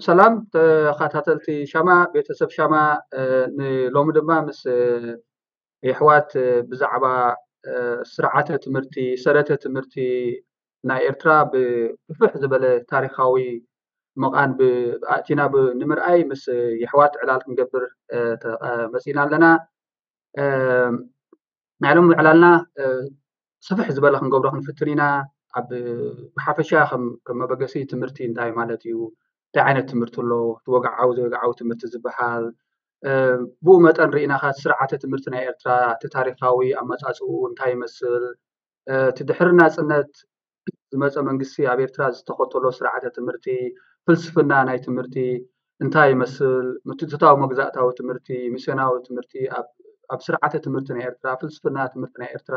ሰላም ተኸታተልቲ ሻማ፣ ቤተሰብ ሻማ። ንሎሚ ድማ ምስ የሕዋት ብዛዕባ ስርዓተ ትምህርቲ፣ ሰረተ ትምህርቲ ናይ ኤርትራ ብፍሕ ዝበለ ታሪኻዊ መቓን ኣእቲና ንምርኣይ ምስ የሕዋት ዕላል ክንገብር መፂና ኣለና። ናይ ሎም ዕላልና ስፍሕ ዝበለ ክንገብሮ ክንፍትን ኢና። ኣብ ብሓፈሻ ከም መበገሲ ትምህርቲ እንታይ ማለት እዩ፣ እንታይ ዓይነት ትምህርቲ ኣሎ፣ እቲ ወግዓዊ ዘይወግዓዊ ትምህርቲ ዝበሃል፣ ብኡ መጠን ርኢናኻ ስርዓተ ትምህርቲ ናይ ኤርትራ እቲ ታሪኻዊ ኣመፃፅኡ እንታይ ይመስል፣ እቲ ድሕሪ ናፅነት ዝመፀ መንግስቲ ኣብ ኤርትራ ዝተኸተሎ ስርዓተ ትምህርቲ፣ ፍልስፍና ናይ ትምህርቲ እንታይ ይመስል፣ ምትእትታዊ መግዛእታዊ ትምህርቲ፣ ሚስዮናዊ ትምህርቲ ኣብ ስርዓተ ትምህርቲ ናይ ኤርትራ፣ ፍልስፍና ትምህርቲ ናይ ኤርትራ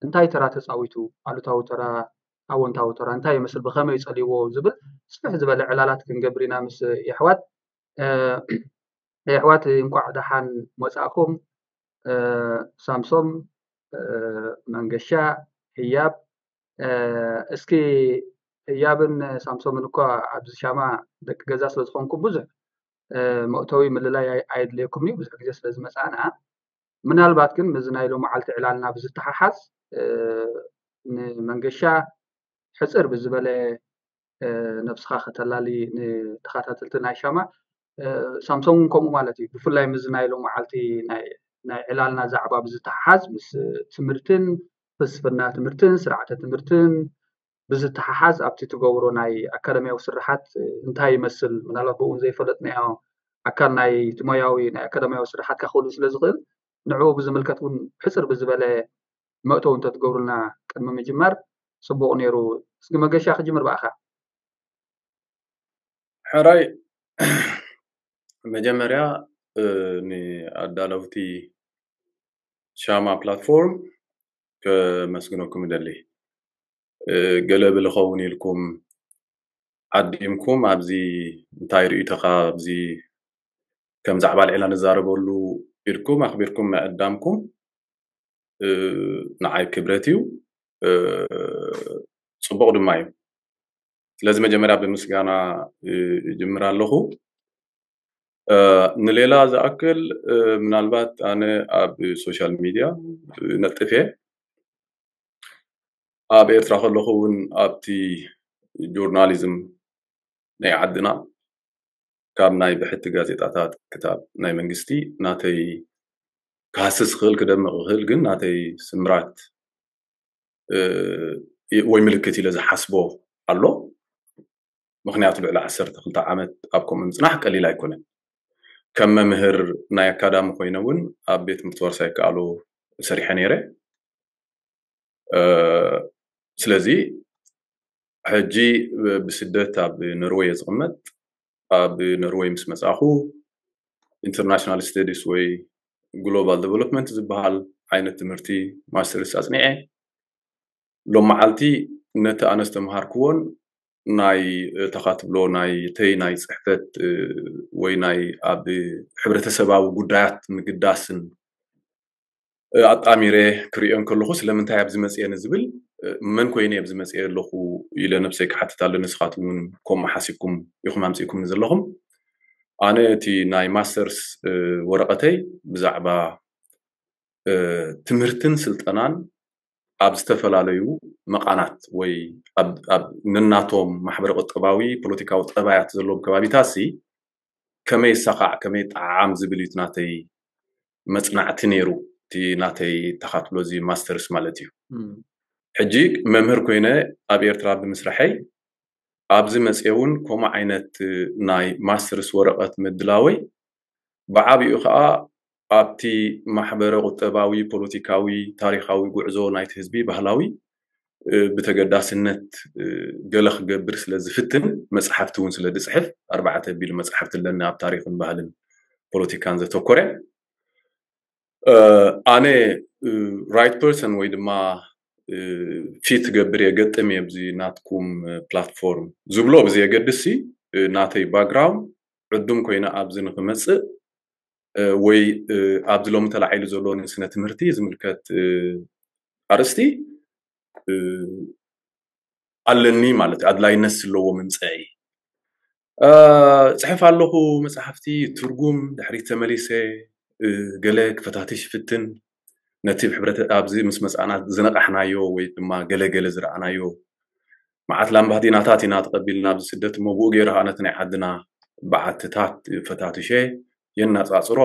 እንታይ ተራ ተፃዊቱ፣ ኣሉታዊ ተራ፣ ኣወንታዊ ተራ እንታይ ይመስል፣ ብኸመይ ጸልይዎ ዝብል ስፍሕ ዝበለ ዕላላት ክንገብር ኢና ምስ የሕዋት። የሕዋት እንቋዕ ደሓን መጻእኩም። ሳምሶም መንገሻ፣ ህያብ፣ እስኪ ህያብን ሳምሶምን እኳ ኣብዚ ሻማ ደቂ ገዛ ስለ ዝኾንኩም ብዙሕ መእተዊ ምልላይ ኣየድልየኩም እዩ፣ ብዙሕ ግዜ ስለ ዝመጻና። ምናልባት ግን ምስዚ ናይ ሎመዓልቲ ዕላልና ብዝተሓሓዝ ንመንገሻ ሕጽር ብዝበለ ነብስኻ ከተላሊ ንተኸታተልቲ ናይ ሻማ፣ ሳምሶም እውን ከምኡ ማለት እዩ። ብፍላይ ምስዚ ናይ ሎመዓልቲ ናይ ዕላልና ዛዕባ ብዝተሓሓዝ ምስ ትምህርትን ፍልስፍና ትምህርትን ስርዓተ ትምህርትን ብዝተሓሓዝ ኣብቲ ትገብሮ ናይ ኣካዳሚያዊ ስርሓት እንታይ ይመስል፣ ምናልባት ብእውን ዘይፈለጥናዮ ኣካል ናይ እቲ ሞያዊ ናይ ኣካዳሚያዊ ስርሓትካ ክህሉ ስለ ዝኽእል ንዕኡ ብዝምልከት እውን ሕፅር ብዝበለ መእተው እንተትገብሩልና ቅድሚ ምጅማር ፅቡቕ ነይሩ። እስኪ መገሻ ክጅምር ብኣኻ። ሕራይ መጀመርያ ንኣዳለውቲ ሻማ ፕላትፎርም ከመስግነኩም እደሊ። ገለ ብልኸውን ኢልኩም ዓዲምኩም ኣብዚ እንታይ ርእይቶኻ ኣብዚ ከም ዛዕባ ልዕላ ንዛረበሉ ኢልኩም ኣኽቢርኩም ምዕዳምኩም ንዓይ ክብረት እዩ፣ ፅቡቕ ድማ እዩ። ስለዚ መጀመርያ ብምስጋና እጅምር ኣለኹ። ንሌላ ዝኣክል ምናልባት ኣነ ኣብ ሶሻል ሚድያ ነጥፍ እየ። ኣብ ኤርትራ ከለኹ እውን ኣብቲ ጆርናሊዝም ናይ ዓድና ካብ ናይ ብሕቲ ጋዜጣታት ክታብ ናይ መንግስቲ ናተይ ክሃስስ ክኽእል ክደምቕ ክኽእል ግን ናተይ ስምራት ወይ ምልክት ኢለ ዝሓስቦ ኣሎ። ምኽንያቱ ልዕሊ ዓሰርተ ክልተ ዓመት ኣብ ከምኡ ምፅናሕ ቀሊል ኣይኮነን። ከም መምህር ናይ ኣካዳሚ ኮይነ እውን ኣብ ቤት ትምህርቲ ዋርሳይ ይከኣሎ ሰሪሐ ነይረ። ስለዚ ሕጂ ብስደት ኣብ ኖርወይ እየ ዝቕመጥ። ኣብ ኖርወይ ምስ መፃኹ ኢንተርናሽናል ስተዲስ ወይ ግሎባል ዴቨሎፕመንት ዝበሃል ዓይነት ትምህርቲ ማስተርስ ኣፅኒዐ። ሎም መዓልቲ ነቲ ኣነ ዝተምሃርክዎን ናይ ተኻትብሎ ናይ ተይ ናይ ፅሕፈት ወይ ናይ ኣብ ሕብረተሰባዊ ጉዳያት ምግዳስን ኣጣሚረ ክሪኦ እንከለኹ ስለምንታይ ኣብዚ መፅየ ንዝብል መን ኮይነ ኣብዚ መፅየ ኣለኹ ኢለ ነብሰይ ክሓትት ኣለኒ። ንስኻትኩም እውን ከምኡ ሓሲብኩም ኢኹም ኣምፂእኩም ዘለኹም። ኣነ እቲ ናይ ማስተርስ ወረቐተይ ብዛዕባ ትምህርትን ስልጠናን ኣብ ዝተፈላለዩ መቓናት ወይ ኣብ ነናቶም ማሕበረ ቁጠባዊ ፖለቲካዊ ጠባያት ዘለዎም ከባቢታት ሲ ከመይ ይሰኻዕ ከመይ ይጠዓዓም ዝብል እዩ ናተይ መፅናዕቲ ነይሩ። እቲ ናተይ ተኻትሎ እዚ ማስተርስ ማለት እዩ። ሕጂ መምህር ኮይነ ኣብ ኤርትራ ብምስራሐይ ኣብዚ መፅየ እውን ከምኡ ዓይነት ናይ ማስተርስ ወረቐት ምድላወይ ብዓብኡ ከዓ ኣብቲ ማሕበረ ቁጠባዊ ፖለቲካዊ ታሪኻዊ ጉዕዞ ናይቲ ህዝቢ ባህላዊ ብተገዳስነት ገለ ክገብር ስለ ዝፍትን፣ መፅሓፍቲ እውን ስለ ዝፅሕፍ፣ ኣርባዕተ ቢሉ መፅሓፍቲ ኣለኒ ኣብ ታሪኽን ባህልን ፖለቲካን ዘተኮረ። ኣነ right person ወይ ድማ ፊት ገብር የገጥም እየ ብዚ ናትኩም ፕላትፎርም ዝብሎ ብዘየገድስ፣ ናተይ ባክግራውንድ ዕዱም ኮይነ ኣብዚ ንክመፅእ ወይ ኣብዚ ሎሚ ተላዒሉ ዘሎ ንስነ ትምህርቲ ዝምልከት ኣርእስቲ ኣለኒ ማለት እዩ። ኣድላይነት ዘለዎ ምምፀኢ። ፅሕፍ ኣለኹ መፅሓፍቲ ትርጉም ድሕሪት ተመሊሰ ገለ ክፈታትሽ ይፍትን። ነቲ ብሕብረት ኣብዚ ምስ መፃና ዝነቃሕናዮ ወይ ድማ ገለ ገለ ዝረኣናዮ መዓት ላምባዲናታት ኢና ተቐቢልና ኣብዚ ስደት እሞ ብኡ ገይሩ ከዓ ነቲ ናይ ዓድና በዓትታት ፈታትሸ የናፃፅሮ።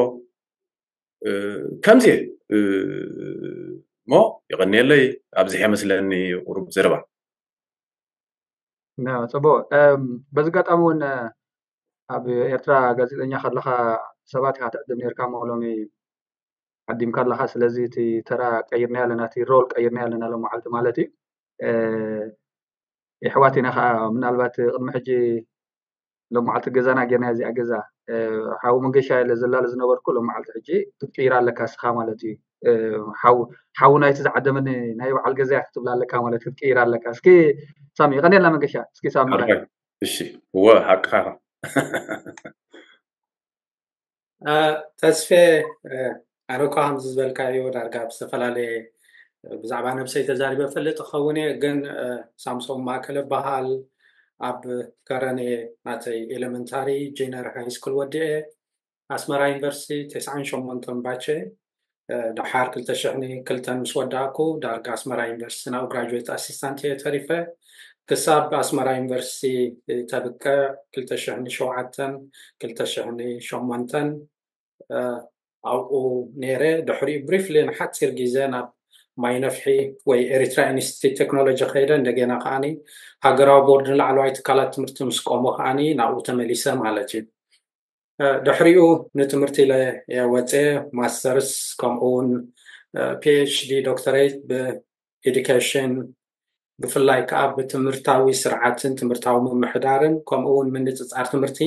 ከምዚ እሞ ይቐንየለይ። ኣብዚሐ መስለኒ ቁሩብ ዘረባ። ጽቡቅ። በዚ ኣጋጣሚ እውን ኣብ ኤርትራ ጋዜጠኛ ከለኻ ሰባት ኢኻ ትዕድም ነርካ እሞ ሎሚ ዓዲምካ ኣለኻ። ስለዚ እቲ ተራ ቀይርና ኣለና፣ እቲ ሮል ቀይርና ኣለና ሎም መዓልቲ ማለት እዩ። የሕዋት ኢና ከዓ ምናልባት ቅድሚ ሕጂ ሎም መዓልቲ ገዛና ጌርና እዚኣ ገዛ ሓዊ መንገሻ ኢለ ዘላለ ዝነበርኩ ሎም መዓልቲ ሕጂ ክትቅይራ ኣለካ እስኻ ማለት እዩ። ሓዊ ናይቲ ዝዓደመኒ ናይ በዓል ገዛ ክትብላ ኣለካ ማለት ክትቅይራ ኣለካ። እስኪ ሳሚ ይቀኔልና መንገሻ። እስኪ ሳሚ እሺ። እወ ሓቅኻ። ተስፌ ኣነ እኳ ከምዚ ዝበልካዮ ዳርጋ ብዝተፈላለየ ብዛዕባ ነብሰይ ተዛሪበ ፈልጥ ክኸውን እየ። ግን ሳምሶም ማእከለ በሃል ኣብ ከረኔ ናተይ ኤሌመንታሪ ጂነር ሃይ ስኩል ወዲኤ ኣስመራ ዩኒቨርሲቲ ተስዓን ሸሞንተን ባቸ ደሓር ክልተ ሽሕን ክልተን ምስ ወዳእኩ ዳርጋ ኣስመራ ዩኒቨርሲቲ ናብ ግራጁዌት ኣሲስታንት እየ ተሪፈ። ክሳብ ኣስመራ ዩኒቨርሲቲ ተብቅዕ ክልተ ሽሕን ሸውዓተን ክልተ ሽሕን ሸሞንተን ኣብኡ ነይረ። ድሕሪኡ ብሪፍሊ ንሓፂር ግዜ ናብ ማይ ነፍሒ ወይ ኤሪትራ ኢንስቲትዩት ቴክኖሎጂ ከይደ። እንደገና ከዓኒ ሃገራዊ ቦርድ ንላዕለዋይ ትካላት ትምህርቲ ምስ ቆሞ ከዓኒ ናብኡ ተመሊሰ ማለት እዩ። ድሕሪኡ ንትምህርቲ ኢለ ወፀ ማስተርስ ከምኡ እውን ፒኤችዲ ዶክተሬት ብኤዱኬሽን ብፍላይ ከዓ ብትምህርታዊ ስርዓትን ትምህርታዊ ምምሕዳርን ከምኡ እውን ምንፅፃር ትምህርቲ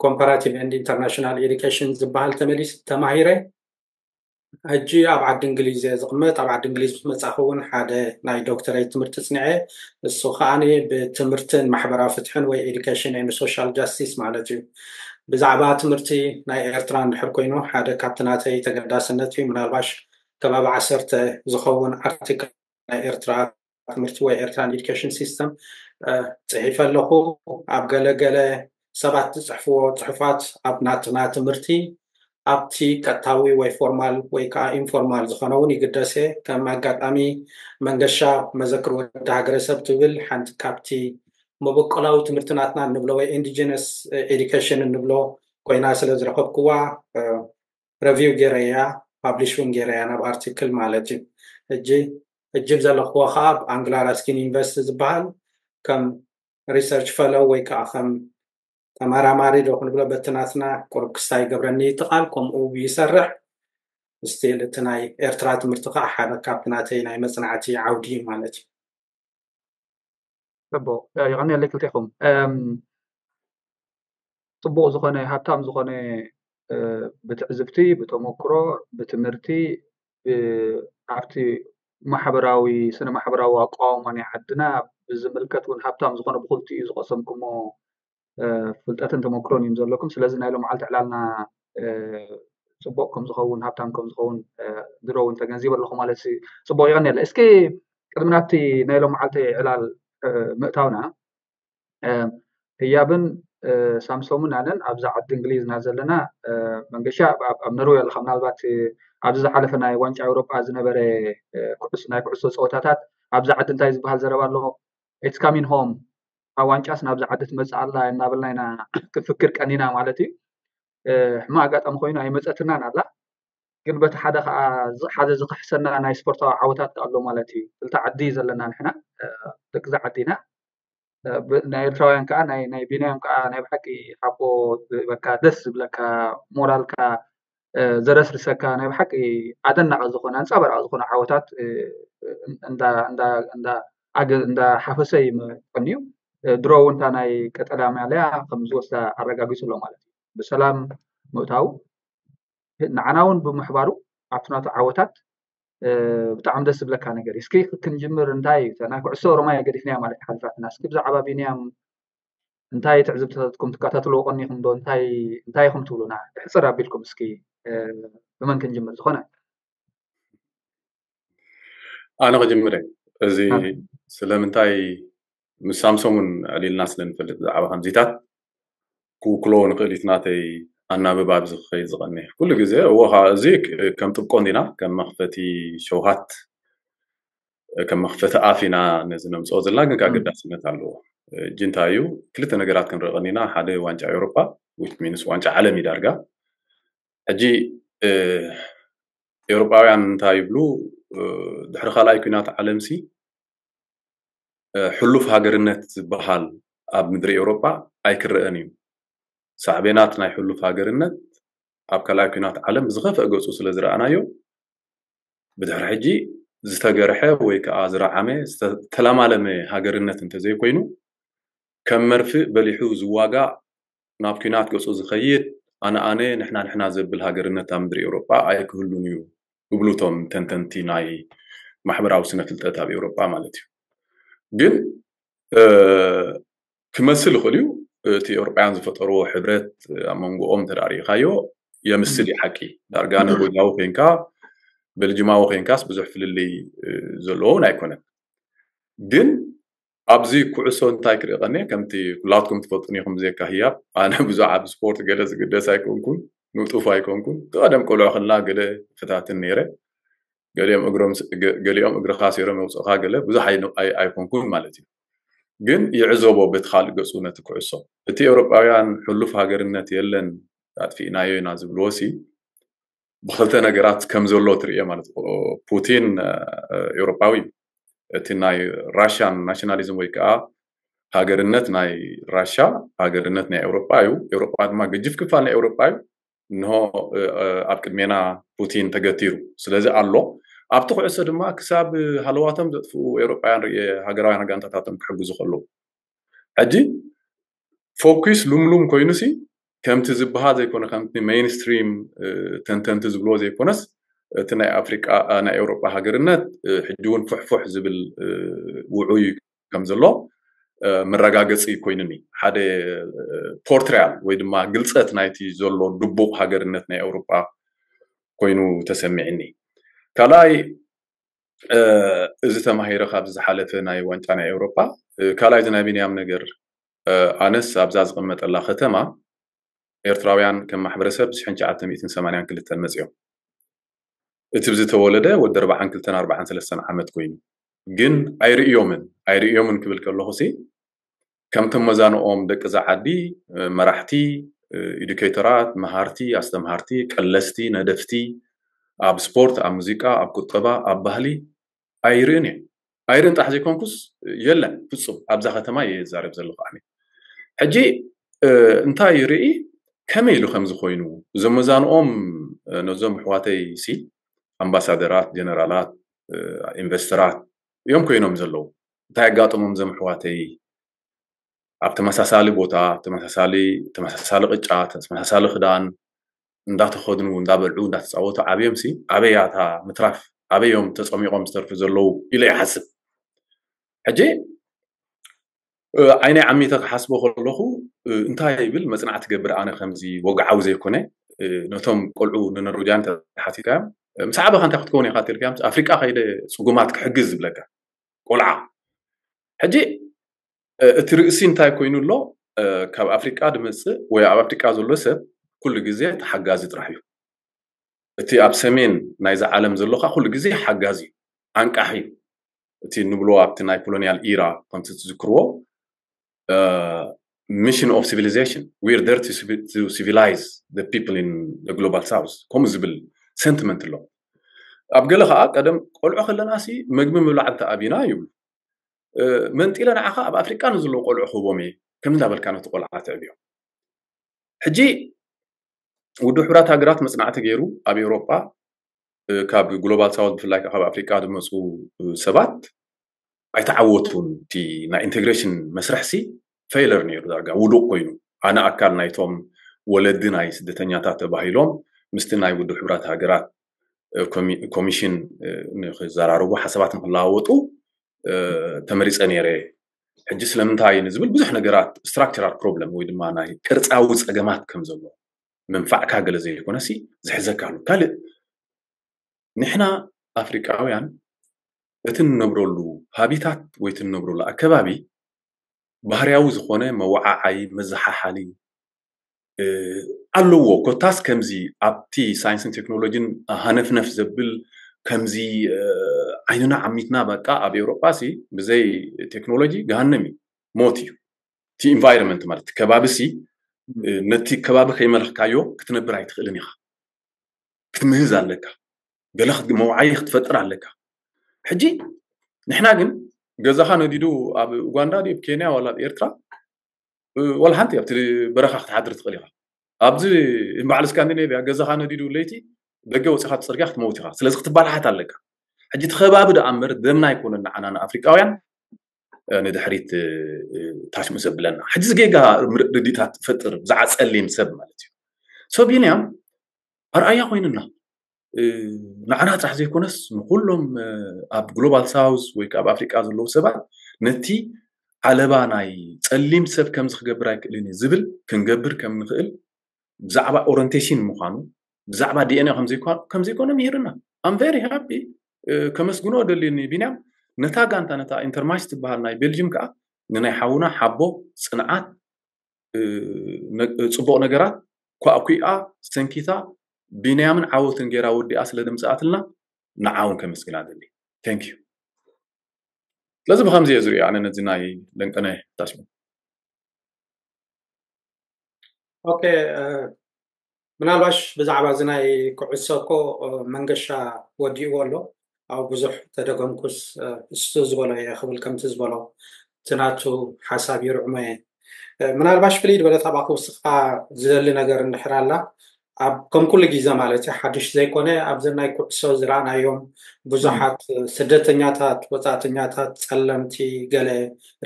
ኮምፓራቲቭ ኤንድ ኢንተርናሽናል ኤዱኬሽን ዝበሃል ተመሊስ ተማሂረ። ሕጂ ኣብ ዓዲ እንግሊዝ እየ ዝቕመጥ። ኣብ ዓዲ እንግሊዝ ምስ መፃኹ እውን ሓደ ናይ ዶክተሬት ትምህርቲ ፅንዐ። እሱ ከዓ ብትምህርትን ማሕበራዊ ፍትሕን ወይ ኤዱኬሽን ኤንድ ሶሻል ጃስቲስ ማለት እዩ። ብዛዕባ ትምህርቲ ናይ ኤርትራ እንድሕር ኮይኑ ሓደ ካብቲ ናተይ ተገዳስነት እዩ። ምናልባሽ ከባቢ ዓሰርተ ዝኸውን ኣርቲክል ናይ ኤርትራ ትምህርቲ ወይ ኤርትራን ኤዱኬሽን ሲስተም ፅሒፈ ኣለኹ። ኣብ ገለገለ ሰባት ዝፅሕፍዎ ፅሑፋት ኣብ ናትና ትምህርቲ ኣብቲ ቀጥታዊ ወይ ፎርማል ወይ ከዓ ኢንፎርማል ዝኾነ እውን ይግደስ እየ። ከም ኣጋጣሚ መንገሻ መዘክር ወዲ ሃገረሰብ ትብል ሓንቲ ካብቲ መበቆላዊ ትምህርቲ ናትና እንብሎ ወይ ኢንዲጂነስ ኤዱኬሽን እንብሎ ኮይና ስለ ዝረኸብክዋ ረቪው ገይረያ ፓብሊሽ እውን ገይረያ ናብ ኣርቲክል ማለት እዩ። ሕጂ እጅብ ዘለኽዎ ከዓ ኣብ ኣንግላ ራስኪን ዩኒቨርሲቲ ዝበሃል ከም ሪሰርች ፈለው ወይ ከዓ ከም ተመራማሪ ዶ ክንብሎ በቲ ናትና ቁሩብ ክስታይ ይገብረኒ ይትቃል ከምኡ ይሰርሕ ስቲል እቲ ናይ ኤርትራ ትምህርቲ ከዓ ሓደ ካብቲ ናተይ ናይ መፅናዕቲ ዓውዲ እዩ ማለት እዩ። ጽቡቅ ይቀንየለይ ክልቴኹም። ጽቡቅ ዝኾነ ሃብታም ዝኾነ ብትዕዝብቲ ብተመክሮ ብትምህርቲ ኣብቲ ማሕበራዊ ስነ ማሕበራዊ ኣቋውማ ናይ ዓድና ብዝምልከት እውን ሃብታም ዝኾነ ብክልቲኡ ዝቀሰምኩሞ ፍልጠትን ተመክሮን እዮም ዘለኩም። ስለዚ ናይ ሎም መዓልቲ ዕላልና ፅቡቅ ከም ዝኸውን ሃብታም ከም ዝኸውን ድሮ እውን ተገንዚበ ኣለኹ ማለት እዩ። ፅቡቅ ይቀንየለ። እስኪ ቅድሚ ናብቲ ናይ ሎም መዓልቲ ዕላል ምእታውና ህያብን ሳምሶምን ኣነን ኣብዛ ዓዲ እንግሊዝ ኢና ዘለና። መንገሻ ኣብ ኖርዌ ኣለካ። ምናልባት ኣብዚ ዝሓለፈ ናይ ዋንጫ ኤውሮጳ ዝነበረ ናይ ኩዕሶ ፀወታታት ኣብዚ ዓዲ እንታይ ዝበሃል ዘረባ ኣሎ? It's coming home፣ ኣብ ዋንጫስ ናብዛ ዓዲ ትመፅእ ኣላ እናበልና ኢና ክንፍክር ቀኒና ማለት እዩ። ሕማቅ ኣጋጣሚ ኮይኑ ኣይመፀትናን ኣላ። ግን በቲ ሓደ ከዓ ሓደ ዝክሕሰና ናይ ስፖርታዊ ዓወታት ኣሎ ማለት እዩ። ክልተ ዓዲ እዩ ዘለና ንሕና ደቂ እዛ ዓዲ ኢና። ናይ ኤርትራውያን ከዓ ናይ ቢንያም ከዓ ናይ ብሓቂ ሓቦ በቃ ደስ ዝብለካ ሞራልካ ዘረስርሰካ ናይ ብሓቂ ኣደናቂ ዝኾነ ኣንፃባራቂ ዝኾነ ዓወታት እንዳ እንዳ እንዳ ኣገ እንዳሓፈሰ እዩ መጠን እዩ። ድሮ እውን እታ ናይ ቀጠልያ ማልያ ከም ዝወስዳ ኣረጋጊጹ ኣሎ ማለት እዩ። ብሰላም ምእታው ንዓና እውን ብምሕባሩ ኣብቲ ናቱ ዓወታት ብጣዕሚ ደስ ዝብለካ ነገር እዩ። እስኪ ክንጅምር እንታይ እዩ ናይ ኩዕሶ ኦሮማይ ገዲፍናያ ማለት ሓልፋትና። እስኪ ብዛዕባ ቢንያም እንታይ ትዕዝብትኩም ትከታተልዎ ቀኒኹም ዶ እንታይ እንታይ ኢኹም ትብሉና? ሕፅር ኣቢልኩም እስኪ ብመን ክንጅምር ዝኾነ ኣነ ክጅምር እዚ ስለምንታይ ምስ ሳምሶም እውን ዕሊልና ስለ ንፈልጥ ብዛዕባ ከምዚታት ክውክሎ ንኽእል እዩ ናተይ ኣናብባ ኣብዚ ክኸይድ ዝቐኒ ኩሉ ግዜ እዎ እዚ ከም ጥብቆ እንዲና ከም መኽፈቲ ሸውሃት ከም መኽፈቲ ኣፍ ኢና ነዚ ነምፅኦ ዘለና ግን ኣገዳስነት ኣለዎ እጂ እንታይ እዩ ክልተ ነገራት ክንርኢ ቀኒና ሓደ ዋንጫ ኤውሮጳ ሚንስ ዋንጫ ዓለም እዩ ዳርጋ ሕጂ ኤውሮጳውያን እንታይ ይብሉ ድሕሪ ካልኣይ ኩናት ዓለምሲ ሕሉፍ ሃገርነት ዝበሃል ኣብ ምድሪ ኤውሮጳ ኣይክረአን እዩ ሳዕቤናት ናይ ሕሉፍ ሃገርነት ኣብ ካልኣይ ኩናት ዓለም ዝኸፍአ ገፁ ስለ ዝረኣናዮ ብድሕሪ ሕጂ ዝተገርሐ ወይ ከዓ ዝረዓመ ዝተለማለመ ሃገርነት እንተዘይኮይኑ ከም መርፍእ በሊሑ ዝዋጋእ ናብ ኩናት ገፁ ዝኸይድ ኣነ ኣነ ንሕና ንሕና ዘብል ሃገርነት ኣብ ምድሪ ኤውሮጳ ኣይክህሉን እዩ ይብሉ እቶም ተንተንቲ ናይ ማሕበራዊ ስነ ፍልጠት ኣብ ኤውሮጳ ማለት እዩ ግን ክመስል ይኽእል እዩ እቲ ኤውሮጳውያን ዝፈጠርዎ ሕብረት ኣብ መንጎኦም ተዳሪእካዮ የምስል እዩ ሓቂ ዳርጋ ኖርዌጃዊ ኮይንካ በልጅማዊ ኮይንካስ ብዙሕ ፍልልይ ዘለዎን ኣይኮነን ግን ኣብዚ ኩዕሶ እንታይ ክርኢ ቀኒ ከምቲ ኩላትኩም ትፈልጡን ኢኹም ብዘካ ህያብ ኣነ ብዙሕ ኣብ ስፖርት ገለ ዝግደስ ኣይኮንኩን ንጡፍ ኣይኮንኩን ቀደም ቆልዑ ከለና ገለ ክታትን ነይረ ገሊኦም እግሮም ገሊኦም እግርኻ ሲሮም የውፅእኻ ገለ ብዙሕ ኣይኮንኩን ማለት እዩ ግን ይዕዘቦ በቲ ካልእ ገፁ ነቲ ኩዕሶ እቲ ኤውሮጳውያን ሕሉፍ ሃገርነት የለን ኣጥፊእናዮ ኢና ዝብልዎ ሲ ብክልተ ነገራት ከም ዘሎ ትርእዮ ማለት ፑቲን ኤውሮጳዊ እዩ እቲ ናይ ራሽያን ናሽናሊዝም ወይ ከዓ ሃገርነት ናይ ራሽያ ሃገርነት ናይ ኤውሮጳ እዩ ኤውሮጳ ድማ ገጅፍ ክፋል ናይ ኤውሮጳ እዩ እንሆ ኣብ ቅድሜና ፑቲን ተገቲሩ ስለዚ ኣሎ ኣብቲ ኩዕሶ ድማ ክሳብ ሃለዋቶም ዘጥፍኡ ኤውሮጳውያን ርእ ሃገራውያን ጋንታታቶም ክሕግዙ ከለዉ ሕጂ ፎኪስ ሉምሉም ኮይኑሲ ከምቲ ዝበሃል ዘይኮነ ከምቲ ሜይንስትሪም ተንተንቲ ዝብልዎ ዘይኮነስ እቲ ናይ ኣፍሪቃ ናይ ኤውሮጳ ሃገርነት ሕጂ እውን ፉሕፉሕ ዝብል ውዑይ ከም ዘሎ መረጋገፂ ኮይኑኒ ሓደ ፖርትሪያል ወይ ድማ ግልፀት ናይቲ ዘሎ ድቡቕ ሃገርነት ናይ ኤውሮጳ ኮይኑ ተሰሚዕኒ ካልኣይ እዚ ተማሂረ ካብዚ ዝሓለፈ ናይ ዋንጫ ናይ ኤውሮጳ ካልኣይ እዚ ናይ ቢንያም ነገር ኣነስ ኣብዛ ዝቕመጠላ ከተማ ኤርትራውያን ከም ማሕበረሰብ ብ ትሽዓተ ሚእትን ሰማንያን ክልተን መፅኦም እቲ ብዝተወለደ ወዲ ኣርባዓን ክልተን ኣርባዓን ሰለስተን ዓመት ኮይኑ ግን ኣይርእዮምን ኣይርእዮምን ክብል ከለኹ ሲ ከምቶም መዛንኦም ደቂ እዛ ዓዲ መራሕቲ ኢዱኬተራት መሃርቲ ኣስተምሃርቲ ቀለስቲ ነደፍቲ ኣብ ስፖርት ኣብ ሙዚቃ ኣብ ቁጠባ ኣብ ባህሊ ኣይርእን እየ ኣይርእን ጥራሕ ዘይኮንኩስ የለን ፍፁም ኣብዛ ከተማ እየ ዝዛረብ ዘለኹ ኣነ ሕጂ እንታይ ይርኢ ከመይ ኢሉ ከም ዝኾይኑ እዞም መዛንኦም ነዞም ኣሕዋተይ ሲ ኣምባሳደራት ጀነራላት ኢንቨስተራት እዮም ኮይኖም ዘለዉ እንታይ ኣጋጠሞም እዞም ኣሕዋተይ ኣብ ተመሳሳሊ ቦታ ተመሳሳሊ ተመሳሳሊ ቅጫ ተመሳሳሊ ክዳን እንዳተኸድኑ እንዳበልዑ እንዳተፃወቱ ዓብዮም ሲ ኣበይ እያ እታ ምትራፍ ኣበይ እዮም ተፀሚቖም ዝተርፉ ዘለዉ ኢለ ይሓስብ ሕጂ ዓይነይ ዓሚተ ክሓስቦ ከለኹ እንታይ ይብል መፅናዕቲ ገብር ኣነ ከምዚ ወግዓዊ ዘይኮነ ነቶም ቆልዑ ንኖርዌጃን ተሓቲትካዮም ምስ ዓበኻ እንታይ ክትከውን ኢኻ ትልካዮም ኣፍሪቃ ከይደ ፅጉማት ክሕግዝ ዝብለካ ቆልዓ ሕጂ እቲ ርእሲ እንታይ ኮይኑ ኣሎ ካብ ኣፍሪቃ ድመፅእ ወይ ኣብ ኣፍሪቃ ዘሎ ሰብ ኩሉ ግዜ ተሓጋዚ ጥራሕ እዩ እቲ ኣብ ሰሜን ናይዚ ዓለም ዘሎ ከዓ ኩሉ ግዜ ሓጋዚ እዩ ኣንቃሒ እዩ እቲ ንብሎ ኣብቲ ናይ ኮሎኒያል ኢራ ከምቲ ትዝክርዎ mission of civilization we're there to civilize the people in the global south ከምኡ ዝብል sentiment ኣሎ ኣብ ገለ ከዓ ቀደም ቆልዑ ከለና ሲ መግቢ ምብላዕ እንተ ኣብና ይብሉ መንጢለ ንዓኻ ኣብ ኣፍሪቃ ንዘለዉ ቆልዑ ክህቦም እየ ከም እንዳበልካ ነቲ ቆልዓ ትዕብዮ ሕጂ ውድብ ሕብራት ሃገራት መፅናዕቲ ገይሩ ኣብ ኤውሮጳ ካብ ግሎባል ሳውት ብፍላይ ካብ ኣፍሪቃ ዝመፁ ሰባት ኣይተዓወቱን። እቲ ናይ ኢንቴግሬሽን መስርሕሲ ፌለር ነይሩ፣ ዳርጋ ውዱቕ ኮይኑ። ኣነ ኣካል ናይቶም ወለዲ ናይ ስደተኛታት ተባሂሎም ምስቲ ናይ ውድብ ሕቡራት ሃገራት ኮሚሽን ንክዘራረቡ ሓሳባት ንክለዋወጡ ተመሪፀ ነይረ። ሕጂ ስለምንታይ ንዝብል ብዙሕ ነገራት፣ ስትራክቸራል ፕሮብለም ወይ ድማ ናይ ቅርፃዊ ፀገማት ከም ዘሎ፣ ምንፋዕካ ገለ ዘይኮነሲ ዝሕዘካ ኣሎ። ካልእ ንሕና ኣፍሪቃውያን እቲ እንነብረሉ ሃቢታት ወይ እቲ እንነብረሉ ኣከባቢ ባህርያዊ ዝኾነ መወዓዓይ፣ መዘሓሓሊ ኣለዎ። ኮታስ ከምዚ ኣብቲ ሳይንስን ቴክኖሎጂን ሃነፍነፍ ዘብል፣ ከምዚ ዓይንና ዓሚትና በቃ ኣብ ኤውሮጳ ሲ ብዘይ ቴክኖሎጂ ገሃነም እዩ፣ ሞት እዩ። እቲ ኢንቫይሮንመንት ማለት ከባቢ ሲ ነቲ ከባቢ ከይመለኽካዮ ክትነብር ኣይትኽእልን ኢኻ። ክትምህዝ ኣለካ፣ ገለ መውዓይ ክትፈጥር ኣለካ። ሕጂ ንሕና ግን ገዛኻ ነዲዱ ኣብ ኡጋንዳ ድዩ ኣብ ኬንያ ዋላ ኣብ ኤርትራ ዋላ ሓንቲ ኣብቲ በረኻ ክትሓድር ትኽእል ኢኻ። ኣብዚ በዓል ስካንዲኔቪያ ገዛኻ ነዲዱ ለይቲ ደገ ወፂኻ ጽርግያ ክትመውት ኢኻ። ስለዚ ክትባላሓት ኣለካ። ሕጂ እቲ ከባቢ ደኣ እምበር ደምና ኣይኮነን ንዓና ንኣፍሪቃውያን ንድሕሪት ታሽሙ ዘብለና። ሕጂ ዝጌጋ ርድኢታት ትፈጥር ብዛዕባ ጸሊም ሰብ ማለት እዩ። ሶ ቢንያም ኣርኣያ ኮይኑና ንዓና ጥራሕ ዘይኮነስ ንኩሎም ኣብ ግሎባል ሳውዝ ወይ ኣብ ኣፍሪቃ ዘለዉ ሰባት ነቲ ዓለባ ናይ ጸሊም ሰብ ከምዚ ክገብር ኣይክእልን እዩ ዝብል ክንገብር ከም ንኽእል ብዛዕባ ኦሪንቴሽን ምዃኑ ብዛዕባ ዲኤንኤ ከምዘይኮነ ምሂርና። ኣም ቨሪ ሃፒ፣ ከመስግኖ ደልዩኒ ቢንያም። ነታ ጋንታ ነታ ኢንተርማሽ ትበሃል ናይ ቤልጅም ከዓ ንናይ ሓውና ሓቦ፣ ፅንዓት፣ ፅቡቕ ነገራት ኳዕኩዓ ሰንኪታ ቢንያምን ዓወትን ገይራ ወዲኣ ስለ ደምፅኣትልና ንዓውን ከመስግና ደሊ። Thank you። ስለዚ ብከምዚ እየ ዝሪኦ ኣነ ነዚ ናይ ለንቀነ ታሽሙ። ኦኬ፣ ምናልባሽ ብዛዕባ እዚ ናይ ኩዕሶ እኮ መንገሻ ወዲእዎ ኣሎ። ኣብ ብዙሕ ተደገምኩስ እሱ ዝበሎ እየ ክብል ከምቲ ዝበሎ እቲ ናቱ ሓሳብ ይርዕሞ እየ። ምናልባሽ ፍልይ ዝበለ ታባክ ውስጥካ ዝደሊ ነገር እንድሕር ኣላ ኣብ ከም ኩሉ ግዜ ማለት እዩ ሓድሽ ዘይኮነ ኣብዘን ናይ ኩዕሶ ዝረኣናዮም ብዙሓት ስደተኛታት ወፃእተኛታት ጸለምቲ ገለ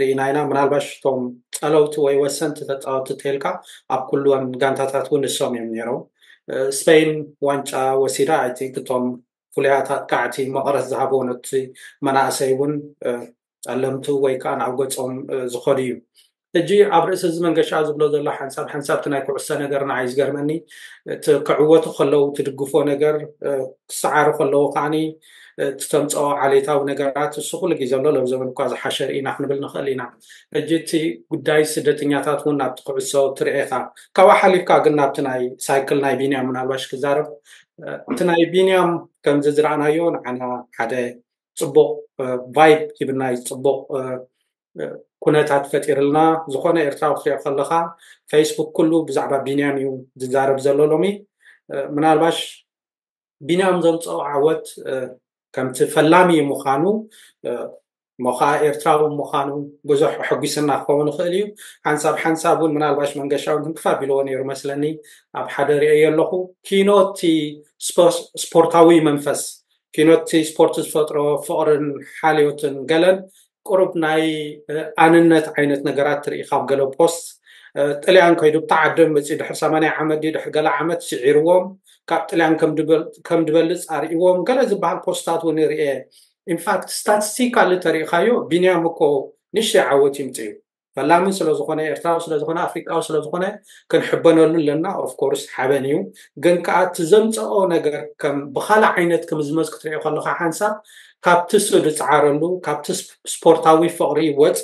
ርኢና ኢና። ምናልባሽ እቶም ጸለውቲ ወይ ወሰንቲ ተፃወቲ ተልካ ኣብ ኩሉወን ጋንታታት እውን ንሶም እዮም ነይሮም። ስፔን ዋንጫ ወሲዳ ኣይ ቲንክ እቶም ፍሉያት ኣጥቃዕቲ መቐረት ዝሃብዎ ነቲ መናእሰይ እውን ጸለምቱ ወይ ከዓ ናብ ገፆም ዝኸዱ እዩ። ሕጂ ኣብ ርእሲ እዚ መንገሻ ዝብሎ ዘሎ ሓንሳብ ሓንሳብ እቲ ናይ ኩዕሶ ነገር ንዓይ ዝገርመኒ እቲ ክዕወቱ ከለዉ ትድግፎ ነገር ክሰዓሩ ከለዉ ከዓኒ እቲ ተምፅኦ ዓሌታዊ ነገራት እሱ ኩሉ ግዜ ኣሎ። ሎም ዘበን እኳ ዝሓሸ ርኢና ክንብል ንኽእል ኢና። ሕጂ እቲ ጉዳይ ስደተኛታት እውን ናብቲ ኩዕሶ ትርኤካ ካብኣ ሓሊፍካ ግን ናብቲ ናይ ሳይክል ናይ ቢንያም ምናልባሽ ክዛረብ እቲ ናይ ቢንያም ከምዚ ዝረኣናዮ ንዓና ሓደ ፅቡቕ ቫይብ ሂብና እዩ ፅቡቕ ኩነታት ፈጢርልና። ዝኾነ ኤርትራዊ ክትሪኦ ከለኻ ፌስቡክ ኩሉ ብዛዕባ ቢንያም እዩ ዝዛረብ ዘሎ ሎሚ። ምናልባሽ ቢንያም ዘምፀኦ ዓወት ከምቲ ፈላሚ ምዃኑ ሞኻ ኤርትራዊ ምዃኑ ብዙሕ ሕጒስና ክኸውን ይኽእል እዩ። ሓንሳብ ሓንሳብ እውን ምናልባሽ መንገሻ እውን ትንክፍ ኣቢልዎ ነይሩ መስለኒ ኣብ ሓደ ርእየ ኣለኹ። ኪኖ እቲ ስፖርታዊ መንፈስ ኪኖ እቲ ስፖርት ዝፈጥሮ ፍቕርን ሓልዮትን ገለን ቁሩብ ናይ ኣንነት ዓይነት ነገራት ትርኢ ካብ ገለ ፖስት ጥልያን ከይዱ ብታ ዓደም መፅኡ ድሕሪ ሰማንያ ዓመት ድዩ ድሕሪ ገለ ዓመት ስዒርዎም ካብ ጥልያን ከም ድበልፅ ኣርእዎም ገለ ዝበሃል ፖስታት እውን ርኤ። ኢንፋክት ስታቲስቲካሊ ተሪእኻዮ ቢንያም እኮ ንእሽተይ ዓወት ይምፅእ እዩ። ፈላሚ ስለዝኾነ ኤርትራዊ ስለዝኾነ ኣፍሪቃዊ ስለዝኾነ ክንሕበነሉ ኣለና። ኦፍኮርስ ሓበን እዩ፣ ግን ከዓ እቲ ዘምፀኦ ነገር ከም ብካልእ ዓይነት ክምዝመዝ ክትሪኦ ከለካ ሓንሳብ ካብቲ እሱ ዝፀዓረሉ ካብቲ ስፖርታዊ ፍቕሪ ወፂኡ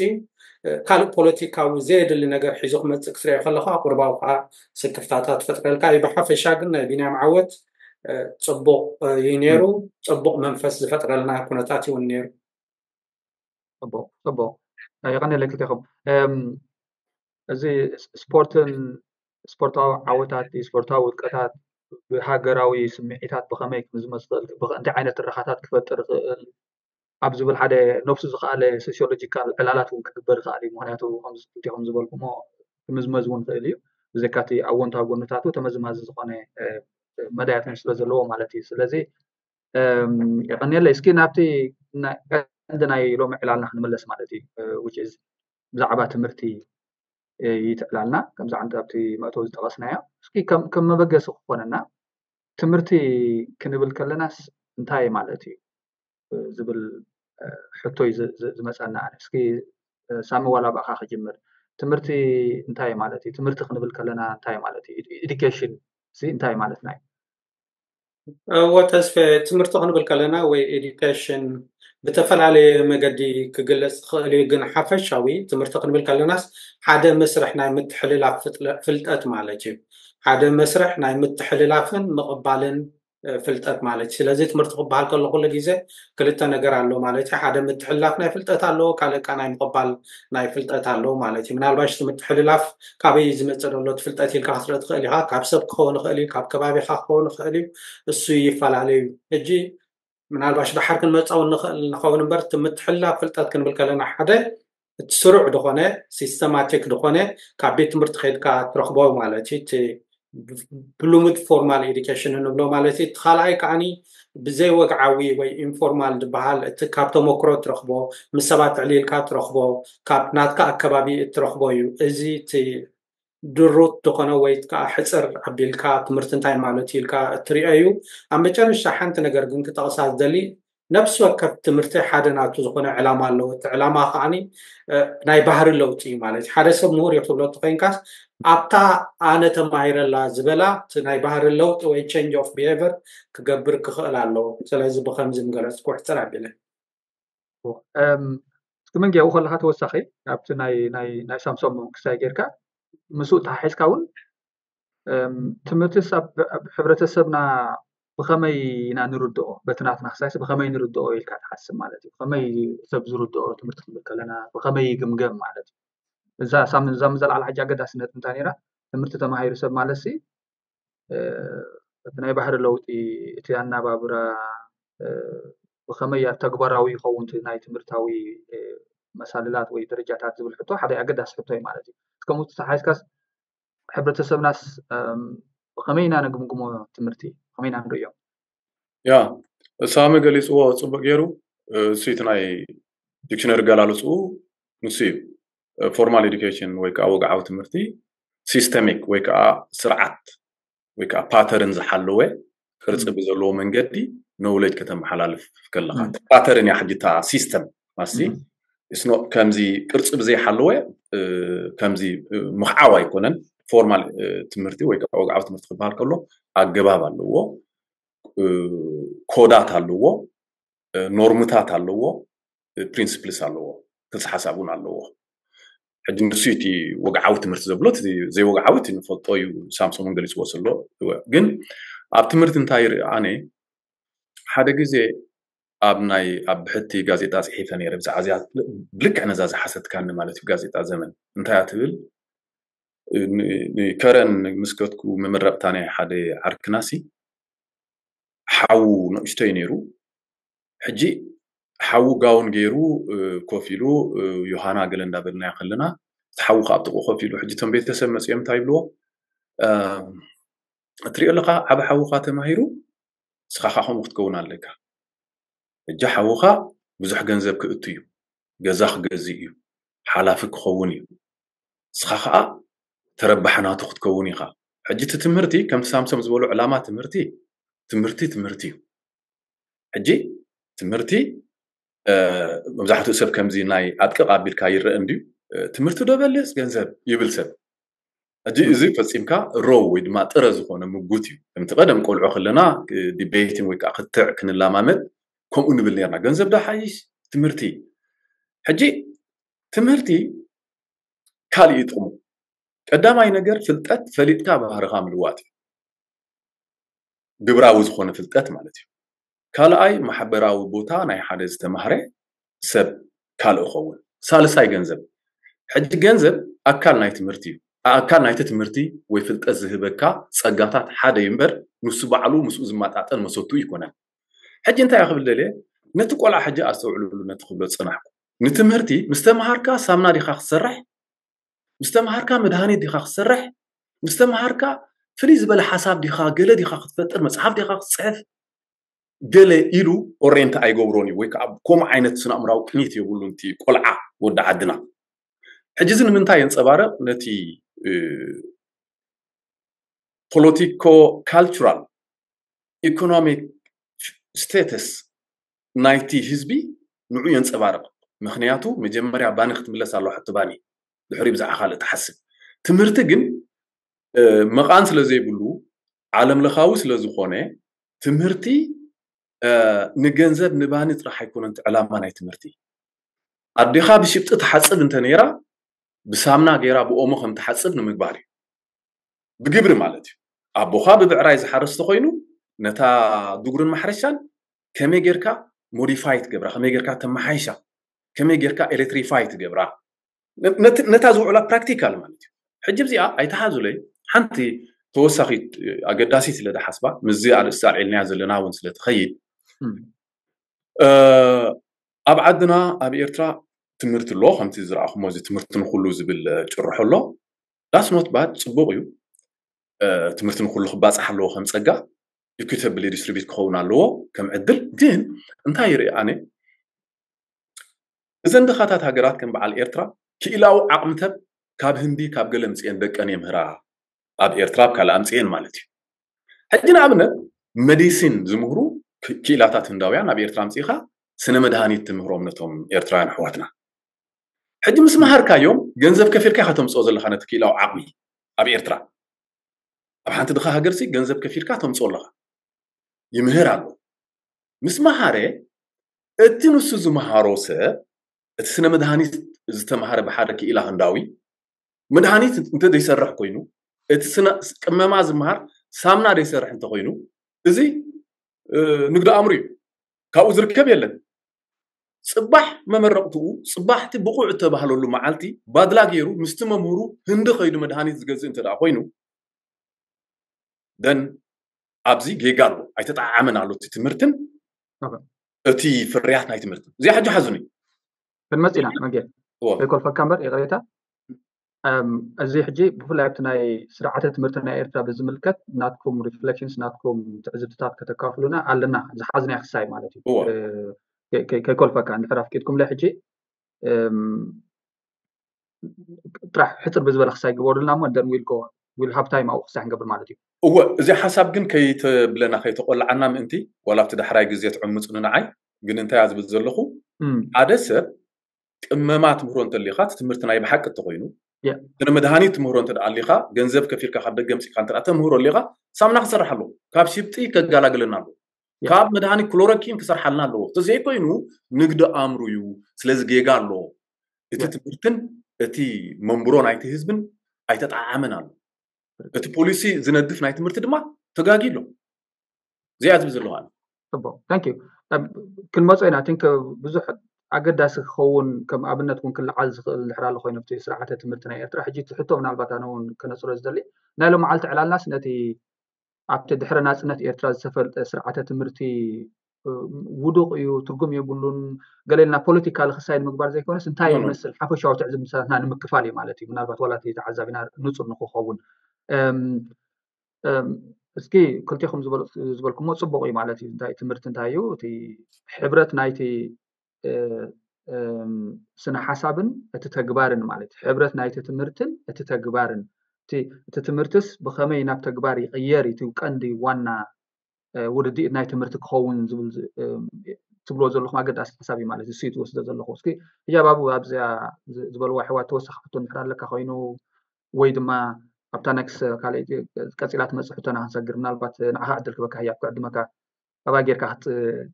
ካልእ ፖለቲካዊ ዘየድሊ ነገር ሒዙ ክመፅእ ክትሪኦ ከለካ ቁርባዊ ከዓ ስክፍታታት ትፈጥረልካ እዩ። ብሓፈሻ ግን ናይ ቢንያም ዓወት ፅቡቕ እዩ ነይሩ። ፅቡቕ መንፈስ ዝፈጥረልና ኩነታት እውን ነይሩ። ፅቡቕ ፅቡቕ። የቐንየለይ ክልቴኹም። እዚ ስፖርትን ስፖርታዊ ዓወታት ስፖርታዊ ውድቀታት ብሃገራዊ ስምዒታት ብኸመይ ክምዝመዝ ይኽእል፣ እንታይ ዓይነት ትረኻታት ክፈጥር ይኽእል ኣብ ዝብል ሓደ ነብሱ ዝኸኣለ ሶሲዮሎጂካል ዕላላት እውን ክግበር ይኽእል እዩ። ምክንያቱ ከምዚ ክልቴኹም ዝበልኩሞ ክምዝመዝ እውን ይኽእል እዩ። ብዘይካ እቲ ኣወንታዊ ጎንታቱ ተመዝማዚ ዝኾነ መዳያት እውን ስለ ዘለዎ ማለት እዩ። ስለዚ የቐንየለይ። እስኪ ናብቲ ቀንዲ ናይ ሎሚ ዕላልና ክንምለስ ማለት እዩ። Which is ብዛዕባ ትምህርቲ ይትዕላልና ከምዚ ዓንዲ ኣብቲ መእተዊ ዝጠቐስናዮ። እስኪ ከም መበገሲ ክኾነና ትምህርቲ ክንብል ከለናስ እንታይ ማለት እዩ ዝብል ሕቶይ ዝመፀና። ኣነ እስኪ ሳሚ ዋላ ብኣኻ ክጅምር። ትምህርቲ እንታይ ማለት እዩ? ትምህርቲ ክንብል ከለና እንታይ ማለት እዩ? Education እንታይ ማለትና እዩ? እወ ተስፈ፣ ትምህርቲ ክንብል ከለና ወይ education ብተፈላለየ መገዲ ክግለፅ ዝኽእል እዩ። ግን ሓፈሻዊ ትምህርቲ ክንብል ከለናስ ሓደ መስርሕ ናይ ምትሕልላፍ ፍልጠት ማለት እዩ። ሓደ መስርሕ ናይ ምትሕልላፍን ምቕባልን ፍልጠት ማለት እዩ። ስለዚ ትምህርቲ ክበሃል ከሎ ኩሉ ግዜ ክልተ ነገር ኣሎ ማለት እዩ። ሓደ ምትሕልላፍ ናይ ፍልጠት ኣለዎ፣ ካልእ ናይ ምቕባል ናይ ፍልጠት ኣለዎ ማለት እዩ። ምናልባሽ እቲ ምትሕልላፍ ካበይ ዝመፅእ ዘሎ እቲ ፍልጠት ኢልካ ክትርኢ ትኽእል ኢኻ። ካብ ሰብ ክኸውን ይኽእል እዩ፣ ካብ ከባቢኻ ክኸውን ይኽእል እዩ። እሱ ይፈላለዩ። ሕጂ ምናልባሽ ደሓር ክንመፃው ንኽእል ንኸውን እምበር እቲ ምትሕልላፍ ፍልጠት ክንብል ከለና ሓደ እቲ ስሩዕ ዝኾነ systematic ዝኾነ ካብ ቤት ትምህርቲ ከይድካ ትረኽቦ ማለት እዩ። እቲ ብሉምድ formal education እንብሎ ማለት እዩ። እቲ ካልኣይ ከዓኒ ብዘይወግዓዊ ወይ informal ዝበሃል እቲ ካብ ተመክሮ ትረኽቦ፣ ምስ ሰባት ዕሊልካ ትረኽቦ፣ ካብ ናትካ ኣከባቢ እትረኽቦ እዩ። እዚ እቲ ድሩት ዝኾነ ወይ ከዓ ሕፅር ኣቢልካ ትምህርቲ እንታይ ማለት እዩ ኢልካ እትሪኦ እዩ። ኣብ መጨረሻ ሓንቲ ነገር ግን ክጠቕሳ ዝደሊ ነፍሲ ወከፍ ትምህርቲ ሓደ ናቱ ዝኾነ ዕላማ ኣለዎ። እቲ ዕላማ ከዓኒ ናይ ባህሪ ለውጢ እዩ ማለት እዩ። ሓደ ሰብ ምሁር እዩ ክትብሎ እንተኮይንካስ ኣብታ ኣነ ተማሂረላ ዝበላ እቲ ናይ ባህሪ ለውጢ ወይ change of behavior ክገብር ክኽእል ኣለዎ። ስለዚ ብከምዚ ምገለፅኩ ሕፅር ኣቢለ እስኪ መንጊ ኣብኡ ከለካ ተወሳኺ ኣብቲ ናይ ሳምሶም ክሳይ ጌርካ ምስኡ ተሓሒዝካ እውን ትምህርትስ ኣብ ሕብረተሰብና ብኸመይ ኢና ንርድኦ? በቲ ናትና ክሳይስ ብኸመይ ንርድኦ ኢልካ ትሓስብ ማለት እዩ? ብኸመይ ሰብ ዝርድኦ ትምህርቲ ክንብል ከለና ብኸመይ ይግምገም ማለት እዩ? እዛ ሳምን እዛ ምዘለዓላ ሕጂ ኣገዳሲ ነጥቢ እንታይ ነይራ? ትምህርቲ ተማሂሩ ሰብ ማለት ሲ እቲ ናይ ባህሪ ለውጢ እቲ ኣናባብራ ብኸመይ ኣብ ተግባራዊ ይኸውን እቲ ናይ ትምህርታዊ መሳልላት ወይ ደረጃታት ዝብል ሕቶ ሓደ ኣገዳሲ ሕቶ እዩ ማለት እዩ። ከምኡ ተሓይዝካስ ሕብረተሰብናስ ብኸመይ ኢና ነግምግሞ ትምህርቲ ብኸመይ ኢና ንርእዮ? ያ ሳሚ ገሊፅዎ ፅቡቅ ገይሩ። እሱ እቲ ናይ ዲክሽነሪ ገላልፅኡ ንሱ እዩ። Formal education ወይ ከዓ ወግዓዊ ትምህርቲ systemic ወይ ከዓ ስርዓት ወይ ከዓ pattern ዝሓለወ ቅርፂ ብዘለዎ መንገዲ knowledge ከተመሓላልፍ ከለካ pattern እያ ሕጂ እታ system ማሲ ከምዚ ቅርፂ ብዘይሓለወ ከምዚ ምኽዓብ ኣይኮነን። Formal ትምህርቲ ወይ ከዓ ወግዓዊ ትምህርቲ ክበሃል ከሎ ኣገባብ ኣለዎ፣ ኮዳት ኣለዎ፣ ኖርምታት ኣለዎ፣ principles ኣለዎ፣ ክልሲ ሓሳብ እውን ኣለዎ። ሕጂ ንሱ እቲ ወግዓዊ ትምህርቲ ዘብሎ ዘይወግዓዊ እቲ ንፈልጦ እዩ። ሳምሶምን ገሊፅዎ ዘሎ ግን ኣብ ትምህርቲ እንታይ ይርኢ ኣነ ሓደ ግዜ ኣብ ናይ ኣብ ብሕቲ ጋዜጣ ፅሒፈ ነይረ ብዛዕባ እዚኣ ብልክዕ ነዛ ዝሓሰትካኒ ማለት እዩ። ጋዜጣ ዘመን እንታይ እያ ትብል? ከረን ምስ ከድኩ መመረቕታ ናይ ሓደ ዓርክናሲ ሓዉ ንእሽቶይ ነይሩ። ሕጂ ሓዉ ጋውን ገይሩ ኮፍ ኢሉ ዮሃና ገለ እንዳበልናዮ ከለና እቲ ሓዉ ከዓ ኣብ ጥቕኡ ኮፍ ኢሉ ሕጂ እቶም ቤተሰብ መፅኦም እንታይ ይብልዎ? እትሪኦ ኣለካ ዓብ ሓውካ ተማሂሩ ንስኻ ከዓ ከምኡ ክትከውን ኣለካ። ሕጂ ሓውካ ብዙሕ ገንዘብ ክእቱ እዩ፣ ገዛ ክገዝእ እዩ፣ ሓላፊ ክኸውን እዩ። ንስኻ ከዓ ተረባሒ ናቱ ክትከውን ኢኻ። ሕጂ እቲ ትምህርቲ ከምቲ ሳምሶም ዝበሎ ዕላማ ትምህርቲ ትምህርቲ ትምህርቲ እዩ። ሕጂ ትምህርቲ መብዛሕትኡ ሰብ ከምዚ ናይ ኣጥቅቕ ኣቢልካ ይረአ እንድዩ። ትምህርቲ ዶ በልፅ ገንዘብ ይብል ሰብ። ሕጂ እዚ ፈፂምካ ሮው ወይ ድማ ጥረ ዝኾነ ምጉት እዩ። ከምቲ ቀደም ቆልዑ ከለና ዲቤቲን ወይ ከዓ ክትዕ ክንላማመድ ከምኡ ንብል ነርና። ገንዘብ ዶ ሓይሽ ትምህርቲ? ሕጂ ትምህርቲ ካልእ እዩ ጥቕሙ። ቀዳማይ ነገር ፍልጠት ፈሊጥካ ባህርኻ ምልዋጥ እዩ። ግብራዊ ዝኾነ ፍልጠት ማለት እዩ። ካልኣይ ማሕበራዊ ቦታ ናይ ሓደ ዝተማህረ ሰብ ካልእ ኸውን። ሳልሳይ ገንዘብ። ሕጂ ገንዘብ ኣካል ናይ ትምህርቲ እዩ። ኣካል ናይቲ ትምህርቲ ወይ ፍልጠት ዝህበካ ፀጋታት ሓደ እዩ እምበር ንሱ ባዕሉ ምስኡ ዝመጣጠን መሰቱ ይኮነን። ሕጂ እንታይ ክብል ደልየ ነቲ ቆልዓ ሕጂ ኣስተውዕልሉ ነቲ ክብሎ ዝፀናሕኩ ንትምህርቲ ምስ ተምሃርካ ሳምና ዲኻ ክትሰርሕ ምስ ተምሃርካ መድሃኒት ዲኻ ክትሰርሕ ምስ ተምሃርካ ፍልይ ዝበለ ሓሳብ ዲኻ ገለ ዲኻ ክትፈጥር መፅሓፍ ዲኻ ክትፅሕፍ ገለ ኢሉ ኦሬንት ኣይገብሮን እዩ፣ ወይ ከዓ ከምኡ ዓይነት ስነ ኣእምራዊ ቅኒት የብሉን እቲ ቆልዓ ወዲ ዓድና። ሕጂ እዚ ንምንታይ የንፀባረቕ? ነቲ ፖለቲኮ ካልቸራል ኢኮኖሚክ ስቴተስ ናይቲ ህዝቢ ንዑ የንፀባርቕ። ምክንያቱ መጀመርያ ባኒ ክትምለስ ኣለዋ፣ ሕቶ ባኒ፣ ድሕሪ ብዛዕባ ካልእ ትሓስብ። ትምህርቲ ግን መቓን ስለ ዘይብሉ፣ ዓለም ለኻዊ ስለ ዝኾነ፣ ትምህርቲ ንገንዘብ ንባኒ ጥራሕ ኣይኮነን እቲ ዕላማ ናይ ትምህርቲ። ኣዴኻ ብሽብጢ ትሓፅብ እንተ ነይራ፣ ብሳምና ገይራ ብኦሞ ከም ትሓፅብ ንምግባር እዩ፣ ብግብሪ ማለት እዩ። ኣቦኻ ብብዕራይ ዝሓርስ ተኮይኑ፣ ነታ ዱጉርን ማሕረሻን ከመይ ጌርካ ሞዲፋይ ትገብራ፣ ከመይ ጌርካ ተመሓይሻ፣ ከመይ ጌርካ ኤሌክትሪፋይ ትገብራ፣ ነታ ዝውዕላ ፕራክቲካል ማለት እዩ። ሕጂ እዚኣ ኣይተሓዙለይ፣ ሓንቲ ተወሳኺት ኣገዳሲት ስለ ዝሓስባ፣ ምስዚ ኣርእስቲ ኣልዒልናያ ዘለና እውን ስለ ትኸይድ፣ ኣብ ዓድና ኣብ ኤርትራ ትምህርቲ ኣሎ። ከምቲ ዝረኣኹሞ እዚ ትምህርቲ ንኩሉ ዝብል ጭርሖ ኣሎ። ዳስ ኖት ባድ፣ ፅቡቕ እዩ። ትምህርቲ ንኩሉ ክባፃሕ ኣለዎ ከም ፀጋ፣ ኢኩተብሊ ዲስትሪቢዩት ክኸውን ኣለዎ ከም ዕድል። ግን እንታይ ይርኢ ኣነ፣ እዘን ድኻታት ሃገራት ከም በዓል ኤርትራ ክኢላዊ ዓቕምተብ ካብ ህንዲ ካብ ገለ ምፅኤን ደቀን የምህራ፣ ኣብ ኤርትራ ኣብ ካልእ ኣምፅኤን ማለት እዩ። ሕጂ ንኣብነት መዲሲን ዝምህሩ ክኢላታት ህንዳውያን ኣብ ኤርትራ ኣምፅኢኻ ስነ መድሃኒት ትምህሮም ነቶም ኤርትራውያን ኣሕዋትና። ሕጂ ምስ መሃርካዮም ገንዘብ ከፊልካ ኢኻ ተምፅኦ ዘለኻ ነቲ ክኢላዊ ዓቕሚ ኣብ ኤርትራ። ኣብ ሓንቲ ድኻ ሃገርሲ ገንዘብ ከፊልካ ተምፅኦ ኣለኻ። ይምህር ኣሎ። ምስ መሃረ እቲ ንሱ ዝመሃሮ ሰብ፣ እቲ ስነ መድሃኒት ዝተምሃረ ብሓደ ክኢላ ህንዳዊ፣ መድሃኒት እንተ ዘይሰርሕ ኮይኑ፣ እቲ ስነ ቅመማ ዝምሃር ሳምና ዘይሰርሕ እንተኮይኑ፣ እዚ ንግዲ ኣእምሩ እዩ። ካብኡ ዝርከብ የለን። ፅባሕ መመረቕትኡ፣ ፅባሕቲ ብቑዕ እተባህለሉ መዓልቲ ባድላ ገይሩ ምስቲ መምህሩ ህንዲ ከይዱ መድሃኒት ዝገዝእ እንተ ደኣ ኮይኑ፣ ደን ኣብዚ ጌጋ ኣሎ፣ ኣይተጠዓዓመን ኣሎ እቲ ትምህርትን እቲ ፍርያት ናይ ትምህርትን። እዚኣ ሕጂ ሓዙኒ። ክንመፅ ኢና መጌ። ከይኮልፈካ እምበር ይቕሬታ። እዚ ሕጂ ብፍላይ ኣብቲ ናይ ስርዓተ ትምህርቲ ናይ ኤርትራ ብዝምልከት ናትኩም ሪፍሌክሽንስ፣ ናትኩም ትዕዝብትታት ከተካፍሉና ኣለና፣ ዝሓዝናዮ ክሳይ ማለት እዩ። ከይኮልፈካ እንድሕር ኣፍቂድኩምለ ሕጂ ጥራሕ ሕፅር ብዝበለ ክሳይ ግበሩልና እሞ፣ ደን ዊል ጎ ዊል ሃብ ታይም ኣብኡ ክሳይ ክንገብር ማለት እዩ። እወ፣ እዚ ሓሳብ ግን ከይተብለና ከይተቆልዓና ምእንቲ፣ ዋላ ኣብቲ ዳሕራይ ግዜ ትዕምፁኒ ንዓይ። ግን እንታይ እያ ዝብል ዘለኹ፣ ሓደ ሰብ ቅመማ ትምህሮ እንተሊኻ፣ እቲ ትምህርቲ ናይ ብሓቂ እንተኮይኑ፣ ስነ መድሃኒት ትምህሮ እንተ ኣሊኻ፣ ገንዘብ ከፊልካ ካብ ደገ ምፅኢካ እንተ ተምህሮ ኣሊኻ፣ ሳምና ክሰርሕ ኣለዎ። ካብ ሽብጢ ከጋላግለና ኣለዎ። ካብ መድሃኒት ክሎሮኪን ክሰርሓልና ኣለዎ። እንተዘይኮይኑ ንግዲ ኣእምሩ እዩ። ስለዚ ጌጋ ኣለዎ። እቲ ትምህርትን እቲ መንብሮ ናይቲ ህዝብን ኣይተጠዓዓመን ኣሎ። እቲ ፖሊሲ ዝነድፍ ናይ ትምህርቲ ድማ ተጋጊ ኣሎ። እዚኣ ዝብል ዘለኹ ኣነ። ፅቡቅ፣ ታንክ ዩ። ክንመፆ ኢና። ቲንክ ብዙሕ ኣገዳሲ ክኸውን፣ ከም ኣብነት እውን ክለዓል ዝኽእል እንድሕር ኣሎ ኮይኑ ኣብቲ ስርዓተ ትምህርቲ ናይ ኤርትራ ሕጂ እቲ ሕቶ ምናልባት ኣነ እውን ከነፅሮ ዝደሊ፣ ናይ ሎመዓልቲ ዕላልናስ ነቲ ኣብቲ ድሕሪ ናፅነት ኤርትራ ዝተፈልጠ ስርዓተ ትምህርቲ ውዱቕ እዩ፣ ትርጉም የብሉን፣ ገለ ኢልና ፖለቲካሊ ክሳይ ንምግባር ዘይኮነስ እንታይ ይመስል ሓፈሻዊ ትዕዝብትታትና ንምክፋል እዩ ማለት እዩ። ምናልባት ዋላ እቲ ተዓዛቢና ንፁር ንክኸውን እስኪ ክልቴኹም ዝበልኩሞ ፅቡቕ እዩ ማለት እዩ። እንታይ ትምህርቲ እንታይ እዩ? እቲ ሕብረት ናይቲ ስነ ሓሳብን እቲ ተግባርን ማለት እዩ። ሕብረት ናይቲ ትምህርትን እቲ ተግባርን፣ እቲ ትምህርትስ ብኸመይ ናብ ተግባር ይቕየር እዩ እቲ ቀንዲ ዋና ውድድኢት ናይ ትምህርቲ ክኸውን ዝብል ትብልዎ ዘለኹም ኣገዳሲ ሓሳብ እዩ ማለት እዩ። እሱ እዩ ትወስዶ ዘለኹ። እስኪ ህጃብ ኣብኡ ኣብዚኣ ዝበልዋ ኣሕዋት ተወሳኺ ሕቶ እንድሕር ኣለካ ኮይኑ ወይ ድማ ኣብታ ነክስ ካልእ ቀፂላ ትመፅእ ሕቶና ክንሰግር፣ ምናልባት ንዓኻ ዕድል ክበካ ህያብ ክዕድመካ፣ ኣባይ ጌርካ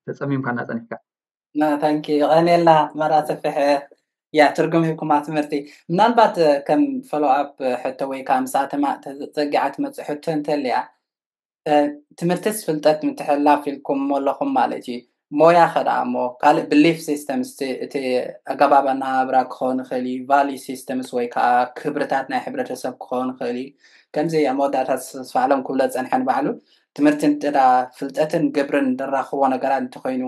ተፀሚምካና ፀኒሕካ። ታንኪ ቀኔልና መራ ሰፍሐ። ያ ትርጉም ሂብኩማ ትምህርቲ። ምናልባት ከም ፎሎ ኣፕ ሕቶ ወይ ከዓ ምስኣ ተጸጊዓ ትመፅእ ሕቶ እንተልያ፣ ትምህርትስ ፍልጠት ምትሕልላፍ ኢልኩም ኣለኹም ማለት እዩ። ሞያ ከ ደኣ እሞ ካልእ ብሊፍ ሲስተምስ፣ እቲ ኣገባብ ኣነባብራ ክኸውን ይኽእል እዩ፣ ቫልዩ ሲስተምስ ወይ ከዓ ክብርታት ናይ ሕብረተሰብ ክኸውን ይኽእል እዩ። ከምዚ ኣብ መወዳእታ ተስፋ ኣለም ክብሎ ዝፀንሐ ንባዕሉ፣ ትምህርቲ እንተ ደኣ ፍልጠትን ግብርን ዘራኽቦ ነገራት እንተኾይኑ፣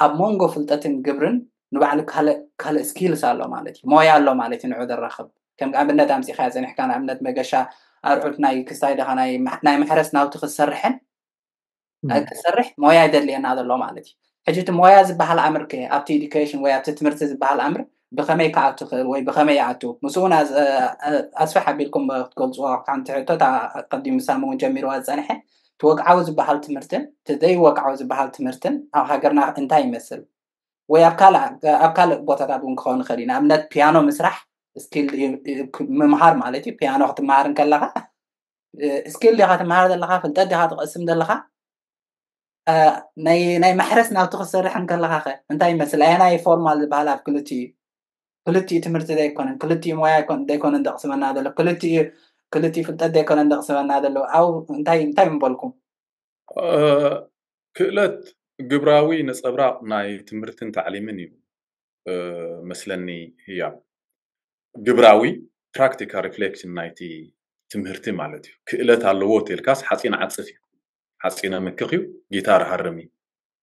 ኣብ መንጎ ፍልጠትን ግብርን ንባዕሉ ካልእ ካልእ ስኪልስ ኣሎ ማለት እዩ፣ ሞያ ኣሎ ማለት እዩ ንዑ ዘራኽብ። ከም ኣብነት ኣምፂኻዮ ፀኒሕካ፣ ንኣብነት መገሻ ኣርዑት ናይ ክስታይ ደኻ ናይ ማሕረስ ናውቲ ክትሰርሕን ክሰርሕ ሞያ ይደልየና ዘሎ ማለት እዩ። ሕጂ እቲ ሞያ ዝበሃል ኣምር ከ ኣብቲ ኤዱኬሽን ወይ ኣብቲ ትምህርቲ ዝበሃል ኣምር ብኸመይ ክኣቱ ክእል ወይ ብኸመይ ይኣቱ? ምስኡ እውን ኣዝ- እ- ኣስፍሕ ኣቢልኩም ክትገልፅዎ ሓንቲ ሕቶ፣ እታ ቀዲሙ ሳሚ እውን ጀሚርዋ ዝፀንሐ፣ እቲ ወግዓዊ ዝበሃል ትምህርትን እቲ ዘይወግዓዊ ዝበሃል ትምህርትን ኣብ ሃገርና እንታይ ይመስል? ወይ ኣብ ካልእ ኣብ ካልእ ቦታታት እውን ክኸውን ይኽእል እዩ። ንኣብነት ፒያኖ ምስራሕ ስኪል ምምሃር ማለት እዩ። ፒያኖ ክትመሃር እንከለኻ ስኪል ዲኻ ትመሃር ዘለኻ፣ ፍልጠት ዲኻ ትቐስም ዘለኻ፣ እ፣ ናይ ናይ ማሕረስ ናብቲ ክትሰርሕ እንከለኻ ኸ እንታይ ይመስል? ኣየናይ ፎርማል ዝበሃል ኣብ ክልቲኡ ክልቲኡ ትምህርቲ ዘይኮነን ክልቲኡ ሞያ ኣይኮን ዘይኮነን ደቕስመና ዘሎ ክልቲኡ ክልቲኡ ፍልጠት ዘይኮነን ደቕስመና ዘሎ? ኣብ እንታይ እንታይ ምበልኩም? ክእለት ግብራዊ ነጸብራቕ ናይ ትምህርትን ታዕሊምን እዩ መስለኒ። ህያብ ግብራዊ ፕራክቲካል ሪፍሌክሽን ናይቲ ትምህርቲ ማለት እዩ። ክእለት ኣለዎ ተልካስ ሓፂን ዓፅፍ እዩ፣ ሓፂነ ምክኽ እዩ፣ ጊታር ሃርም እዩ።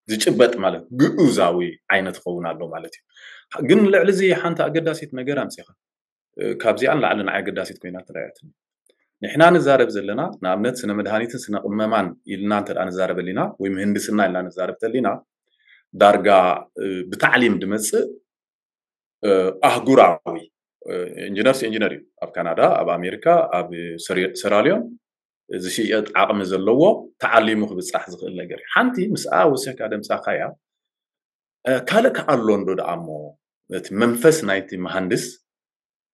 ዝጭበጥ ማለት ግኡዛዊ ዓይነት ኸውን ኣሎ ማለት እዩ። ግን ልዕሊ እዚ ሓንቲ ኣገዳሲት ነገር ኣምፂኻ፣ ካብዚኣ ንላዕሊ ንዓይ ኣገዳሲት ኮይና ተረኣያትኒ። ንሕና ንዛረብ ዘለና ንኣብነት ስነ መድሃኒትን ስነ ቅመማን ኢልና እንተ ንዛረብ ኣሊና ወይ ምህንድስና ኢልና ንዛረብ ተሊና ዳርጋ ብታዕሊም ድመፅእ ኣህጉራዊ ኢንጂነርስ ኢንጂነር እዩ። ኣብ ካናዳ፣ ኣብ ኣሜሪካ፣ ኣብ ሰራሊዮን ዝሽየጥ ዓቕሚ ዘለዎ ተዓሊሙ ክብፃሕ ዝኽእል ነገር እዩ። ሓንቲ ምስኣ ወሲኽካ ደምፃኻያ ካልእ ከኣሎ እንዶ ደኣ እሞ እቲ መንፈስ ናይቲ መሃንድስ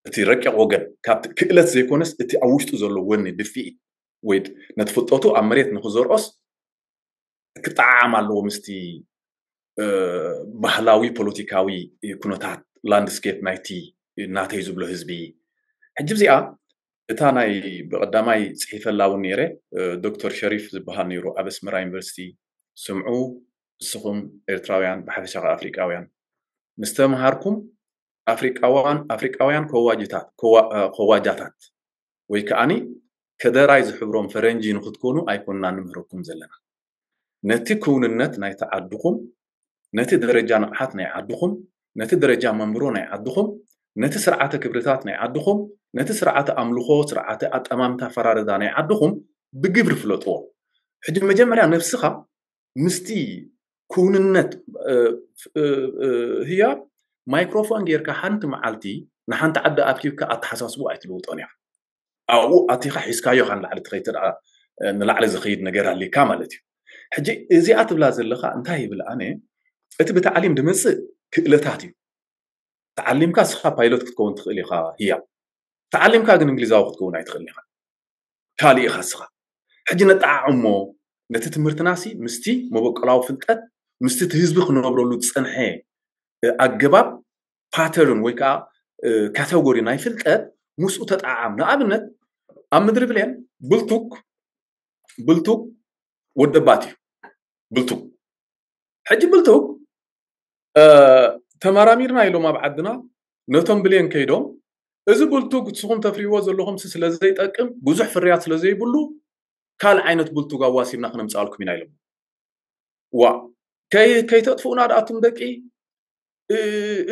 እቲ ረቂቕ ወገን ካብቲ ክእለት ዘይኮነስ እቲ ኣብ ውሽጡ ዘሎ ወኒ ድፍኢት ወይ ነቲ ፍልጠቱ ኣብ መሬት ንክዘርኦስ ክጠዓዓም ኣለዎ ምስቲ ባህላዊ ፖለቲካዊ ኩነታት ላንድስኬፕ ናይቲ ናተይ ዝብሎ ህዝቢ። ሕጂ እዚኣ እታ ናይ ብቐዳማይ ፅሒፈላ እውን ነይረ ዶክተር ሸሪፍ ዝበሃል ነይሩ ኣብ ኣስመራ ዩኒቨርሲቲ። ስምዑ ንስኹም ኤርትራውያን ብሓፈሻ ኣፍሪቃውያን ምስ ተምሃርኩም ኣፍሪቃውያን ኣፍሪቃውያን ከዋጅታት ከዋጃታት ወይ ከዓኒ ከደራይ ዝሕብሮም ፈረንጂ ንክትኮኑ ኣይኮንና ንምህረኩም ዘለና። ነቲ ክውንነት ናይቲ ዓድኹም፣ ነቲ ደረጃ ንቕሓት ናይ ዓድኹም፣ ነቲ ደረጃ መንብሮ ናይ ዓድኹም፣ ነቲ ስርዓተ ክብርታት ናይ ዓድኹም፣ ነቲ ስርዓተ ኣምልኾ፣ ስርዓተ ኣጠማምታ ፈራረዳ ናይ ዓድኹም ብግብሪ ፍለጥዎ። ሕጂ መጀመርያ ነብስኻ ምስቲ ክውንነት ህያብ ማይክሮፎን ጌርካ ሓንቲ መዓልቲ ንሓንቲ ዓዲ ኣኪብካ ኣተሓሳስቡ ኣይትልውጦን ኢኻ። ኣብኡ ኣቲኻ ሒዝካዮ ኢኻ ንላዕሊ ትኸይድ፣ ንላዕሊ ዝኸይድ ነገር ኣሊካ ማለት እዩ። ሕጂ እዚኣ ትብላ ዘለኻ እንታይ ይብል ኣነ፣ እቲ ብታዕሊም ድመፅእ ክእለታት እዩ። ተዓሊምካ እስኻ ፓይሎት ክትከውን ትኽእል ኢኻ ህያብ። ተዓሊምካ ግን እንግሊዛዊ ክትከውን ኣይትኽእል ኢኻ። ካልእ ኢኻ እስኻ። ሕጂ ነጠዓዕሞ ነቲ ትምህርትናሲ ምስቲ መበቆላዊ ፍልጠት ምስቲ እቲ ህዝቢ ክነብረሉ ዝፀንሐ ኣገባብ ፓተርን ወይ ከዓ ካተጎሪ ናይ ፍልጠት ምስኡ ተጠዓዓም። ንኣብነት ኣብ ምድሪ ብሌን ብልቱክ ብልቱክ ወደባት እዩ። ብልቱክ ሕጂ ብልቱክ ተመራሚርና ኢሎም ኣብ ዓድና ነቶም ብሌን ከይዶም እዚ ብልቱግ ንስኹም ተፍርይዎ ዘለኹም ስለ ዘይጠቅም ብዙሕ ፍርያት ስለ ዘይብሉ ካልእ ዓይነት ብልቱግ ኣዋሲብና ክነምፅኣልኩም ኢና ኢሎም። ዋ ከይተጥፍኡና ደኣቱም ደቂ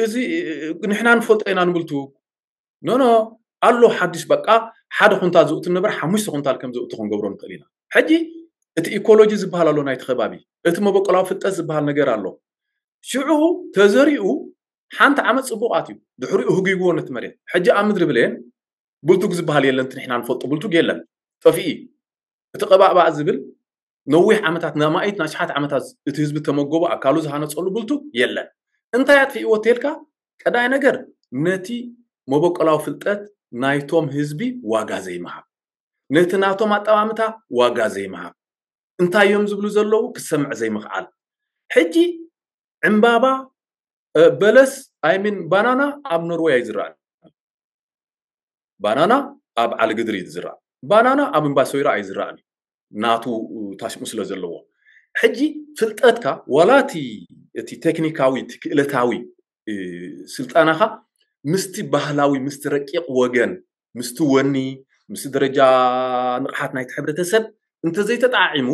እዚ ንሕና ንፈልጦ ኢና ንብልቱግ ኖኖ ኣሎ ሓድሽ በቃ ሓደ ኩንታል ዝእቱ ነበር ሓሙሽተ ኩንታል ከም ዝእቱ ክንገብሮ ንኽእል ኢና። ሕጂ እቲ ኢኮሎጂ ዝበሃል ኣሎ ናይቲ ከባቢ፣ እቲ መበቆላዊ ፍልጠት ዝበሃል ነገር ኣሎ። ሽዑ ተዘሪኡ ሓንቲ ዓመት ፅቡቕ ኣትዩ፣ ድሕሪኡ ህጉይግዎ ነቲ መሬት። ሕጂ ኣብ ምድሪ ብሌን ብልቱግ ዝበሃል የለን፣ እቲ ንሕና ንፈልጦ ብልቱግ የለን፣ ጠፊኡ እዩ። እቲ ቀባእባእ ዝብል ነዊሕ ዓመታት ንኣማኢት ንኣሽሓት ዓመታት እቲ ህዝቢ ተመገቦ ኣካሉ ዝሃነፀሉ ብልቱግ የለን። እንታይ ኣጥፊእዎ ተልካ ቀዳይ ነገር ነቲ መበቆላዊ ፍልጠት ናይቶም ህዝቢ ዋጋ ዘይምሃብ፣ ነቲ ናቶም ኣጠማምታ ዋጋ ዘይምሃብ፣ እንታይ እዮም ዝብሉ ዘለዉ ክሰምዕ ዘይምኽኣል። ሕጂ ዕምባባ በለስ ኣይሚን ባናና ኣብ ኖርወይ ኣይዝራእን። ባናና ኣብ ዓሊ ግድሪ ዝራእ፣ ባናና ኣብ እምባሶይራ ኣይዝራእን፣ ናቱ ታሽሙ ስለ ዘለዎ። ሕጂ ፍልጠትካ ዋላ እቲ ቴክኒካዊ እቲ ክእለታዊ ስልጠናኻ ምስቲ ባህላዊ ምስቲ ረቂቕ ወገን ምስቲ ወኒ ምስቲ ደረጃ ንቕሓት ናይቲ ሕብረተሰብ እንተዘይተጣዒሙ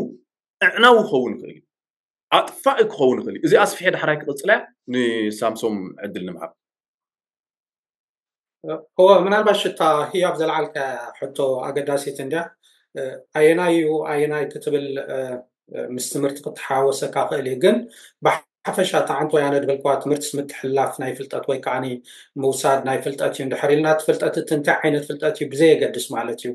ኣዕናዊ ክኸውን ይኽእል እዩ፣ ኣጥፋኢ ክኸውን ይኽእል እዩ። እዚ ኣስፍሐ ዳሕራይ ክቕፅላ ንሳምሶም ዕድል ንምሃብ። እወ፣ ምናልባሽ እታ ህያብ ዘልዓልካ ሕቶ ኣገዳሲት እንድያ። ኣየናይ እዩ ኣየናይ ክትብል ምስ ትምህርቲ ክትሓወሰካ ክእል እዩ። ግን ብሓፈሻ ተዓንቶ ያነ ድበልኳ ትምህርትስ ምትሕልላፍ ናይ ፍልጠት ወይ ከዓኒ ምውሳድ ናይ ፍልጠት እዩ። እንድሕር ኢልና እቲ ፍልጠት እቲ እንታይ ዓይነት ፍልጠት እዩ ብዘየገድስ ማለት እዩ።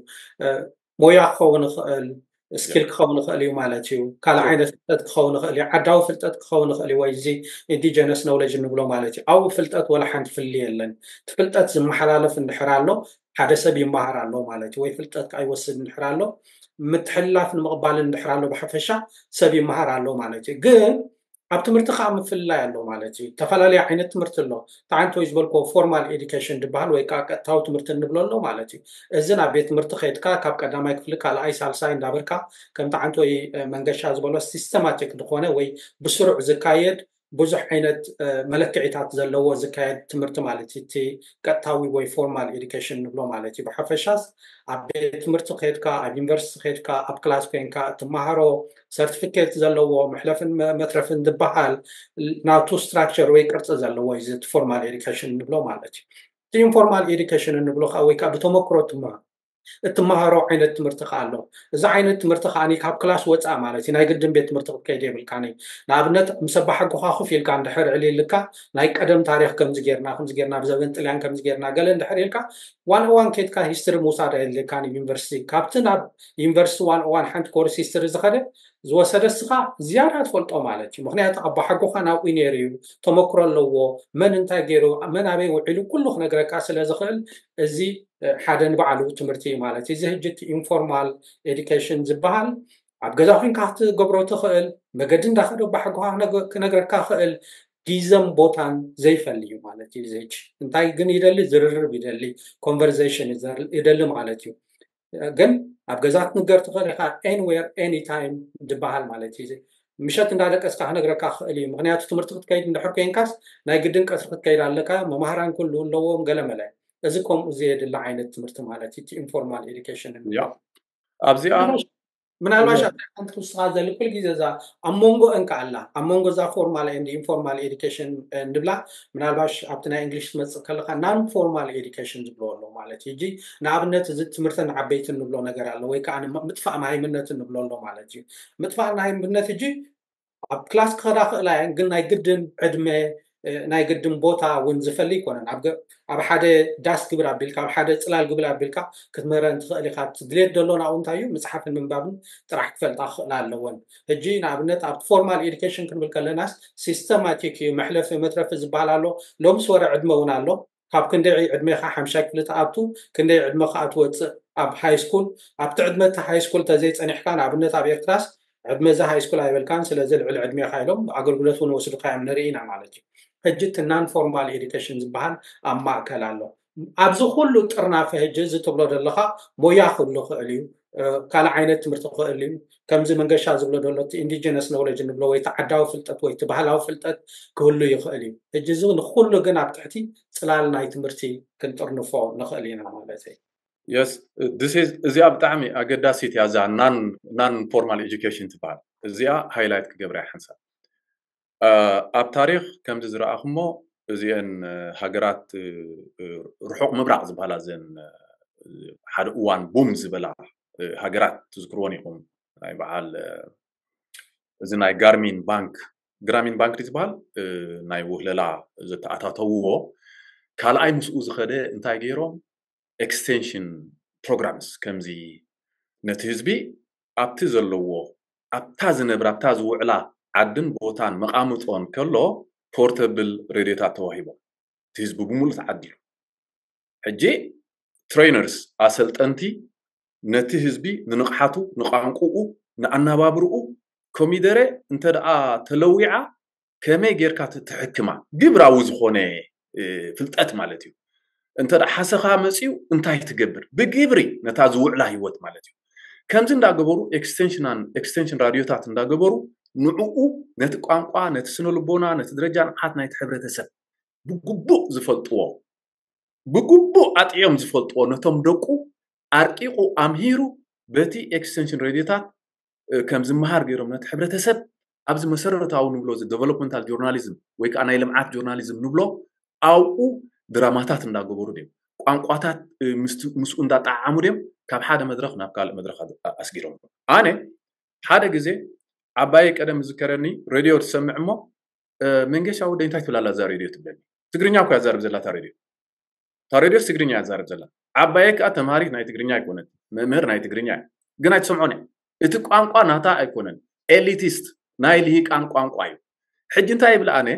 ሞያ ክኸውን ይኽእል፣ ስኪል ክኸውን ይኽእል እዩ ማለት እዩ። ካልእ ዓይነት ፍልጠት ክኸውን ይኽእል እዩ፣ ዓዳዊ ፍልጠት ክኸውን ይኽእል እዩ፣ ወይ እዚ ኢንዲጀነስ ኖውለጅ እንብሎ ማለት እዩ። ኣብኡ ፍልጠት ወላ ሓንቲ ፍልልይ የለን። እቲ ፍልጠት ዝመሓላለፍ እንድሕር ኣሎ ሓደ ሰብ ይመሃር ኣሎ ማለት እዩ፣ ወይ ፍልጠት ከዓ ይወስድ እንድሕር ኣሎ፣ ምትሕልላፍ ንምቕባል እንድሕር ኣሎ ብሓፈሻ ሰብ ይመሃር ኣሎ ማለት እዩ። ግን ኣብ ትምህርቲ ከዓ ምፍልላይ ኣሎ ማለት እዩ። ዝተፈላለዩ ዓይነት ትምህርቲ ኣሎ። ተዓንቶ ዝበልኮ ፎርማል ኤዱኬሽን ዝበሃል ወይ ከዓ ቀጥታዊ ትምህርቲ እንብሎ ኣሎ ማለት እዩ። እዚ ናብ ቤት ትምህርቲ ከይድካ ካብ ቀዳማይ ክፍሊ ካልኣይ ሳልሳይ እንዳበርካ ከም ተዓንቶ መንገሻ ዝበሎ ሲስተማቲክ ዝኾነ ወይ ብስሩዕ ዝካየድ ብዙሕ ዓይነት መለክዒታት ዘለዎ ዝካየድ ትምህርቲ ማለት እዩ። እቲ ቀጥታዊ ወይ ፎርማል ኤዱኬሽን ንብሎ ማለት እዩ። ብሓፈሻስ ኣብ ቤት ትምህርቲ ከድካ፣ ኣብ ዩኒቨርሲቲ ከድካ፣ ኣብ ክላስ ኮይንካ እትመሃሮ ሰርቲፊኬት ዘለዎ መሕለፍን መትረፍን ዝበሃል ናቱ ስትራክቸር ወይ ቅርፂ ዘለዎ እዩ። እቲ ፎርማል ኤዱኬሽን ንብሎ ማለት እዩ። እቲ ኢንፎርማል ኤዱኬሽን እንብሎ ከዓ ወይ ከዓ ብተመክሮ ትመሃር እትመሃሮ ዓይነት ትምህርቲ ከዓ ኣሎ። እዚ ዓይነት ትምህርቲ ከዓ ካብ ክላስ ወፃእ ማለት እዩ። ናይ ግድን ቤት ትምህርቲ ክትከይድ የብልካኒ። ንኣብነት ምስ ኣባሓጎኻ ኮፍ ኢልካ እንድሕር ዕሊልካ ናይ ቀደም ታሪክ ከምዚ ጌርና ከምዚ ጌርና ብዘበን ጥልያን ከምዚ ጌርና ገለ እንድሕር ኢልካ ዋን ኦዋን ኬድካ ሂስትሪ ምውሳድ ኣየድልየካን እዩ። ዩኒቨርሲቲ ካብቲ ናብ ዩኒቨርሲቲ ዋን ኦዋን ሓንቲ ኮርስ ሂስትሪ ዝኸደ ዝወሰደ እስኻ ዝያዳ ትፈልጦ ማለት እዩ። ምክንያቱ ኣባሓጎኻ ናብኡ ነይሩ እዩ፣ ተመክሮ ኣለዎ፣ መን እንታይ ገይሩ መን ኣበይ ውዒሉ ኩሉ ክነግረካ ስለ ዝኽእል እዚ ሓደ ንባዕሉ ትምህርቲ እዩ ማለት እዩ። እዚ ሕጂ እቲ ኢንፎርማል ኤዱኬሽን ዝበሃል ኣብ ገዛ ኮንካ ክትገብሮ ትኽእል፣ መገዲ እንዳኸደ ኣባሓጎኻ ክነግረካ ክእል፣ ጊዘን ቦታን ዘይፈሊ እዩ ማለት እዩ። እዚ ሕጂ እንታይ ግን ይደሊ? ዝርርብ ይደሊ፣ ኮንቨርሴሽን ይደሊ ማለት እዩ። ግን ኣብ ገዛ ክትንገር ትኽእል ኢኻ። ኤኒዌር ኤኒታይም ዝበሃል ማለት እዩ። ምሸት እንዳደቀስካ ክነግረካ ክእል እዩ። ምክንያቱ ትምህርቲ ክትከይድ እንድሕር ኮይንካስ ናይ ግድን ቀትሪ ክትከይድ ኣለካ። መማህራን ኩሉ ኣለዎም ገለመለ። እዚ ከምኡ ዘየድሊ ዓይነት ትምህርቲ ማለት እዩ። ኢንፎርማል ኤዱኬሽን ኣብዚኣ ምናልባሽ ኣብታ ሓንቲ ክውስኻ ዘሊ ኩል ግዜ እዛ ኣብ መንጎ እንካ ኣላ ኣብ መንጎ እዛ ፎርማል ኤንድ ኢንፎርማል ኤዱኬሽን እንብላ ምናልባሽ ኣብቲ ናይ እንግሊሽ ትመፅእ ከለካ ናን ፎርማል ኤዱኬሽን ዝብሎ ኣሎ ማለት እዩ። ንኣብነት እዚ ትምህርትን ዓበይትን ንብሎ ነገር ኣሎ ወይ ከዓ ምጥፋእ መሃይምነትን ንብሎ ኣሎ ማለት እዩ። ምጥፋእ መሃይምነት እጂ ኣብ ክላስ ክኸዳ ክእላ እየን ግን ናይ ግድን ዕድመ ናይ ግድን ቦታ እውን ዝፈሊ ይኮነን። ኣብ ሓደ ዳስ ግብር ኣቢልካ ኣብ ሓደ ፅላል ግብል ኣቢልካ ክትምህረን ትኽእል ኢካ። ድሌት ደሎ ናብኡ እንታይ እዩ? መፅሓፍን ምንባብን ጥራሕ ክፈልጣ ክኽእላ ኣለወን። ሕጂ ንኣብነት ኣብ ፎርማል ኤዱኬሽን ክንብል ከለናስ ሲስተማቲክ እዩ። መሕለፊ መትረፊ ዝበሃል ኣሎ። ሎምስ ወረ ዕድመ እውን ኣሎ። ካብ ክንደይ ዕድሜኻ ሓምሻይ ክፍሊ ትኣቱ ክንደይ ዕድመ ከዓ ትወፅእ ኣብ ሃይ ስኩል ኣብቲ ዕድመ እቲ ሃይ ስኩል ተዘይፀኒሕካ ንኣብነት ኣብ ኤርትራስ ዕድመ እዚ ሃይ ስኩል ኣይበልካን ስለዚ ልዕሊ ዕድሜኻ ኢሎም ኣገልግሎት እውን ወስዱካ እዮም ንርኢ ኢና ማለት እዩ። ሕጂ እቲ ናን ፎርማል ኤዱኬሽን ዝበሃል ኣብ ማእከል ኣሎ። ኣብዚ ኩሉ ጥርናፈ ሕጂ እዚ ትብሎ ዘለካ ሞያ ክህሉ ክእል እዩ። ካልእ ዓይነት ትምህርቲ ክእል እዩ። ከምዚ መንገሻ ዝብሎ ዘሎ እቲ ኢንዲጀነስ ኖውለጅ ንብሎ ወይ እቲ ዓዳዊ ፍልጠት ወይ እቲ ባህላዊ ፍልጠት ክህሉ ይኽእል እዩ። ሕጂ እዚ ንኩሉ ግን ኣብ ትሕቲ ፅላል ናይ ትምህርቲ ክንጥርንፎ ንኽእል ኢና ማለት እዩ። የስ እዚኣ ብጣዕሚ ኣገዳሲት እያ እዛ ናን ፎርማል ኤዱኬሽን ትበሃል። እዚኣ ሃይላይት ክገብራ ሓንሳብ ኣብ ታሪክ ከምዚ ዝረኣኹሞ እዚአን ሃገራት ርሑቕ ምብራቕ ዝበሃላ ዘን ሓደ እዋን ቡም ዝበላ ሃገራት ትዝክርዎን ኢኹም። ናይ በዓል እዚ ናይ ጋርሚን ባንክ ግራሚን ባንክ ዝበሃል ናይ ውህለላ ዘተኣታተውዎ ካልኣይ ምስኡ ዝኸደ እንታይ ገይሮም ኤክስቴንሽን ፕሮግራምስ ከምዚ ነቲ ህዝቢ ኣብቲ ዘለዎ ኣብታ ዝነብር ኣብታ ዝውዕላ ዓድን ቦታን መቓምጦን ከሎ ፖርተብል ሬድዮታት ተዋሂቦም እቲ ህዝቢ ብምሉእ ተዓዲሉ ሕጂ ትሬነርስ ኣሰልጠንቲ ነቲ ህዝቢ ንንቕሓቱ ንቋንቁኡ ንኣነባብርኡ ኮሚደረ እንተ ደኣ ተለዊዓ ከመይ ጌርካ ትሕክማ ግብራዊ ዝኾነ ፍልጠት ማለት እዩ። እንተ ደኣ ሓሰኻ መፅዩ እንታይ ትገብር ብግብሪ ነታ ዝውዕላ ህይወት ማለት እዩ። ከምዚ እንዳገበሩ ኤክስቴንሽን ራድዮታት እንዳገበሩ ንዕኡ ነቲ ቋንቋ ነቲ ስነ ልቦና ነቲ ደረጃ ንቕሓት ናይቲ ሕብረተሰብ ብግቡእ ዝፈልጥዎ ብግቡእ ኣጥዕዮም ዝፈልጥዎ ነቶም ደቁ ኣርቂቑ ኣምሂሩ በቲ ኤክስቴንሽን ሬድዮታት ከም ዝመሃር ገይሮም ነቲ ሕብረተሰብ ኣብዚ መሰረታዊ ንብሎ እዚ ዴቨሎፕመንታል ጆርናሊዝም ወይ ከዓ ናይ ልምዓት ጆርናሊዝም ንብሎ ኣብኡ ድራማታት እንዳገበሩ ድዮም ቋንቋታት ምስኡ እንዳጠዓዓሙ ድዮም ካብ ሓደ መድረክ ናብ ካልእ መድረክ ኣስጊሮም። ኣነ ሓደ ግዜ ዓባየ ቀደም ዝከረኒ ሬድዮ ትሰምዕ እሞ፣ "መንገሻ ወደይ እንታይ ትብላላ እዛ ሬድዮ?" ትብለኒ። ትግርኛ እኮ ያዛርብ ዘላ እታ ሬድዮ። እታ ሬድዮስ ትግርኛ ያዛርብ ዘላ። ዓባየ ከኣ ተምሃሪት ናይ ትግርኛ ኣይኮነትን፣ መምህር ናይ ትግርኛ እዩ። ግን ኣይትሰምዖን እያ። እቲ ቋንቋ ናታ ኣይኮነን። ኤሊቲስት፣ ናይ ልሂቃን ቋንቋ እዩ። ሕጂ እንታይ ይብል ኣነ?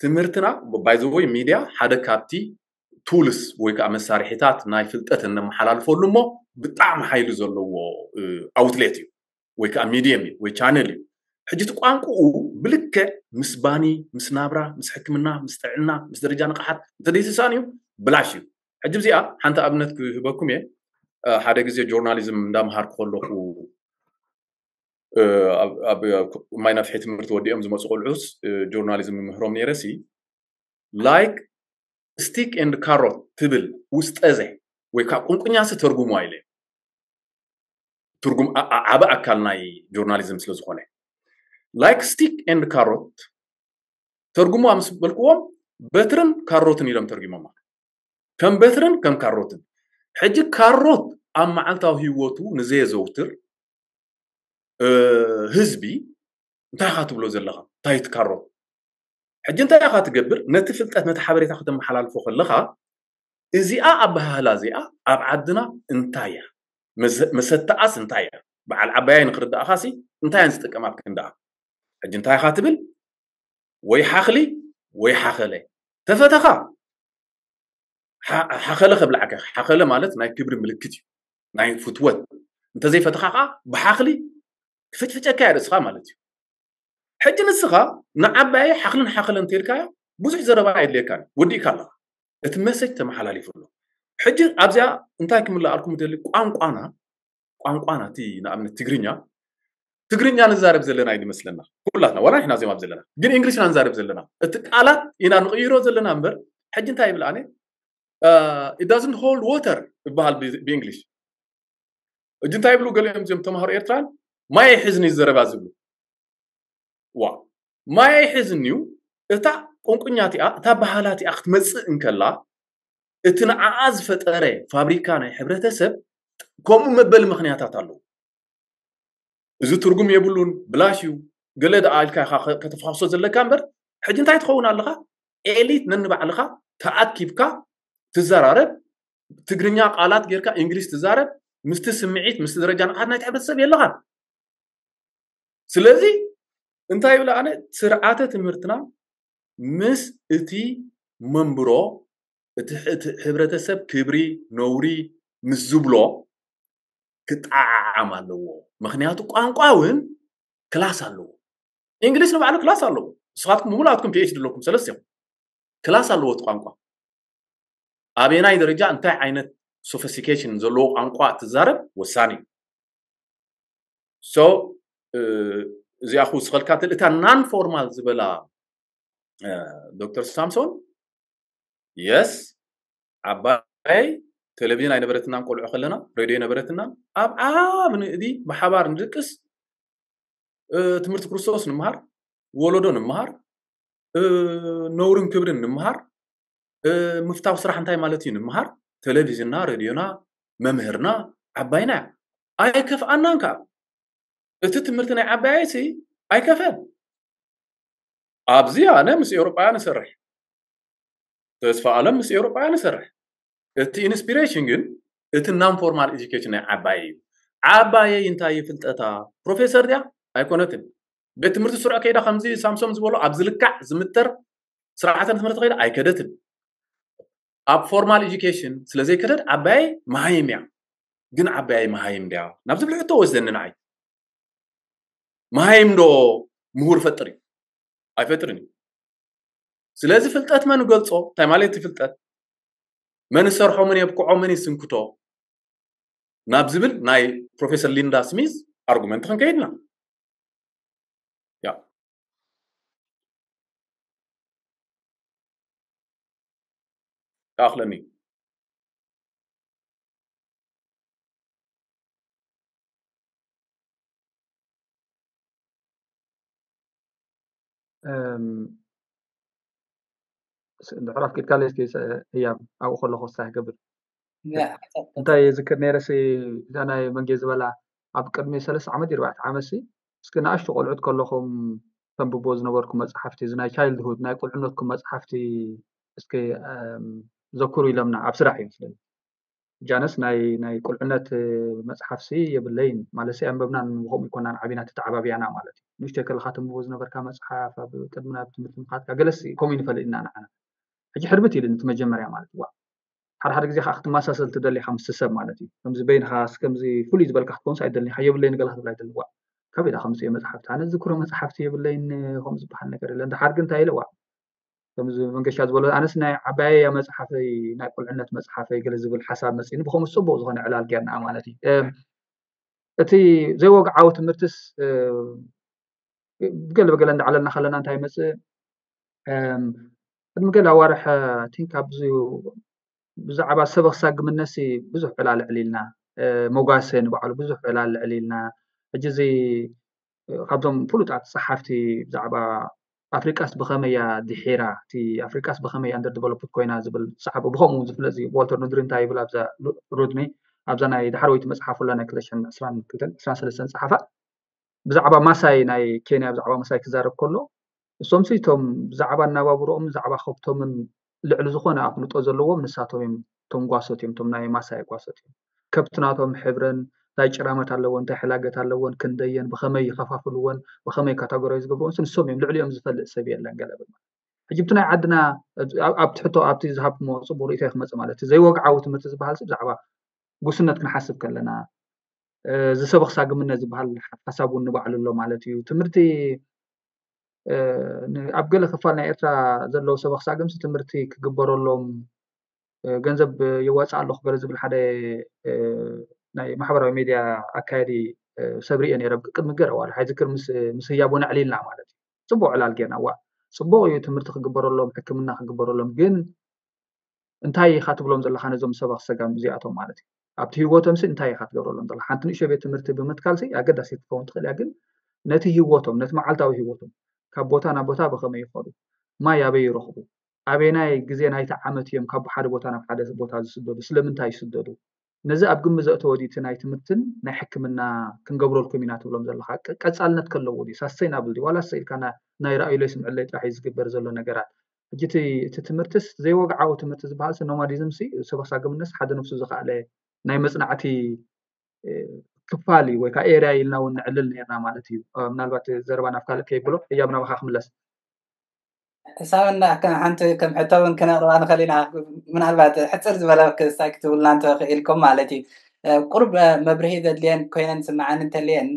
ትምህርትና፣ ባይዘወይ፣ ሚድያ ሓደ ካብቲ ቱልስ ወይ ከዓ መሳርሒታት ናይ ፍልጠት እነመሓላልፈሉ እሞ ብጣዕሚ ሓይሊ ዘለዎ ኣውትሌት እዩ፣ ወይ ከዓ ሚድየም እዩ ወይ ቻነል እዩ። ሕጂ እቲ ቋንቋኡ ብልክዕ ምስ ባኒ፣ ምስ ናብራ፣ ምስ ሕክምና፣ ምስ ጥዕና፣ ምስ ደረጃ ንቕሓት እንተደይተሳን እዩ፣ ብላሽ እዩ። ሕጂ እዚኣ ሓንቲ ኣብነት ክህበኩም እየ። ሓደ ግዜ ጆርናሊዝም እንዳምሃርኩ ከለኹ፣ ኣብ ማይ ናፍሒ ትምህርቲ ወዲኦም ዝመፁ ቆልዑስ ጆርናሊዝም ምህሮም ነይረሲ፣ ላይክ ስቲክ ኤንድ ካሮት ትብል ውስጠዘ ወይ ከዓ ቁንቁኛሲ ተርጉሙ ኣይለ። ትርጉም ዓበ ኣካል ናይ ጆርናሊዝም ስለ ዝኾነ፣ ላይክ ስቲክ ኤንድ ካሮት ተርጉሙ ምስ በልክዎም፣ በትርን ካሮትን ኢሎም ተርጉሞማ። ከም በትርን ከም ካሮትን። ሕጂ ካሮት ኣብ መዓልታዊ ህይወቱ ንዘየዘውትር ህዝቢ እንታይ ኢኻ ትብሎ ዘለኻ? እንታይ ትካሮ? ሕጂ እንታይ ኢኻ ትገብር? ነቲ ፍልጠት፣ ነቲ ሓበሬታ ከተመሓላልፎ ከለኻ፣ እዚኣ ኣበሃህላ እዚኣ ኣብ ዓድና እንታይ እያ? መሰተኣስ እንታይ እያ? በዓል ዓባያይ ንክርዳእኻሲ እንታይ እየን ዝጥቀማ ኣብ ክንዳኣ? ሕጂ እንታይ ኢኻ ትብል? ወይ ሓኽሊ ወይ ሓኸለ። ተፈተኻ ሓኸለ ከብላዕካ። ሓኸለ ማለት ናይ ክብሪ ምልክት እዩ፣ ናይ ፍትወት። እንተዘይፈተኻ ከዓ ብሓኽሊ ክፍጭፍጨካ እያ ርእስኻ ማለት እዩ። ሕጂ ንስኻ ንዓባየ ሓኽልን ሓኸለን እንተልካዮ ብዙሕ ዘረባ የድልየካን፣ ወዲእካ ኣለኻ። እቲ መሰጅ ተመሓላሊፉ ኣሎ። ሕጂ ኣብዚኣ እንታይ ክምልኣልኩም ደሊ፣ ቋንቋና፣ ቋንቋና እቲ ንኣብነት ትግርኛ፣ ትግርኛ ንዛረብ ዘለና እዩ ዝመስለና ኩላትና፣ ዋላ ንሕና ዜማ ዘለና፣ ግን እንግሊሽ ኢና ንዛረብ ዘለና። እቲ ቃላት ኢና ንቕይሮ ዘለና እምበር። ሕጂ እንታይ ይብል ኣነ፣ it doesn't hold water ይበሃል ብእንግሊሽ። ሕጂ እንታይ ይብሉ ገሊኦም እዚኦም ተምሃሮ ኤርትራን፣ ማይ ኣይሕዝን እዩ ዘረባ ዝብሉ። ዋ፣ ማይ ኣይሕዝን እዩ። እታ ቁንቁኛ እቲኣ፣ እታ ባህላ እቲኣ ክትመጽእ እንከላ፣ እቲ ንዓኣ ዝፈጠረ ፋብሪካ ናይ ሕብረተሰብ ከምኡ መበሊ ምኽንያታት ኣለዎ። እዚ ትርጉም የብሉን፣ ብላሽ እዩ፣ ገለ ደኣ ኢልካ ኢኻ ከተፋኽሶ ዘለካ እምበር፣ ሕጂ እንታይ ትኸውን ኣለኻ? ኤሊት ነንባዕልኻ ተኣኪብካ ትዘራረብ፣ ትግርኛ ቃላት ጌርካ እንግሊሽ ትዛረብ፣ ምስቲ ስምዒት፣ ምስቲ ደረጃ ንቕሓት ናይቲ ሕብረተሰብ የለኻን። ስለዚ እንታይ ይብል ኣነ፣ ስርዓተ ትምህርትና ምስ እቲ መንብሮ፣ እቲ ሕብረተሰብ ክብሪ ነውሪ ምስ ዝብሎ ክጠዓዓም ኣለዎ። ምክንያቱ ቋንቋ እውን ክላስ ኣለዎ። እንግሊሽ ንባዕሉ ክላስ ኣለዎ። ንስኻትኩም ብምሉኣትኩም ፒኤችዲ ኣለኩም፣ ሰለስቲኹም። ክላስ ኣለዎ እቲ ቋንቋ። ኣበየናይ ደረጃ እንታይ ዓይነት ሶፊስቲኬሽን ዘለዎ ቋንቋ ትዛረብ ወሳኒ እዩ። ሶ እዚኣ ክውስኸልካ ትል እታ ናን ፎርማል ዝበላ ዶክተር ሳምሶን፣ የስ፣ ዓባይ ቴሌቪዥን ኣይነበረትናን፣ ቆልዑ ከለና ሬድዮ ኣይነበረትናን። ኣብ ዓብ ንእዲ ብሓባር ንድቅስ፣ ትምህርቲ ክርስቶስ ንምሃር፣ ወለዶ ንምሃር፣ ነውርን ክብርን ንምሃር፣ ምፍታው ስራሕ እንታይ ማለት እዩ ንምሃር። ቴሌቪዥንና፣ ሬድዮና፣ መምህርና ዓባይና እያ። ኣይከፍኣናን ከዓ። እቲ ትምህርቲ ናይ ዓባየሲ ኣይከፈን። ኣብዚ ኣነ ምስ ኤውሮጳውያን እሰርሕ፣ ተስፋ ኣለም ምስ ኤውሮጳውያን እሰርሕ። እቲ ኢንስፒሬሽን ግን እቲ ናን ፎርማል ኤጁኬሽን ናይ ዓባየ እዩ። ዓባየይ እንታይ እዩ ፍልጠታ? ፕሮፌሰር ድያ? ኣይኮነትን። ቤት ትምህርቲ ስሩዕ ከይዳ ከምዚ ሳምሶም ዝበሎ ኣብ ዝልካዕ ዝምተር ስርዓተ ትምህርቲ ከይዳ ኣይከደትን። ኣብ ፎርማል ኤጁኬሽን ስለ ዘይከደት ዓባየይ መሃይም እያ። ግን ዓባየይ መሃይም ድያ ናብ ዝብል ሕቶ ወስደኒ ንዓይ። መሃይም ዶ ምሁር ፈጥር እዩ? ኣይፈጥርን እዩ። ስለዚ ፍልጠት መን ገልጾ? እንታይ ማለት እዩ ፍልጠት? መን ይሰርሖ፣ መን የብቅዖ፣ መን ይስንክቶ ናብ ዝብል ናይ ፕሮፌሰር ሊንዳ ስሚዝ ኣርጉመንት ክንከይድና። ያ። ይኣኽለኒ። እም፣ ስ-፣ ድሕር ኣፍቂድካለይ እስኪ ሰ-፣ ህያብ ኣብኡ ከለኹ ክሳይ ክገብር። ያ፣ ሓሳብ እንታይ የዝክር ነይረ ሲ፣ እዛ ናይ መንጌ ዝበላ ኣብ ቅድሚ ሰለስተ ዓመት እዩ፣ ኣርባዕተ ዓመት ሲ፣ እስኪ ንኣሽቱ ቆልዑት ከለኹም ተንብቦ ዝነበርኩም መፅሓፍቲ፣ እዚ ናይ ቻይልድሁድ ናይ ቁልዕነትኩም መፅሓፍቲ እስኪ ዘክሩ ኢሎምና ኣብ ስራሕ እዩ መስለኒ። ጃነስ ናይ ናይ ቁልዕነት መፅሓፍሲ የብለይን ማለት ሲ ኣንበብናን ብከምኡ ይኮናን ዓቢና ተተዓባቢያና ማለት እዩ። ንእሽተይ ከለካ ተንብቦ ዝነበርካ መፅሓፍ ኣብ ቅድሚ ናብ ትምህርቲ ምካትካ ገለስ ከምኡ ይንፈልጥ ኢና ንዓና። ሕጂ ሕርብት ኢሉ እቲ መጀመርያ ማለት እዩ። ሓደ ሓደ ግዜ ከዓ ክትመሳሰል ትደሊ ኢካ ምስ ሰብ ማለት እዩ። ከምዚ በይንካ ከምዚ ፍሉይ ዝበልካ ክትኮንስ ኣይደልን ኢካ። የብለይን ገለ ክትብል ኣይደልን። ዋ ካብ ኢዳ ከምፅኦ መፅሓፍቲ ኣነ ዝክሮ መፅሓፍቲ የብለይን ከም ዝበሃል ነገር የለን። ድሓር ግን እንታይ ኢለ ዋ ከምዚ መንገሻ ዝበሎ ኣነስ ናይ ዓባየያ መፅሓፈይ ናይ ቁልዕነት መፅሓፈይ ገለ ዝብል ሓሳብ መፅኒ ብከምኡ ፅቡቅ ዝኮነ ዕላል ጌርና ማለት እዩ። እቲ ዘይወግዓዊ ትምህርትስ ብገለ ብገለ እንዳዕለልና ከለና እንታይ ይመፅእ? ቅድሚ ገለ ኣዋርሕ ቲንክ ኣብዚ ብዛዕባ ሰበኽ ሳግምነሲ ብዙሕ ዕላል ዕሊልና፣ መጓሰ ንባዕሉ ብዙሕ ዕላል ዕሊልና። ሕጂ እዚ ካብዞም ፍሉጣት ፀሓፍቲ ብዛዕባ ኣፍሪቃስ ብኸመያ ድሒራ እቲ ኣፍሪቃስ ብኸመያ under developed ኮይና ዝብል ዝፀሓፈ ብከምኡ ዝፍለጥ እዩ። ዋልተር ኑድሪ እንታይ ይብል ኣብዛ ሩድኒ ኣብዛ ናይ ዳሕረወይቲ መፅሓፉላ ናይ ክልተ ሽሕን ዕስራን ክልተን ዕስራን ሰለስተን ፀሓፋ ብዛዕባ ማሳይ ናይ ኬንያ ብዛዕባ ማሳይ ክዛረብ ከሎ እሶምሲ እቶም ብዛዕባ ኣናባብሮኦም ብዛዕባ ከብቶምን ልዕሊ ዝኾነ ኣፍልጦ ዘለዎም ንሳቶም እዮም። እቶም ጓሶት እዮም እቶም ናይ ማሳይ ጓሶት እዮም። ከብቲ ናቶም ሕብረን እንታይ ጭራመት ኣለዎ እንታይ ሕላገት ኣለዎን ክንደየን ብኸመይ ይኸፋፍልዎን ብኸመይ ካታጎራይ ዝገብርዎን ንሶም እዮም። ልዕሊኦም ዝፈልጥ ሰብ የለን ገለ ብል ሕጂ ብቲ ናይ ዓድና ኣብቲ ሕቶ ኣብቲ ዝሃብኩሞ ፅቡቅ ርእቶ ክመፅእ ማለት እዩ። ዘይወግዓዊ ትምህርቲ ዝበሃል ሲ ብዛዕባ ጉስነት ክንሓስብ ከለና ዝሰበኽ ሳግምነት ዝበሃል ሓሳብ እውን ንባዕሉ ኣሎ ማለት እዩ። ትምህርቲ ኣብ ገለ ክፋል ናይ ኤርትራ ዘለዉ ሰበኽ ሳግምሲ ትምህርቲ ክግበረሎም ገንዘብ የዋፅእ ኣለኹ ገለ ዝብል ሓደ ናይ ማሕበራዊ ሚድያ ኣካየዲ ሰብ ሪኤ ነይረ ቅድሚ ገለ ዋላ ሓይዝክር ምስ ህያቡ ነዕሊልና ማለት እዩ። ፅቡቅ ዕላል ጌርና ዋ ፅቡቅ እዩ ትምህርቲ ክግበረሎም ሕክምና ክግበረሎም ግን እንታይ ኢኻ ትብሎም ዘለኻ ነዞም ሰበኽ ሰጋም እዚኣቶም ማለት እዩ። ኣብቲ ህይወቶም ሲ እንታይ ኢኻ ትገብረሎም ዘለኻ ሓንቲ ንእሽቶ ቤት ትምህርቲ ብምትካል ሲ ኣገዳሲ ክትከውን ትኽእል እያ ግን ነቲ ህይወቶም ነቲ መዓልታዊ ህይወቶም ካብ ቦታ ናብ ቦታ ብኸመይ ይኸዱ ማይ ኣበይ ይረኽቡ ኣበናይ ግዜ ናይቲ ዓመት እዮም ካብ ሓደ ቦታ ናብ ሓደ ቦታ ዝስደዱ ስለምንታይ ይስደዱ ነዚ ኣብ ግምት ዘእተወ ድዩ እቲ ናይ ትምህርትን ናይ ሕክምና ክንገብረልኩም ኢና ትብሎም ዘለኻ ቀፃልነት ከለዎ ድዩ ሳስተይናብል ድዩ ዋላ ሰ ኢልካ ናይ ራእዩለይ ስምዕለይ ጥራሕ እዩ ዝግበር ዘሎ ነገራት ሕጂ እቲ ትምህርትስ ዘይወግዓዊ ትምህርቲ ዝበሃል ሲ ኖማዲዝም ሲ ሰበሳግምነስ ሓደ ነፍሱ ዝኸኣለ ናይ መፅናዕቲ ክፋል እዩ ወይ ከዓ ኤርያ ኢልና እውን ንዕልል ነርና ማለት እዩ። ምናልባት ዘረባ ናብ ካልእ ከይብሎ እያብ ናባካ ክምለስ። ሳምና ሓንቲ ከም ሕቶ እውን ክነቅርባ ንኽእል ኢና። ምናልባት ሕፅር ዝበለ ክስታይ ክትብልና እንተኽኢልኩም ማለት እዩ። ቁርብ መብርሂ ዘድልየን ኮይነን ስምዓኒ እንተልየን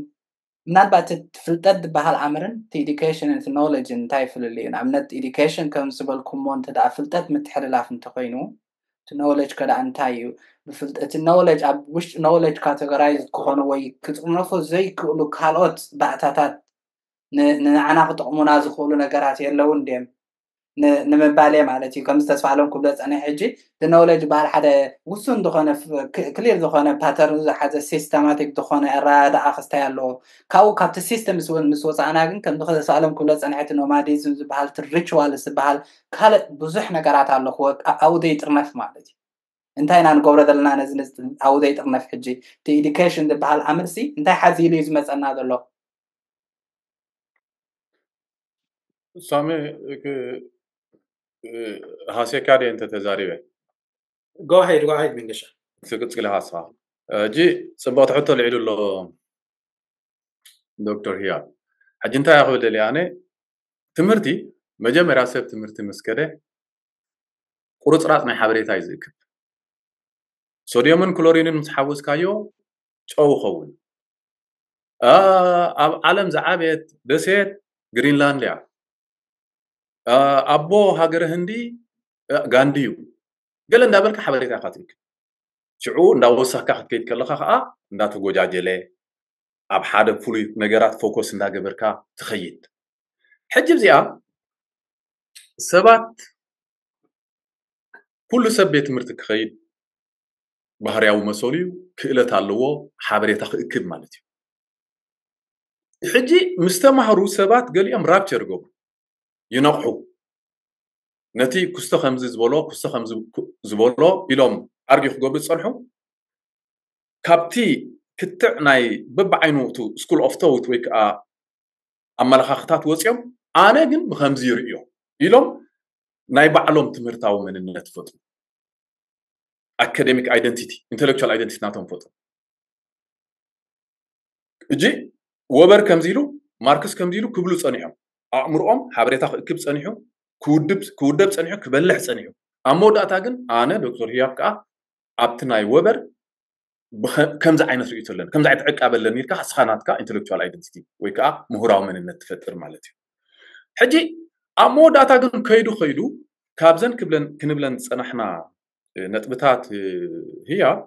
ምናልባት እቲ ፍልጠት ዝበሃል ኣምርን እቲ education እቲ knowledge እንታይ ፍልል እዩ ንኣብነት education ከም ዝበልኩሞ እንተ ፍልጠት ምትሕልላፍ እንተኮይኑ እቲ knowledge ከዳ እንታይ እዩ እቲ knowledge ኣብ ውሽጢ knowledge categorize ክኾኑ ወይ ክጥርነፉ ዘይክእሉ ካልኦት ባእታታት ንዓና ክጠቕሙና ዝኽእሉ ነገራት የለውን ድም ንምባል እየ ማለት እዩ። ከምዚ ተስፋ ኣለም ክብሎ ዝፀኒሐ ሕጂ እቲ knowledge ዝበሃል ሓደ ውሱን ዝኾነ clear ዝኾነ pattern ዝሓዘ systematic ዝኾነ ኣረዳድኣ ክስታይ ኣለዎ። ካብኡ ካብቲ system ምስ ወፃእና ግን ከምዚ ተስፋ ኣለም ክብሎ ዝፀኒሐ እቲ nomadism ዝበሃል እቲ ritual ዝበሃል ካልእ ብዙሕ ነገራት ኣሎ ክወ ኣብኡ ዘይጥርነፍ ማለት እዩ። እንታይ ኢና ንገብሮ ዘለና ነዚ ኣብኡ ዘይጥርነፍ ሕጂ እቲ education ዝበሃል ኣምርሲ እንታይ ሓዚሉ እዩ ዝመፀና ዘሎ? ሳሚ ሃሴካ ድየ እንተ ተዛሪበ go ahead go ahead መንገሻ ትቅጽል ሃሳ እጂ ጽብቕቲ ሕቶ ልዒሉ ኣሎ ዶክተር ህያብ ሕጂ እንታይ ክብል ደሊ ኣነ ትምህርቲ መጀመርያ ሰብ ትምህርቲ ምስ ከደ ቁርፅራፅ ናይ ሓበሬታ እዩ ዝእክብ ሶድዮምን ክሎሪንን ምስ ሓወስካዮ ጨው ኸውን ኣብ ዓለም ዝዓበየት ደሴት ግሪንላንድ እያ ኣቦ ሃገረ ህንዲ ጋንዲ እዩ ገለ እንዳበልካ ሓበሬታ ኢካ ትእክብ ሽዑ እንዳወሳካ ክትከይድ ከለካ ከዓ እንዳተጎጃጀለ ኣብ ሓደ ፍሉይ ነገራት ፎኮስ እንዳገበርካ ትኸይድ ሕጂ እዚኣ ሰባት ኩሉ ሰብ ቤት ትምህርቲ ክኸይድ ባህርያዊ መሰሉ እዩ ክእለት ኣለዎ ሓበሬታ ክእክብ ማለት እዩ ሕጂ ምስ ተማህሩ ሰባት ገሊኦም ራፕቸር ይገብሩ ይነቕሑ ነቲ ክስቶ ከምዚ ዝበሎ ክስቶ ከምዚ ዝበሎ ኢሎም ኣርጊ ክገብሩ ዝፀንሑ ካብቲ ክትዕ ናይ በብዓይኑ እቲ ስኩል ኦፍ ቶውት ወይ ከዓ ኣመለኻኽታት ወፂኦም ኣነ ግን ብከምዚ ይርእዮ ኢሎም ናይ ባዕሎም ትምህርታዊ መንነት ፈጥሩ። ኣካደሚክ ኣይደንቲቲ፣ ኢንተሌክቹዋል ኣይደንቲቲ ናቶም ፈጥሩ። እጂ ወበር ከምዚ ኢሉ፣ ማርክስ ከምዚ ኢሉ ክብሉ ፀኒሖም። ኣእምሮኦም ሓበሬታ ክእክብ ፀኒሑ፣ ክውድብ ጸኒሑ፣ ክበልሕ ጸኒሑ። ኣብ መወዳእታ ግን ኣነ ዶክተር ህያብ ከኣ ኣብቲ ናይ ወበር ከምዚ ዓይነት ርእይቶ ኣለኒ፣ ከምዚ ዓይነት ዕቃበ ኣለኒ ኢልካ እስኻ ናትካ ኢንተሌክቹዋል ኣይደንቲቲ ወይ ከዓ ምሁራዊ መንነት ትፈጥር ማለት እዩ። ሕጂ ኣብ መወዳእታ ግን ከይዱ ከይዱ ካብዘን ክንብለን ዝጸናሕና ነጥብታት ህያብ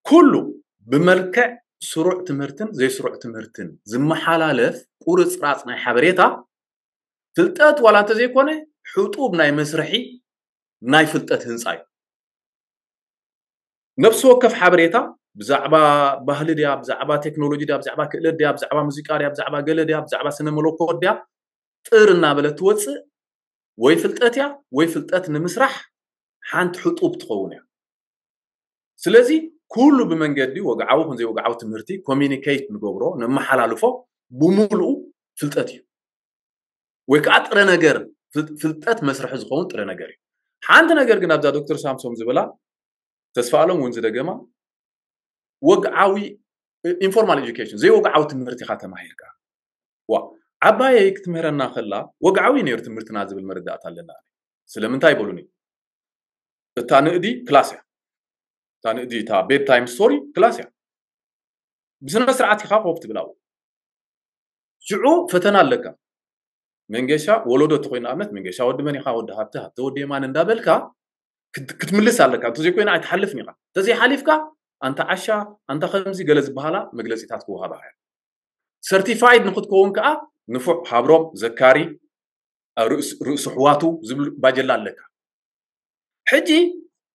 ኩሉ ብመልክዕ ስሩዕ ትምህርትን ዘይስሩዕ ትምህርትን ዝመሓላለፍ ቁርፅራፅ ናይ ሓበሬታ ፍልጠት ዋላ እንተዘይኮነ ሕጡብ ናይ መስርሒ ናይ ፍልጠት ህንፃ እዩ። ነፍሲ ወከፍ ሓበሬታ ብዛዕባ ባህሊ ድያ፣ ብዛዕባ ቴክኖሎጂ ድያ፣ ብዛዕባ ክእለት ድያ፣ ብዛዕባ ሙዚቃ ድያ፣ ብዛዕባ ገለ ድያ፣ ብዛዕባ ስነ መለኮት ድያ ጥር እናበለት ትወፅእ ወይ ፍልጠት እያ ወይ ፍልጠት ንምስራሕ ሓንቲ ሕጡብ ትኸውን እያ። ስለዚ ኩሉ ብመንገዲ ወግዓዊ ኹን ዘይወግዓዊ ትምህርቲ ኮሚኒኬት ንገብሮ ነመሓላልፎ ብሙሉኡ ፍልጠት እዩ። ወይ ከዓ ጥረ ነገር ፍልጠት መስርሒ ዝኸውን ጥረ ነገር እዩ። ሓንቲ ነገር ግን ኣብዛ ዶክተር ሳምሶም ዝበላ ተስፋ ኣለም እውን ዝደገማ ወግዓዊ ኢንፎርማል ኤጁኬሽን ዘይወግዓዊ ትምህርቲ ኢኻ ተማሂርካ። ዋ ዓባየይ ክትምህረና ከላ ወግዓዊ ነይሩ ትምህርትና ዝብል መረዳእታ ኣለና። ስለምንታይ በሉኒ? እታ ንእዲ ክላስ እያ። እታ ንእዲ እታ ቤድ ታይም ስቶሪ ክላስ እያ። ብስነ ስርዓት ኢኻ ኮፍ ትብል ኣብኡ። ሽዑ ፈተና ኣለካ። መንገሻ ወለዶ እንተኮይኑ ንኣብነት መንገሻ ወዲ መን ኢኻ? ወዲ ሃብተ፣ ሃብተ ወዲ የማን እንዳበልካ ክትምልስ ኣለካ። እንተዘይኮይኑ ኣይትሓልፍን ኢኻ። እንተዘይሓሊፍካ ኣንታ ዓሻ፣ ኣንታ ከምዚ ገለ ዝበሃላ መግለፂታት ክወሃባኻ እያ። ሰርቲፋይድ ንክትከውን ከዓ ንፉዕ ሃብሮም፣ ዘካሪ፣ ርእሲ ኣሕዋቱ ዝብል ባጀላ ኣለካ። ሕጂ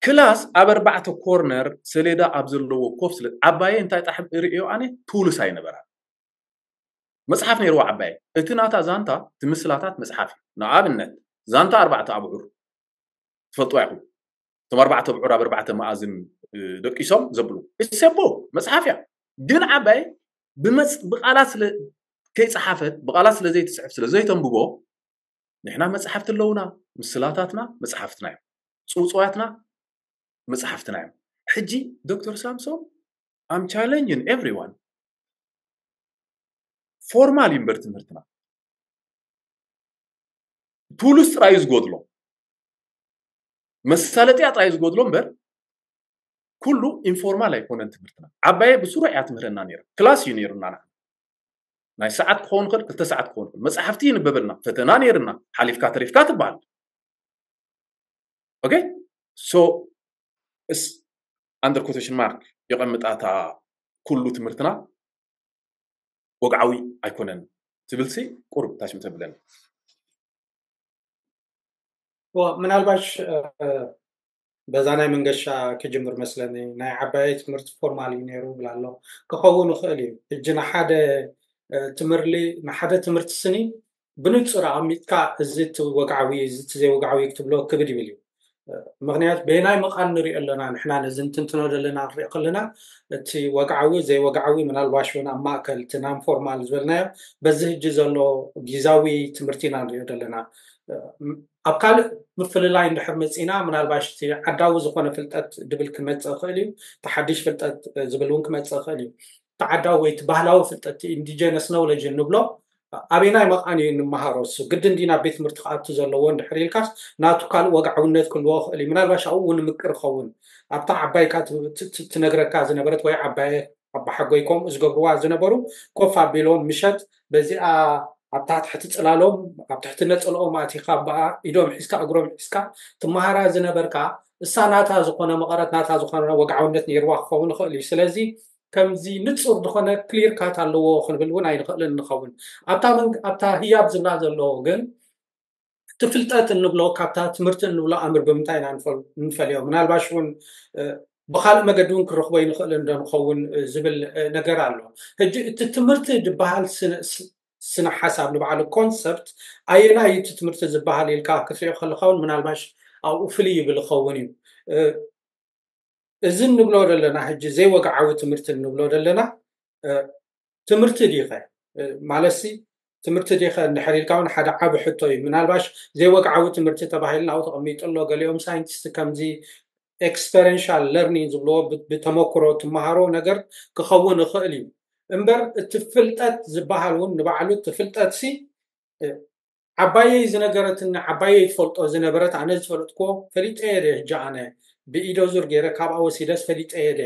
ክላስ ኣብ ኣርባዕተ ኮርነር ሰሌዳ ኣብ ዘለዎ ኮፍ ስለ ዓባየ እንታይ ጣሕ ርእዮ ኣነ ቱልስ ኣይነበራን። መፅሓፍ ነይርዎ ዓባየ። እቲ ናታ ዛንታ እቲ ምስላታት መፅሓፍ እዩ። ንኣብነት ዛንታ ኣርባዕተ ኣብዑር ትፈልጥዋ ኢኹም። እቶም ኣርባዕተ ኣብዑር ኣብ ኣርባዕተ መኣዝን ደቂሶም ዘብሉ እሰቦ መፅሓፍ እያ። ግን ዓባየ ብቃላት ስለ ከይፀሓፈት ብቃላት ስለ ዘይትፅሕፍ ስለ ዘይተንብቦ ንሕና መፅሓፍቲ ኣለውና። ምስላታትና መፅሓፍትና እዮም። ፅውፅዋያትና መፅሓፍትና እዮም። ሕጂ ዶክተር ሳምሶም I'm challenging everyone። ፎርማል እዩ እምበር ትምህርትና ቱልስ ጥራዩ ዝጎድሎ መሳለጥያ ጥራዩ ዝጎድሎ እምበር ኩሉ ኢንፎርማል ኣይኮነን ትምህርትና። ዓባየ ብስሩዕ እያ ትምህረና ነይራ። ክላስ እዩ ነይሩና ንዓና። ናይ ሰዓት ክኸውን ይኽእል፣ ክልተ ሰዓት ክኸውን ይኽእል። መፅሓፍቲ ይንበበልና፣ ፈተና ነይርና፣ ሓሊፍካ ተሪፍካ ትበሃል። ኦኬ ሶ እስ ኣንደር ኮቴሽን ማርክ የቐምጣታ ኩሉ ትምህርትና ወግዓዊ ኣይኮነን ትብልሲ ቁሩብ ታሽም ተብለኒ። ምናልባሽ በዛ ናይ መንገሻ ክጅምር መስለኒ። ናይ ዓባየ ትምህርቲ ፎርማል እዩ ነይሩ ብላ ኣሎ። ክኸውን ይኽእል እዩ። ሕጂ ንሓደ ትምህርሊ ንሓደ ትምህርቲ ስኒ ብንጹር ኣቐሚጥካ እዚ እቲ ወግዓዊ እዚ እቲ ዘይወግዓዊ ክትብሎ ክብድ ይብል እዩ። ምክንያቱ በየናይ መቓን ንሪኦ ኣለና ንሕና ነዚ እንትንትኖ ዘለና ንሪኦ ከለና እቲ ወግዓዊ ዘይወግዓዊ ምናልባሽ እውን ኣብ ማእከል እቲ ናን ፎርማል ዝበልናዮ በዚ ሕጂ ዘሎ ጊዛዊ ትምህርቲ ኢና ንሪኦ ዘለና። ኣብ ካልእ ምፍልላይ እንድሕር መፂና ምናልባሽ እቲ ዓዳዊ ዝኾነ ፍልጠት ድብል ክመፅእ ይኽእል እዩ። እቲ ሓድሽ ፍልጠት ዝብል እውን ክመፅእ ይኽእል እዩ። እቲ ዓዳዊ ወይ እቲ ባህላዊ ፍልጠት ኢንዲጀነስ ኖውለጅ እንብሎ ኣበየናይ መቓን እዩ እንመሃሮ? እሱ ግድን ድዩ ናብ ቤት ትምህርቲ ክኣቱ ዘለዎ እንድሕር ኢልካስ ናቱ ካልእ ወግዓውነት ክህልዎ ይኽእል እዩ። ምናልባሽ ኣብኡ እውን ምቅር ይኸውን ኣብታ ዓባይካ ትነግረካ ዝነበረት ወይ ዓባየ ኣባሓጎይ ከምኡ ዝገብርዋ ዝነበሩ ኮፍ ኣቢሎም ምሸት በዚኣ ኣብ ታሕቲ ጽላሎም ኣብ ትሕቲ ነጸልኦም ኣቲኻ ብኣ ኢዶም ሒዝካ እግሮም ሒዝካ ትመሃራ ዝነበርካ እሳ ናታ ዝኾነ መቐረት ናታ ዝኾነ ወግዓውነት ነይርዋ ክኸውን ይኽእል እዩ። ስለዚ ከምዚ ንጹር ዝኾነ ክሊር ካት ኣለዎ ክንብል እውን ኣይንኽእልን ንኸውን። ኣብታ ህያብ ዝብላ ዘለዎ ግን እቲ ፍልጠት እንብሎ ካብታ ትምህርቲ እንብሎ ኣምር ብምንታይ ኢና ንፈልዮ? ምናልባሽ እውን ብካልእ መገዲ እውን ክንረኽቦ ይንኽእል እንዶ ንኸውን ዝብል ነገር ኣሎ። ሕጂ እቲ ትምህርቲ ዝበሃል ስነ ሓሳብ ንባዕሉ ኮንሰፕት ኣየናይ እቲ ትምህርቲ ዝበሃል ኢልካ ክትሪኦ ከለካ እውን ምናልባሽ ኣብኡ ፍልይ ይብል ይኸውን እዩ። እዚ እንብሎ ዘለና ሕጂ ዘይወግዓዊ ትምህርቲ እንብሎ ዘለና ትምህርቲ ዲኸ ማለትሲ ትምህርቲ ዲኸ እንድሕር ኢልካ እውን ሓደ ዓቢ ሕቶ እዩ። ምናልባሽ ዘይወግዓዊ ትምህርቲ ተባሂሉ ናብኡ ተቐሚጡ ኣሎ። ገሊኦም ሳይንቲስት ከምዚ ኤክስፐሪንሻል ለርኒንግ ዝብልዎ ብ- ብተመክሮ ትመሃሮ ነገር ክኸውን ይኽእል እዩ። እምበር እቲ ፍልጠት ዝበሃል እውን ንባዕሉ እቲ ፍልጠት ሲ ዓባየይ ዝነገረትኒ ዓባየይ ትፈልጦ ዝነበረት ኣነ ዝፈለጥክዎ ፈሊጠ እየ ደ ሕጂ ኣነ ብኢዶ ዙር ገይረ ካብኣ ወሲደስ ፈሊጠ እየ ደ።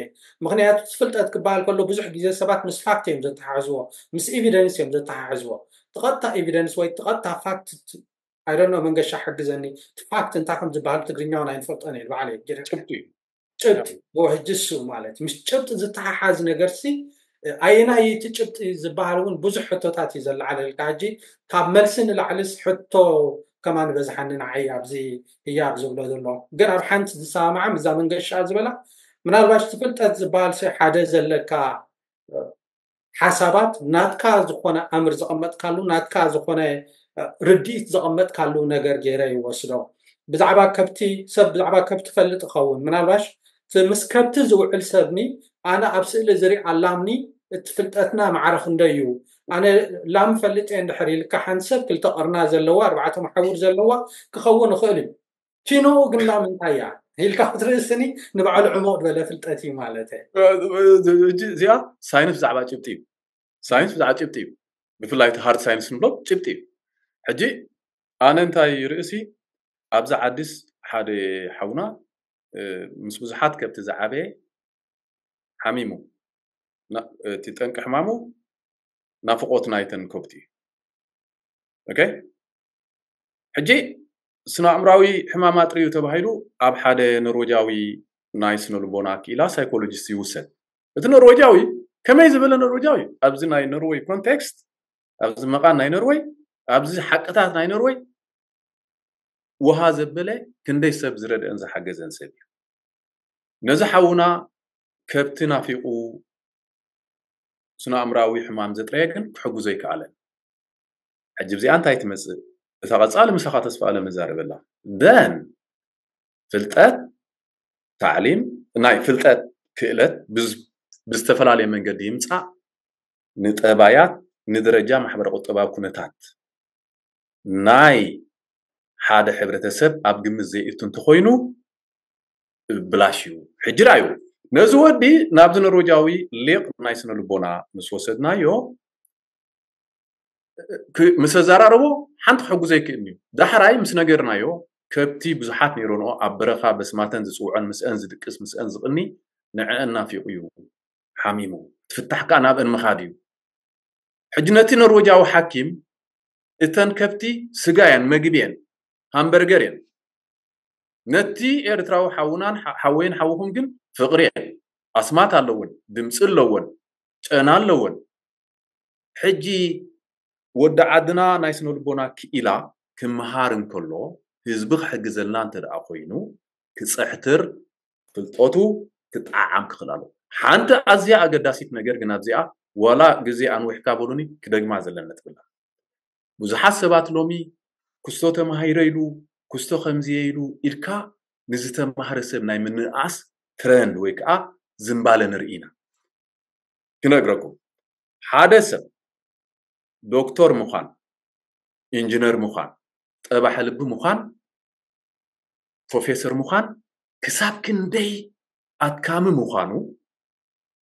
ምክንያቱ እቲ ፍልጠት ክበሃል ከሎ ብዙሕ ግዜ ሰባት ምስ ፋክት እዮም ዘተሓሕዝዎ፣ ምስ ኤቪደንስ እዮም ዘተሓሕዝዎ። ትቐጥታ ኤቪደንስ ወይ ትቐጥታ ፋክት ኣይደኖ መንገሻ ሓግዘኒ። እቲ ፋክት እንታይ ከም ዝበሃል ትግርኛውን ኣይንፈልጦን እየ ባዕለይ ገይረ ጭብጢ እዩ። ጭብጢ ዎ ሕጂ እሱ ማለት ምስ ጭብጢ ዝተሓሓዝ ነገር ሲ ኣየናይ እቲ ጭብጢ ዝበሃል እውን ብዙሕ ሕቶታት እዩ ዘለዓለልካ። ሕጂ ካብ መልሲ ንላዕልስ ሕቶ ከማን በዝሓኒ ንዓይ ኣብዚ ህያብ ዝብሎ ዘሎ። ግን ኣብ ሓንቲ ዝሰማማዓ ምዛ መንገሻ ዝበላ ምናልባሽ እቲ ፍልጠት ዝበሃል ሲ ሓደ ዘለካ ሓሳባት ናትካ ዝኾነ ኣምር ዘቐመጥካሉ ናትካ ዝኾነ ርድኢት ዘቐመጥካሉ ነገር ገይረ ይወስዶ። ብዛዕባ ከብቲ ሰብ ብዛዕባ ከብቲ ፈልጥ ይኸውን ምናልባሽ ምስ ከብቲ ዝውዕል ሰብኒ ኣነ ኣብ ስእሊ ዝርኢ ኣላምኒ እቲ ፍልጠትና ማዕረ ክንደይ እዩ? ኣነ ላም ፈልጥ እየ እንድሕር ኢልካ ሓንቲ ሰብ ክልተ ቀርና ዘለዋ ኣርባዕተ መሓውር ዘለዋ ክኸውን ይኽእል እዩ። ኪኖኡ ግን ላም እንታይ እያ ኢልካ ክትርእስኒ ንባዕሉ ዕሙቕ ዝበለ ፍልጠት እዩ ማለት እየ። እዚኣ ሳይንስ ብዛዕባ ጭብጢ እዩ። ሳይንስ ብዛዕባ ጭብጢ እዩ። ብፍላይ እቲ ሃርድ ሳይንስ ንብሎ ጭብጢ እዩ። ሕጂ ኣነ እንታይ ርእሲ ኣብዛ ዓዲስ ሓደ ሓውና ምስ ብዙሓት ከብቲ ዝዓበየ ሓሚሙ። እቲ ጠንቂ ሕማሙ ናፍቆት ናይተን ከብቲ እዩ። ኦኬ፣ ሕጂ ስነ ኣእምራዊ ሕማም ኣጥርዩ ተባሂሉ ኣብ ሓደ ኖርወጃዊ ናይ ስነ ልቦና ክኢላ ሳይኮሎጂስት ይውሰድ። እቲ ኖርወጃዊ ከመይ ዝበለ ኖርወጃዊ ኣብዚ ናይ ኖርወይ ኮንቴክስት ኣብዚ መቓን ናይ ኖርወይ ኣብዚ ሓቅታት ናይ ኖርወይ ውሃ ዘበለ ክንደይ ሰብ ዝረድአን ዝሓገዘን ሰብ እዩ። ነዚ ሓውና ከብቲ ናፊቑ ስነ ኣእምራዊ ሕማም ዘጥረየ ግን ክሕግዞ ኣይከኣለን። ሕጂ ብዚኣ እንታይ ትመፅእ? እታ ቀፃሊ ምሳኻ ተስፋ ኣለም ንዛረበላ ደን ፍልጠት ታዕሊም ናይ ፍልጠት ክእለት ብዝ- ብዝተፈላለየ መንገዲ ይምፃእ። ንጠባያት ንደረጃ ማሕበረ ቁጠባዊ ኩነታት ናይ ሓደ ሕብረተሰብ ኣብ ግምት ዘይእቱ እንተኮይኑ ብላሽ እዩ። ሕጂ ዳዩ ነዚ ወዲ ናብዚ ኖርወጃዊ ሊቕ ናይ ስነ ልቦና ምስ ወሰድናዮ ክ- ምስ ኣዘራረቦ ሓንቲ ክሕግዞ ይክእል እዩ። ዳሕራይ ምስ ነገርናዮ ከብቲ ብዙሓት ነይረንኦ ኣብ በረኻ በስማተን ዝፅውዐን ምስአን ዝድቅስ ምስአን ዝቕኒ ንዕአን ናፊቑ እዩ ሓሚሙ። ትፍታሕ ከዓ ናብአን ምኻድ እዩ። ሕጂ ነቲ ኖርወጃዊ ሓኪም እተን ከብቲ ስጋ እየን መግቢ እየን ሃምበርገር እየን ነቲ ኤርትራዊ ሓውናን ሓ- ሓወይን ሓውኹም ግን ፍቕሪ እየን ኣስማት ኣለወን ድምፂ ኣለወን ጨና ኣለወን ሕጂ ወዲ ዓድና ናይ ስነ ልቦና ክኢላ ክመሃር እንከሎ ህዝቢ ክሕግዘልና እንተ ደኣ ኮይኑ ክፅሕትር ፍልጠቱ ክጠዓዓም ክኽእል ኣለዎ ሓንቲ ኣዝያ ኣገዳሲት ነገር ግን ኣብዚኣ ዋላ ግዜ ኣንዊሕካ በሉኒ ክደግማ ዘለና ነጥብላ ብዙሓት ሰባት ሎሚ ክስቶ ተማሂረ ኢሉ ክስቶ ከምዝየ ኢሉ ኢልካ ንዝተማህረ ሰብ ናይ ምንእኣስ ትረንድ ወይ ከዓ ዝንባለ ንርኢ ኢና ክነግረኩም ሓደ ሰብ ዶክተር ምዃን ኢንጂነር ምዃን ጠባሒ ልቢ ምዃን ፕሮፌሰር ምዃን ክሳብ ክንደይ ኣድካሚ ምዃኑ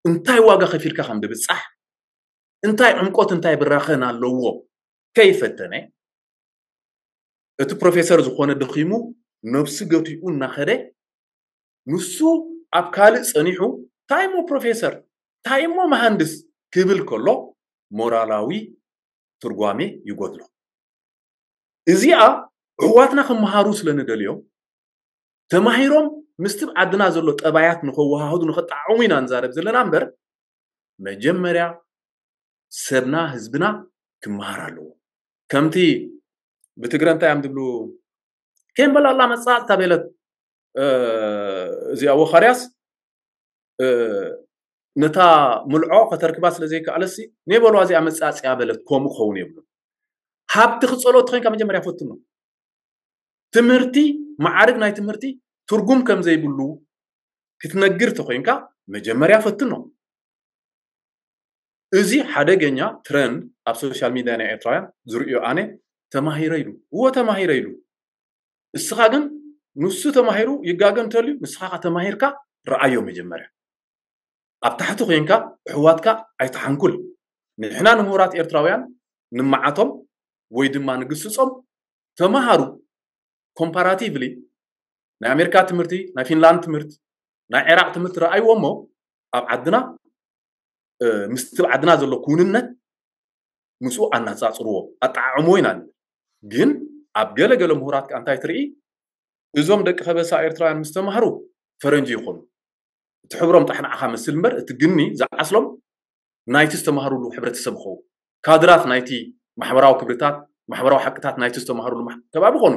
እንታይ ዋጋ ከፊልካ ከም ድብፃሕ እንታይ ዕምቆት እንታይ ብራኸን ኣለዎ ከይፈተነ እቲ ፕሮፌሰር ዝኾነ ደኺሙ ነብሱ ገቲኡ እናኸደ ንሱ ኣብ ካልእ ፀኒሑ እንታይ እሞ ፕሮፌሰር እንታይ እሞ መሃንድስ ክብል ከሎ ሞራላዊ ትርጓሜ ይጎድሎ እዚኣ ኣሕዋትና ክመሃሩ ስለ ንደልዮም ተማሂሮም ምስቲ ዓድና ዘሎ ጠባያት ንኸወሃህዱ ንኸጠዓሙ ኢና ንዛረብ ዘለና እምበር መጀመርያ ሰብና ህዝብና ክመሃር ኣለዎ ከምቲ ብትግረ እንታይ እዮም ዝብሉ ከይምበላላ መፃፅታ ቤለት እዚኣ ወኻርያስ ነታ ምልዖ ከተርክባ ስለ ዘይከኣለሲ ነበልዋ እዚኣ መፃፅያ በለት ከምኡ ክኸውን የብሉ ሃብቲ ክፀሎ ተኮይንካ መጀመርያ ፈትኖ ትምህርቲ ማዕርግ ናይ ትምህርቲ ትርጉም ከም ዘይብሉ ክትነግር ተኮይንካ መጀመርያ ፈትኖ እዚ ሓደገኛ ትረንድ ኣብ ሶሻል ሚድያ ናይ ኤርትራውያን ዝርእዮ ኣነ ተማሂረ ኢሉ እዎ ተማሂረ ኢሉ። እስኻ ግን ንሱ ተማሂሩ ይጋገ እንተልዩ ንስኻ ተማሂርካ ረኣዮ መጀመርያ። ኣብ ታሕቲ ኮይንካ ኣሕዋትካ ኣይትሓንኩል። ንሕና ንምሁራት ኤርትራውያን ንመዓቶም ወይ ድማ ንግስጾም ተማሃሩ። ኮምፓራቲቭሊ ናይ ኣሜሪካ ትምህርቲ፣ ናይ ፊንላንድ ትምህርቲ፣ ናይ ዒራቅ ትምህርቲ ረኣይዎ እሞ ኣብ ዓድና ምስቲ ዓድና ዘሎ ክውንነት ምስኡ ኣናጻጽርዎ ኣጠዓዕምዎ ኢና ንብል። ግን ኣብ ገለ ገለ ምሁራት ከኣ እንታይ ትርኢ? እዞም ደቂ ከበሳ ኤርትራውያን ምስ ተማህሩ ፈረንጂ ይኾኑ። እቲ ሕብሮም ጣሕ ንዓኻ መስል እምበር እቲ ግኒ ዝዓስሎም ናይቲ ዝተማህሩሉ ሕብረተሰብ ይኸውን። ካድራት ናይቲ ማሕበራዊ ክብርታት ማሕበራዊ ሓቅታት ናይቲ ዝተማህሩሉ ከባቢ ይኾኑ።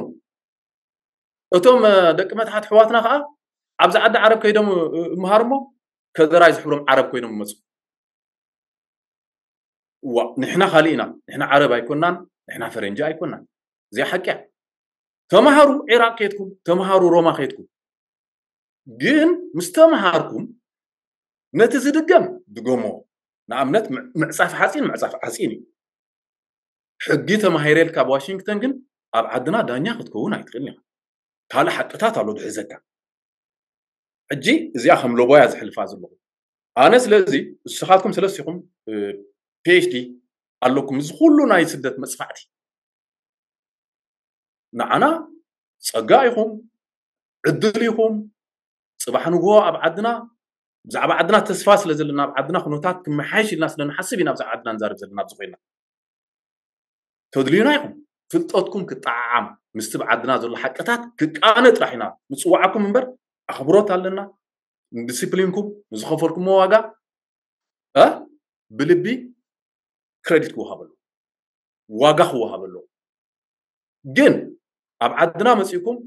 እቶም ደቂ መትሓት ኣሕዋትና ከዓ ኣብዚ ዓዲ ዓረብ ከይዶም ይምሃሩ እሞ ከደራይ ዝሕብሮም ዓረብ ኮይኖም ይመፁ። እዋ ንሕና ካሊእ ኢና። ንሕና ዓረብ ኣይኮናን፣ ንሕና ፈረንጂ ኣይኮናን። እዚኣ ሓቂ እያ። ተማሃሩ ዒራቅ ከይድኩም፣ ተማሃሩ ሮማ ከይድኩም። ግን ምስ ተማሃርኩም ነቲ ዝድገም ድገሞ። ንኣብነት ምዕፃፍ ሓፂን ምዕፃፍ ዓፂን እዩ። ሕጊ ተማሂረ ኢልካ ኣብ ዋሽንግተን ግን ኣብ ዓድና ዳኛ ክትከውን ኣይትኽእልን ኢኻ። ካልእ ሓቅታት ኣሎ ዝሕዘካ። ሕጂ እዚኣ ከም ሎቦያ ዝሕልፋ ዘለኹ ኣነ። ስለዚ ንስኻትኩም ሰለስቲኹም ፒኤችዲ ኣለኩም፣ እዚ ኩሉ ናይ ስደት መፅፋዕቲ ንዓና ፀጋ ኢኹም፣ ዕድል ኢኹም። ፅባሕ ንግሆ ኣብ ዓድና ብዛዕባ ዓድና ተስፋ ስለ ዘለና ኣብ ዓድና ኩነታት ክመሓየሽ ኢልና ስለ ንሓስብ ኢና ብዛዕባ ዓድና ንዛረብ ዘለና ኣብዚ ኮይና። ተድልዩና ኢኹም። ፍልጠትኩም ክጠዓዓም ምስቲ ብዓድና ዘሎ ሓቅታት ክቃነ ጥራሕ ኢና ንፅዋዓኩም እምበር ኣኽብሮት ኣለና። ንዲስፕሊንኩም ንዝኸፈልኩሞ ዋጋ እ ብልቢ ክረዲት ክወሃበሉ ዋጋ ክወሃበሉ። ግን ኣብ ዓድና መፂእኩም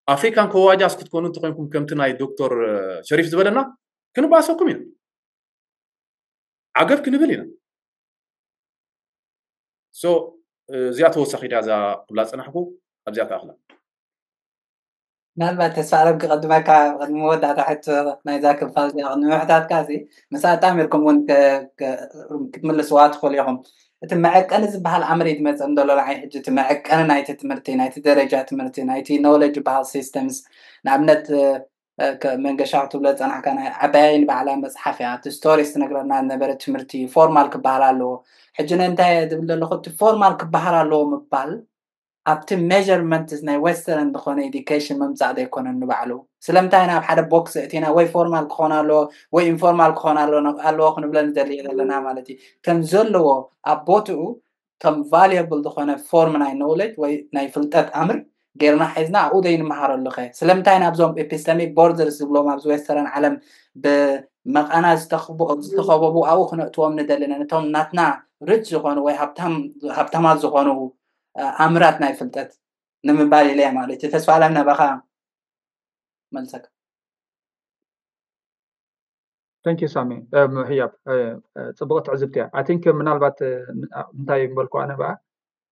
ኣፍሪካን ከዋጃስ ክትኮኑ እንተኮይንኩም ከምቲ ናይ ዶክተር ሸሪፍ ዝበለና ክንባሰኩም ኢና። ዓገብ ክንብል ኢና። ሶ እዚኣ ተወሳኺ ድያ እዛ ክብላ ዝፀናሕኩ ኣብዚኣ ተኣኽላ። ምናልባት ተስፋ ኣለም ክቐድመካ ቅድሚ መወዳእታ ሕቶ ናይዛ ክፋል እዚኣ ቅድሚ ምሕታትካ እዚ ምስ ኣጣሚርኩም እውን ክትምልስዋ ትኽእሉ ኢኹም። እቲ መዐቀኒ ዝበሃል ኣምር እዩ ዝመፀ እንደሎ ንዓይ ሕጂ እቲ መዐቀኒ ናይቲ ትምህርቲ ናይቲ ደረጃ ትምህርቲ ናይቲ ኖሌጅ ዝበሃል ሲስተምስ ንኣብነት መንገሻ ክትብሎ ዝፀናሕካ ናይ ዓባያይ ንባዕላ መፅሓፍ እያ። እቲ ስቶሪስ ትነግረና ዝነበረ ትምህርቲ ፎርማል ክበሃል ኣለዎ። ሕጂ ነንታይ እየ ዝብል ዘለኹ እቲ ፎርማል ክበሃል ኣለዎ ምባል ኣብቲ ሜርመንት ናይ ዌስተርን ዝኾነ ኤዲኬሽን ምምፃእ ዘይኮነን ንባዕሉ። ስለምንታይ ናብ ሓደ ቦክስ እቲና ወይ ፎርማል ክኾን ኣለዎ ወይ ኢንፎርማል ክኾን ኣለዎ ክንብለ ንደሊ ዘለና ማለት እዩ። ከም ዘለዎ ኣብ ቦትኡ ከም ቫልየብል ዝኾነ ፎርም ናይ ኖሌጅ ወይ ናይ ፍልጠት ኣምር ጌርና ሒዝና ኣብኡ ዘይንመሃረሉ ኸ ስለምንታይ ናብዞም ኤፒስተሚክ ቦርደርስ ዝብሎም ኣብዚ ዌስተርን ዓለም ብመቓና ዝተኸበቡ ኣብኡ ክነእትዎም ንደሊ ነቶም ናትና ሪች ዝኾኑ ወይ ሃብታማት ዝኾኑ ኣምራት ናይ ፍልጠት ንምባል ኢለ ማለት እዩ። ተስፋ ኣለም ናባኻ መልሰካ። Thank you ሳሚ። ምሕያብ ፅቡቕ ትዕዝብቲ እያ። I think ምናልባት እንታይ ምበልኩ ኣነ በኣ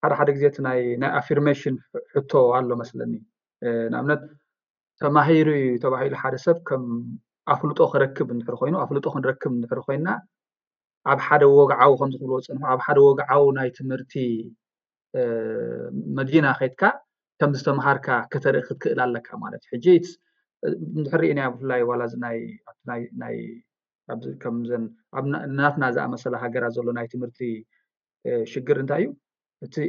ሓደ ሓደ ግዜ እቲ ናይ ናይ ኣፊርሜሽን ሕቶ ኣሎ መስለኒ። ንኣብነት ተማሂሩ እዩ ተባሂሉ ሓደ ሰብ ከም ኣፍልጦ ክረክብ እንድሕር ኮይኑ ኣፍልጦ ክንረክብ እንድሕር ኮይና ኣብ ሓደ ወግዓዊ ከም ዝኽብልዎ ዝፀንሑ ኣብ ሓደ ወግዓዊ ናይ ትምህርቲ መዲና ከይድካ ከም ዝተምሃርካ ከተርኢ ክትክእል ኣለካ ማለት እዩ። ሕጂ እንድሕር ርኢናዮ ብፍላይ ዋላ እዚ ናይ ናይ ከምዘን ናትና ዝኣመሰላ ሃገራት ዘሎ ናይ ትምህርቲ ሽግር እንታይ እዩ?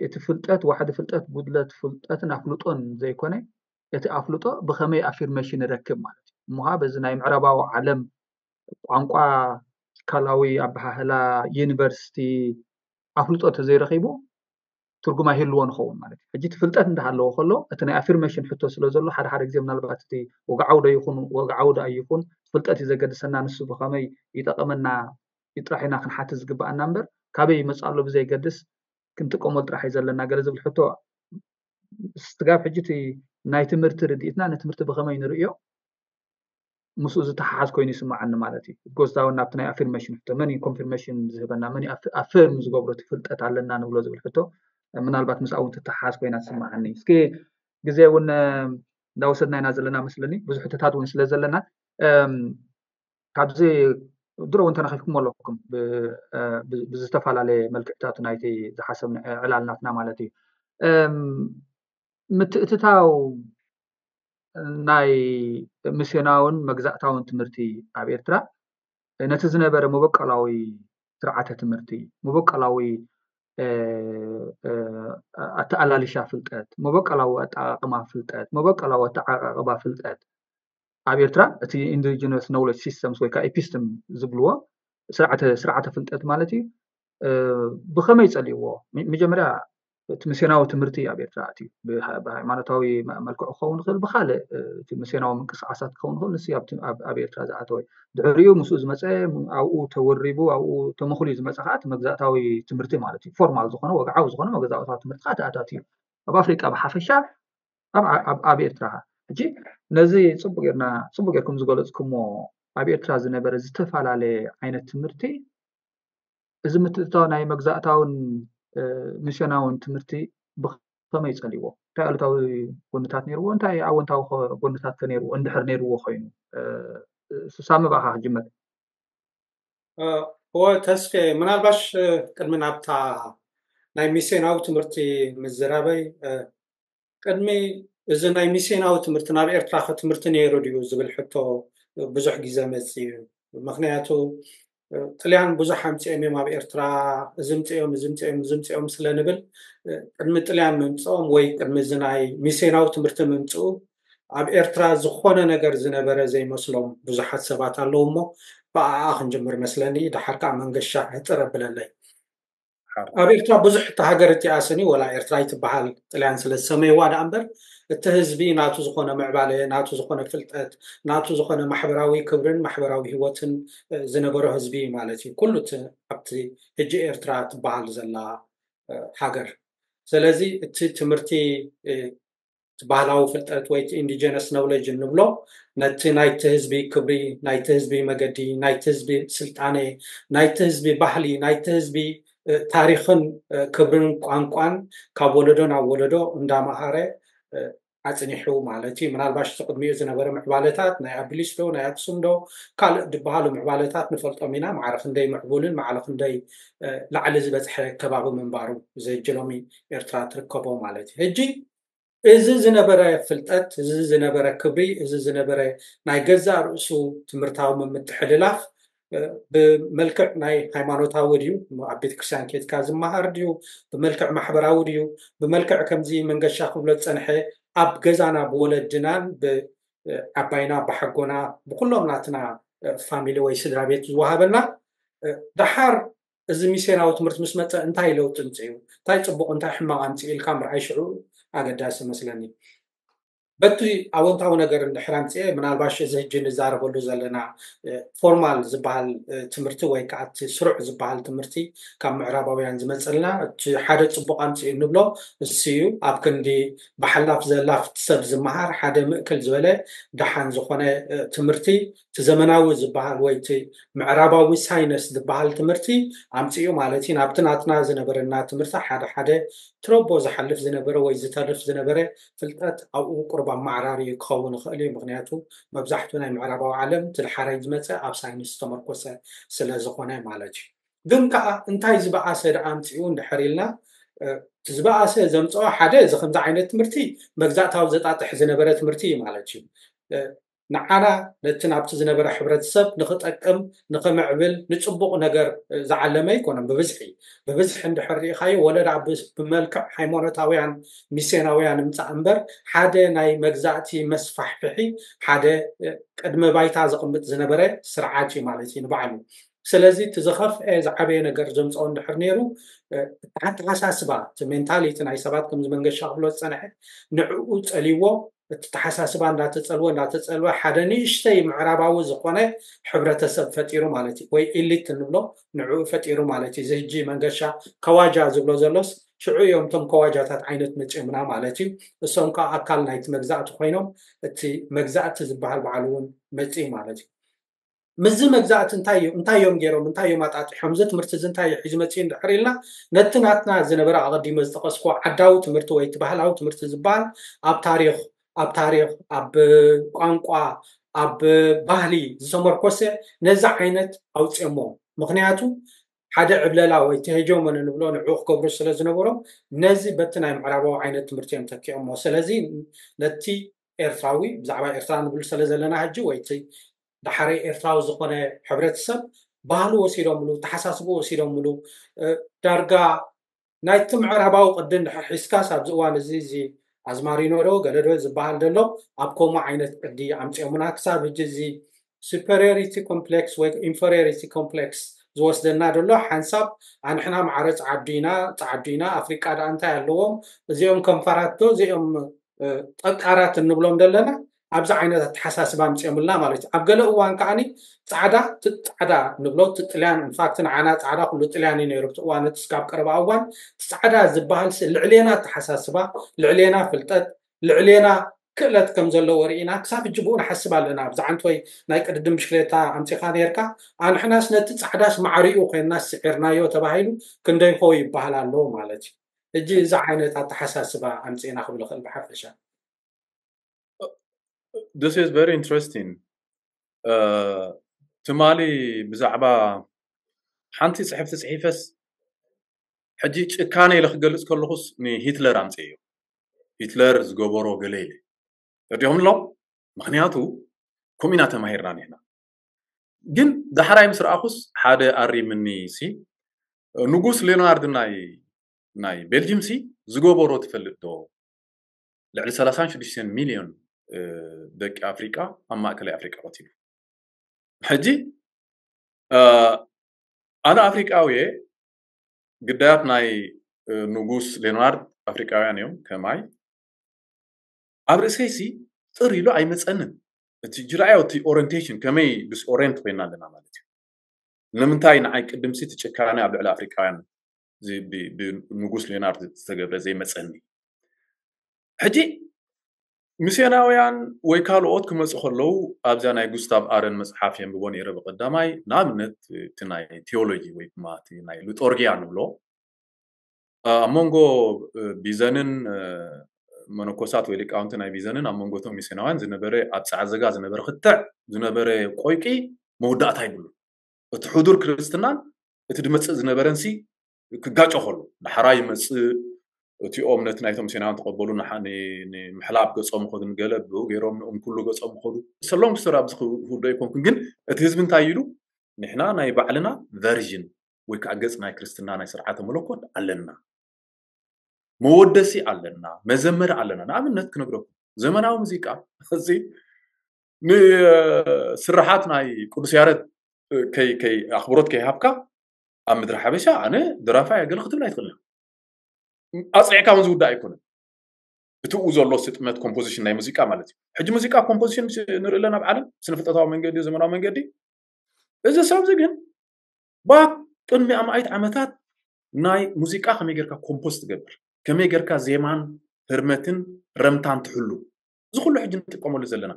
እቲ ፍልጠት ዋሕዲ ፍልጠት ጉድለት ፍልጠትን ኣፍልጦን ዘይኮነ እቲ ኣፍልጦ ብኸመይ ኣፊርሜሽን ይረክብ ማለት እዩ። እሞ በዚ ናይ ምዕራባዊ ዓለም ቋንቋ ትካላዊ ኣበሃህላ ዩኒቨርሲቲ ኣፍልጦ ተዘይረኺቡ ትርጉም ኣይህልዎ ንኸውን ማለት እዩ። ሕጂ እቲ ፍልጠት እንዳሃለዎ ከሎ እቲ ናይ ኣፊርሜሽን ሕቶ ስለ ዘሎ ሓደ ሓደ ግዜ ምናልባት እቲ ወግዓዊ ዶ ይኹን ወግዓዊ ዶ ኣይኹን ፍልጠት እዩ ዘገድሰና ንሱ ብኸመይ ይጠቐመና እዩ ጥራሕ ኢና ክንሓትት ዝግብኣና እምበር ካበይ ይመፅእ ኣሎ ብዘይገድስ ክንጥቀመሉ ጥራሕ እዩ ዘለና ገለ ዝብል ሕቶ ስጋብ ሕጂ እቲ ናይ ትምህርቲ ርድኢትና ንትምህርቲ ብኸመይ ንርእዮ ምስኡ ዝተሓሓዝ ኮይኑ ይስምዓኒ ማለት እዩ። ጎዝታ እውን ናብቲ ናይ ኣፊርሜሽን ሕቶ መን እዩ ኮንፊርሜሽን ዝህበና መን ኣፊርም ዝገብሮ እቲ ፍልጠት ኣለና ንብሎ ዝብል ሕቶ ምናልባት ምስኣ እውን ትተሓሓዝ ኮይና ትስምዓኒ። እስኪ ግዜ እውን እንዳወሰድና ኢና ዘለና መስለኒ ብዙሕ ሕቶታት እውን ስለ ዘለና ካብዚ ድሮ እውን ተነኺፍኩም ኣለኩም ብዝተፈላለየ መልክዕታት ናይቲ ዝሓሰብ ዕላልናትና ማለት እዩ። ምትእትታው ናይ ሚስዮናውን መግዛእታውን ትምህርቲ ኣብ ኤርትራ ነቲ ዝነበረ መበቀላዊ ስርዓተ ትምህርቲ፣ መበቀላዊ ኣተኣላልሻ ፍልጠት፣ መበቀላዊ ኣጠቃቅማ ፍልጠት፣ መበቀላዊ ኣተዓቃቅባ ፍልጠት ኣብ ኤርትራ፣ እቲ ኢንዲጂነስ ኖውለጅ ሲስተምስ ወይ ከዓ ኢፒስትም ዝብልዎ ስርዓተ ፍልጠት ማለት እዩ። ብኸመይ ጸሊእዎ? መጀመርያ እቲ ሚስዮናዊ ትምህርቲ ኣብ ኤርትራ ኣትዩ። ብሃይማኖታዊ መልክዑ ክኸውን ይኽእል፣ ብካልእ እቲ ሚስዮናዊ ምንቅስቃሳት ክኸውን ይኽእል፣ ንሱ ኣብ ኤርትራ ዝኣተወ። ድሕሪኡ ምስኡ ዝመፀ፣ ኣብኡ ተወሪቡ ኣብኡ ተመኽልዩ ዝመፀ ከዓ እቲ መግዛእታዊ ትምህርቲ ማለት እዩ። ፎርማል ዝኾነ፣ ወግዓዊ ዝኾነ መግዛእታዊ ትምህርቲ ከዓ ተኣታትዩ ኣብ ኣፍሪቃ ብሓፈሻ፣ ኣብ ኤርትራ ከዓ። ሕጂ ነዚ ፅቡቅ ጌርና ፅቡቅ ጌርኩም ዝገለፅኩሞ ኣብ ኤርትራ ዝነበረ ዝተፈላለየ ዓይነት ትምህርቲ፣ እዚ ምትእትታው ናይ መግዛእታውን ሚስዮናውን ትምህርቲ ብኸመይ ጸሊዎ? እንታይ ኣሉታዊ ጎንታት ነይርዎ? እንታይ ኣወንታዊ ጎንታት ከ ነይርዎ? እንድሕር ነይርዎ ኮይኑ፣ ሳሚ ብኣኻ ክጅመር። እወ ተስፌ፣ ምናልባሽ ቅድሚ ናብታ ናይ ሚስዮናዊ ትምህርቲ ምዝራበይ፣ ቅድሚ እዚ ናይ ሚስዮናዊ ትምህርቲ ናብ ኤርትራ ከ ትምህርቲ ነይሩ ድዩ ዝብል ሕቶ ብዙሕ ግዜ መጽእ እዩ። ምክንያቱ ጥልያን ብዙሕ ኣምፅኦም እዮም ኣብ ኤርትራ፣ እዚ ምፅኦም፣ እዚ ምፅኦም፣ እዚ ምፅኦም ስለ ንብል፣ ቅድሚ ጥልያን ምምፅኦም ወይ ቅድሚ እዚ ናይ ሚስዮናዊ ትምህርቲ ምምፅኡ ኣብ ኤርትራ ዝኾነ ነገር ዝነበረ ዘይመስሎም ብዙሓት ሰባት ኣለዉ። እሞ ብኣኣ ክንጅምር መስለኒ፣ ድሓር ከዓ መንገሻ ሕፅር ኣብለለይ። ኣብ ኤርትራ ብዙሕ እቲ ሃገር እቲኣ ስኒ ወላ ኤርትራ ይትበሃል ጥልያን ስለ ዝሰመይዋ ደኣ እምበር፣ እቲ ህዝቢ ናቱ ዝኾነ ምዕባለ፣ ናቱ ዝኾነ ፍልጠት፣ ናቱ ዝኾነ ማሕበራዊ ክብርን ማሕበራዊ ህይወትን ዝነበሮ ህዝቢ ማለት እዩ። ኩሉ እቲ ኣብቲ ሕጂ ኤርትራ ትበሃል ዘላ ሃገር። ስለዚ እቲ ትምህርቲ፣ እቲ ባህላዊ ፍልጠት ወይ ኢንዲጀነስ ኖውለጅ እንብሎ፣ ነቲ ናይቲ ህዝቢ ክብሪ፣ ናይቲ ህዝቢ መገዲ፣ ናይቲ ህዝቢ ስልጣነ፣ ናይቲ ህዝቢ ባህሊ፣ ናይቲ ህዝቢ ታሪኽን ክብርን ቋንቋን ካብ ወለዶ ናብ ወለዶ እንዳመሃረ ኣፅኒሑ ማለት እዩ። ምናልባሽ እቲ ቅድሚኡ ዝነበረ ምዕባለታት ናይ ኣቢሊስ ዶ ናይ ኣክሱም ዶ ካልእ ዝበሃሉ ምዕባለታት ንፈልጦም ኢና። ማዕረ ክንደይ ምዕቡልን ማዕረ ክንደይ ላዕሊ ዝበፅሐ ከባቢ ምንባሩ፣ እዚ ሕጂ ሎሚ ኤርትራ ትርከቦ ማለት እዩ። ሕጂ እዚ ዝነበረ ፍልጠት፣ እዚ ዝነበረ ክብሪ፣ እዚ ዝነበረ ናይ ገዛእ ርእሱ ትምህርታዊ ምምትሕልላፍ ብመልክዕ ናይ ሃይማኖታዊ ድዩ፣ ኣብ ቤተክርስትያን ኬድካ ዝመሃር ድዩ፣ ብመልክዕ ማሕበራዊ ድዩ፣ ብመልክዕ ከምዚ መንገሻ ክብሎ ዝፀንሐ ኣብ ገዛና ብወለድናን ብዓባይና ብሓጎና ብኩሎም ናትና ፋሚሊ ወይ ስድራ ቤት ዝወሃበና፣ ደሓር እዚ ሚስዮናዊ ትምህርቲ ምስ መፀ እንታይ ለውጢ ኣምፅኡ፣ እንታይ ፅቡቕ እንታይ ሕማቕ ኣምፅኡ ኢልካ ምርኣይ ሽዑ ኣገዳሲ መስለኒ። በቲ ኣወንታዊ ነገር እንድሕር ኣምፅኤ፣ ምናልባሽ እዚ ሕጂ ንዛረበሉ ዘለና ፎርማል ዝበሃል ትምህርቲ ወይ ከዓ እቲ ስሩዕ ዝበሃል ትምህርቲ ካብ ምዕራባውያን ዝመፀልና፣ እቲ ሓደ ፅቡቕ ኣምፅኡ እንብሎ እሱ እዩ። ኣብ ክንዲ ብሓላፍ ዘላፍ ሰብ ዝመሃር ሓደ ምእክል ዝበለ ደሓን ዝኾነ ትምህርቲ፣ እቲ ዘመናዊ ዝበሃል ወይ እቲ ምዕራባዊ ሳይነስ ዝበሃል ትምህርቲ ኣምፅኡ ማለት እዩ። ናብቲ ናትና ዝነበረና ትምህርቲ ሓደ ሓደ ትረቦ ዝሓልፍ ዝነበረ ወይ ዝተርፍ ዝነበረ ፍልጠት ኣብኡ ቁሩብ ኣመዓራሪ ክኸውን ይኽእል እዩ። ምክንያቱ መብዛሕትኡ ናይ ምዕራባዊ ዓለም እቲ ድሓራይ ዝመፀ ኣብ ሳይንስ ዝተመርኮሰ ስለ ዝኾነ ማለት እዩ። ግን ከዓ እንታይ ዝበኣሰ ደኣ ኣምፅኡ እንድሕር ኢልና፣ እቲ ዝበኣሰ ዘምፅኦ ሓደ እዚ ከምዚ ዓይነት ትምህርቲ መግዛእታዊ ዘጣጥሕ ዝነበረ ትምህርቲ እዩ ማለት እዩ። ንዓና ነቲ ናብቲ ዝነበረ ሕብረተሰብ ንኽጠቅም ንኽምዕብል ንፅቡቕ ነገር ዝዓለመ ኣይኮነን። ብብዝሒ ብብዝሒ እንድሕር ርኢኻዮ ወለዳ ብመልክዕ ሃይማኖታውያን ሚስዮናውያን ምፃእ እምበር ሓደ ናይ መግዛእቲ መስፋሕፍሒ ሓደ ቅድመ ባይታ ዘቕምጥ ዝነበረ ስርዓት እዩ ማለት እዩ ንባዕሉ። ስለዚ እቲ ዝኸፍአ ዝዓበየ ነገር ዘምፅኦ እንድሕር ነይሩ፣ እቲ ኣተሓሳስባ፣ እቲ ሜንታሊቲ ናይ ሰባት ከምዚ መንገሻ ክብሎ ዝፀንሐ ንዕኡ ፀልይዎ፣ እቲ ተሓሳስባ እንዳተፀልወ እንዳተፀልወ ሓደ ንእሽተይ ምዕራባዊ ዝኾነ ሕብረተሰብ ፈጢሩ ማለት እዩ። ወይ ኢሊት እንብሎ ንዕኡ ፈጢሩ ማለት እዩ። እዚ ሕጂ መንገሻ ከዋጃ ዝብሎ ዘሎስ ሽዑ እዮም እቶም ከዋጃታት ዓይነት መፂኦምና ማለት እዩ። እሶም ከዓ ኣካል ናይቲ መግዛእቲ ኮይኖም እቲ መግዛእቲ ዝበሃል በዓል እውን መፂኡ ማለት እዩ። ምስዚ መግዛእቲ እንታይ እዩ እንታይ እዮም ገይሮም እንታይ እዮም ኣጣጢሖም እዚ ትምህርቲ እዚ እንታይ እዩ ሒዙ መፂኡ እንድሕር ኢልና ነቲ ናትና ዝነበረ ኣቐዲመ ዝጠቐስኩ ዓዳዊ ትምህርቲ ወይ እቲ ባህላዊ ትምህርቲ ዝበሃል ኣብ ታሪኽ ኣብ ታሪኽ ኣብ ቋንቋ ኣብ ባህሊ ዝተመርኮሰ ነዚ ዓይነት ኣውፅኦሞ። ምክንያቱ ሓደ ዕብለላ ወይ እቲ ሄጀሞኒ ንብሎ ንዕኡ ክገብሩ ስለ ዝነበሮም ነዚ በቲ ናይ ምዕራባዊ ዓይነት ትምህርቲ እዮም ተኪኦሞ። ስለዚ ነቲ ኤርትራዊ ብዛዕባ ኤርትራ ንብል ስለ ዘለና ሕጂ ወይ እቲ ዳሕረይ ኤርትራዊ ዝኾነ ሕብረተሰብ ባህሉ ወሲዶምሉ፣ ተሓሳስቡ ወሲዶምሉ፣ ዳርጋ ናይቲ ምዕራባዊ ቅዲ እንድሕር ሒዝካስ ኣብዚ እዋን እዚ እዚ ኣዝማሪኖ ዶ ገለ ዶ ዝበሃል ዘሎ ኣብ ከምኡ ዓይነት ቅዲ ኣምፅኦምና። ክሳብ ሕጂ እዚ superiority complex ወይ inferiority complex ዝወስደና ዘሎ ሓንሳብ ኣንሕና ማዕረ ፃዓዱ ኢና ፃዓዱ ኢና ኣፍሪቃ ደኣ እንታይ ኣለዎም እዚኦም ከንፈራት ዶ እዚኦም ጠቃራት እንብሎም ዘለና ኣብዚ ዓይነት ኣተሓሳስባ ኣምፅኦምልና ማለት እዩ። ኣብ ገለ እዋን ከዓኒ ፃዕዳ እቲ ፃዕዳ ንብሎ እቲ ጥልያን ኢንፋክት ንዓና ፃዕዳ ኩሉ ጥልያን እዩ ነይሩ እቲ እዋን እቲ ስጋብ ቀረባ እዋን እቲ ፃዕዳ ዝበሃል ልዕሌና ኣተሓሳስባ ልዕሌና ፍልጠት ልዕሌና ክእለት ከም ዘለዎ ርኢና ክሳብ ሕጂ ብኡ ንሓስብ ኣለና። ብዛዓንት ወይ ናይ ቅድድም ብሽክሌታ ኣምፂኻ ነርካ ኣንሕናስ ነቲ ፃዕዳስ ማዕሪኡ ኮይንና ስዒርናዮ ተባሂሉ ክንደይኮ ይበሃል ኣሎ ማለት እዩ። ሕጂ እዚ ዓይነት ኣተሓሳስባ ኣምፂእና ክብል ክእል ብሓፈሻ። This is very interesting. ትማሊ ብዛዕባ ሓንቲ ፅሕፍቲ ፅሒፈስ ሕጂ ጭካነ ኢለ ክገልፅ ከለኹስ ንሂትለር ኣምፅእዮ። ሂትለር ዝገበሮ ገለ ኢለ ረዲኹም ኣሎ። ምክንያቱ ከምኡ ኢና ተማሂርና ኒሕና። ግን ዳሕራይ ምስ ረኣኹስ ሓደ ኣሪምኒ ሲ ንጉስ ሌናርድ ናይ ናይ ቤልጅም ሲ ዝገበሮ ትፈልጥ ዶ? ልዕሊ ሰላሳን ሽዱሽተን ሚልዮን ደቂ ኣፍሪቃ ኣብ ማእከላይ ኣፍሪቃ ቀቲሉ። ሕጂ ኣነ ኣፍሪቃዊ ግዳያት ናይ ንጉስ ሌናርድ ኣፍሪቃውያን እዮም ከማይ ኣብ ርእሰይሲ ጥር ኢሉ ኣይመፀንን። እቲ ጅራዮ እቲ ኦሪንቴሽን ከመይ ዲስኦሪንት ኮይና ኣለና ማለት እዩ። ንምንታይ ንዓይ ቅድምሲ እቲ ጭካነ ኣብ ልዕሊ ኣፍሪቃውያን ብንጉስ ሌናርድ ዝተገብረ ዘይመፀኒ? ሕጂ ሚስዮናውያን ወይ ካልኦት ክመፁ ከለዉ ኣብዛ ናይ ጉስታቭ ኣረን መፅሓፍ የንብቦ ነይረ ብቀዳማይ ንኣብነት እቲ ናይ ቴዎሎጂ ወይ ድማ እቲ ናይ ሉጦርጊያ ንብሎ ኣብ መንጎ ቢዘንን መነኮሳት ወይ ሊቃውንቲ ናይ ቢዘንን ኣብ መንጎቶም ሚስዮናውያን ዝነበረ ኣብ ፃዕዘጋ ዝነበረ ክትዕ ዝነበረ ቆይቂ መወዳእታ ይብሉ። እቲ ሕዱር ክርስትናን እቲ ድመፅእ ዝነበረንሲ ክጋጮ ከሉ ዳሕራ ይመፅእ እቲኦም ነቲ ናይቶም ሚስዮናውያን ተቐበሉ ንምሕላብ ገፆም ኸዱ ንገለ ብኡ ገይሮም ንኡም ኩሉ ገፆም ኸዱ ሰሎም ክስር ኣብዚ ክውዶ ኣይኮንኩን ግን እቲ ህዝቢ እንታይ ኢሉ ንሕና ናይ ባዕልና ቨርዥን ወይ ከዓ ገፅ ናይ ክርስትና ናይ ስርዓተ መለኮት ኣለና መወደሲ ኣለና መዘመሪ ኣለና ንኣብነት ክነግረኩም ዘመናዊ ሙዚቃ እዚ ንስራሓት ናይ ቅዱስ ያረድ ከይ ከይ ኣኽብሮት ከይሃብካ ኣብ ምድሪ ሓበሻ ኣነ ድራፋይ ኣገለ ክትብል ኣይትኽእልን ኣፅዒዕካ እውን ዝውዳእ ኣይኮነን እቲ ኡ ዘሎ ስጥመት ኮምፖዚሽን ናይ ሙዚቃ ማለት እዩ ሕጂ ሙዚቃ ኮምፖዚሽን ንርኢ ኣለና ኣብ ዓለም ስነ ፍልጠታዊ መንገዲ ዘመናዊ መንገዲ እዚ ሰብ እዚ ግን ባ ቅድሚ ኣማኢት ዓመታት ናይ ሙዚቃ ከመይ ጌርካ ኮምፖዝ ትገብር ከመይ ጌርካ ዜማን ህርመትን ረምታን ትሕሉ እዚ ኩሉ ሕጂ ንጥቀመሉ ዘለና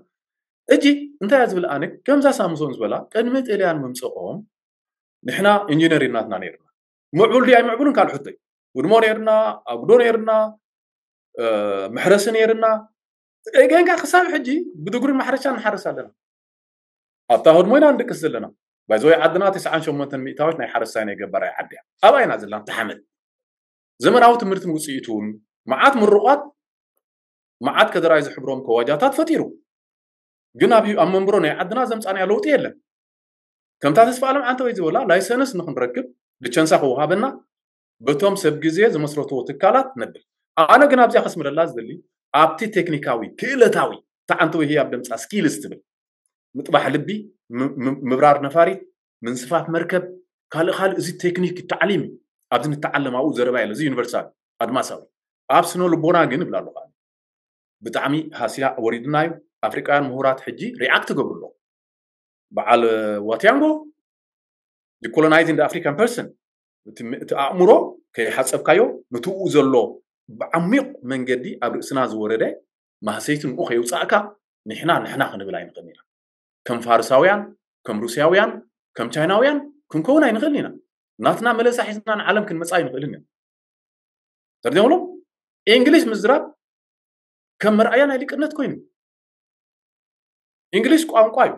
እጂ እንታይ እያ ዝብል ኣነ ከምዛ ሳምሶን ዝበላ ቅድሚ ጥልያን ምምፅኦም ንሕና ኢንጂነር ናትና ነይርና ምዕቡል ድያ ኣይምዕቡልን ካልእ ሕቶ እዩ ውድሞ ነይርና ኣጉዶ ነይርና መሕረሲ ነይርና ገንካ ክሳብ ሕጂ ብድጉሪ ማሕረሻ ንሓርስ ኣለና ኣብታ ህድሞ ኢና ንድቅስ ዘለና ባይዘወይ ዓድና ተስዓን ሸሞንተን ሚእታዊት ናይ ሓረስታይ ናይ ገባራይ ዓዲ እያ ኣብኣ ኢና ዘለና ተሓመድ ዘመናዊ ትምህርትን ውፅኢቱን መዓት ምሩቋት መዓት ከደራይ ዝሕብሮም ከዋጃታት ፈጢሩ ግን ኣብ ኣብ መንብሮ ናይ ዓድና ዘምፃናዮ ለውጢ የለን ከምታ ተስፋ ኣለም ዓንተወይ ዝበላ ላይሰንስ ንክንረክብ ልቸንሳ ክወሃበና በቶም ሰብ ግዜ ዝመስረትዎ ትካላት ነብል ኣነ ግን ኣብዚኣ ከስምረላ ዝደሊ ኣብቲ ቴክኒካዊ ክእለታዊ ተዓንተወይ ህያብ ደምፃ ስኪልስ ትብል ምጥባሕ ልቢ ምብራር ነፋሪት ምንስፋፍ መርከብ ካልእ ካልእ እዚ ቴክኒክ ታዕሊም ኣብዚ ንተዓለም ኣብኡ ዘረባ የለ እዚ ዩኒቨርሳል ኣድማሳዊ ኣብ ስነ ልቦና ግን ይብል ኣለኹ ብጣዕሚ ሃስያ ወሪድና እዩ ኣፍሪቃውያን ምሁራት ሕጂ ሪኣክት ገብሩ ኣለኹ በዓል ዋትያንጎ colonizing the African person እቲ ኣእምሮ ከይሓፀብካዮ ንትኡ ዘሎ ብዓሚቕ መንገዲ ኣብ ርእስና ዝወረደ ማህሰይቲ ንኡ ከየውፃእካ ንሕና ንሕና ክንብል ኣይንኽእል ኢና ከም ፋርሳውያን ከም ሩስያውያን ከም ቻይናውያን ክንከውን ኣይንኽእል ኢና ናትና መለሳ ሒዝና ንዓለም ክንመፃ ኣይንኽእልን ኢና ተርዲምሎ እንግሊሽ ምዝራብ ከም መርኣያ ናይ ሊቅነት ኮይኑ እንግሊሽ ቋንቋ እዩ።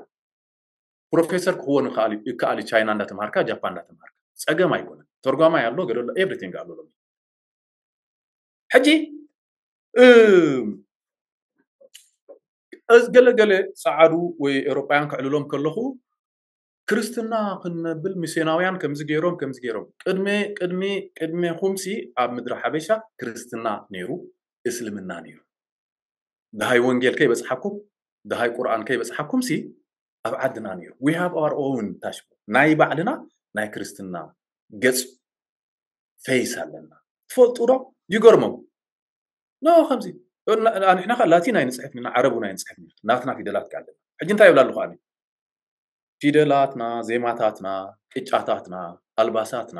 ፕሮፌሰር ክኸውን ይከኣል እዩ ቻይና እንዳተምሃርካ፣ ጃፓን እንዳተምሃርካ፣ ጸገም ኣይኮነን። ተርጓማይ ኣሎ፣ ገለ ኣሎ፣ ኤቭሪቲንግ ኣሎ ሎሚ። ሕጂ ገለገለ ጸዓዱ ወይ ኤውሮጳውያን ክዕልሎም ከለኹ፣ ክርስትና ክንነብል ሚስዮናውያን ከምዚ ገይሮም ከምዚ ገይሮም። ቅድሚ ቅድሚ ቅድሜኹምሲ ኣብ ምድሪ ሓበሻ ክርስትና ነይሩ፣ እስልምና ነይሩ። ደሃይ ወንጌል ከይበጽሓኩም፣ ደሃይ ቁርኣን ከይበጽሓኩምሲ ኣብ ዓድና ነይሩ። We have our own ታሽሙ ናይ ባዕልና ናይ ክርስትና ገጽ ፌስ ኣለና። ትፈልጡ ዶ? ይገርሞም። ኖ ከምዚ ንሕና ከ ላቲን ኣይንጽሕፍን ኢና፣ ዓረቡን ኣይንጽሕፍን ኢና። ናትና ፊደላት ከ ኣለና። ሕጂ እንታይ ይብላ ኣለኹ ኣነ? ፊደላትና፣ ዜማታትና፣ ቅጫታትና፣ ኣልባሳትና፣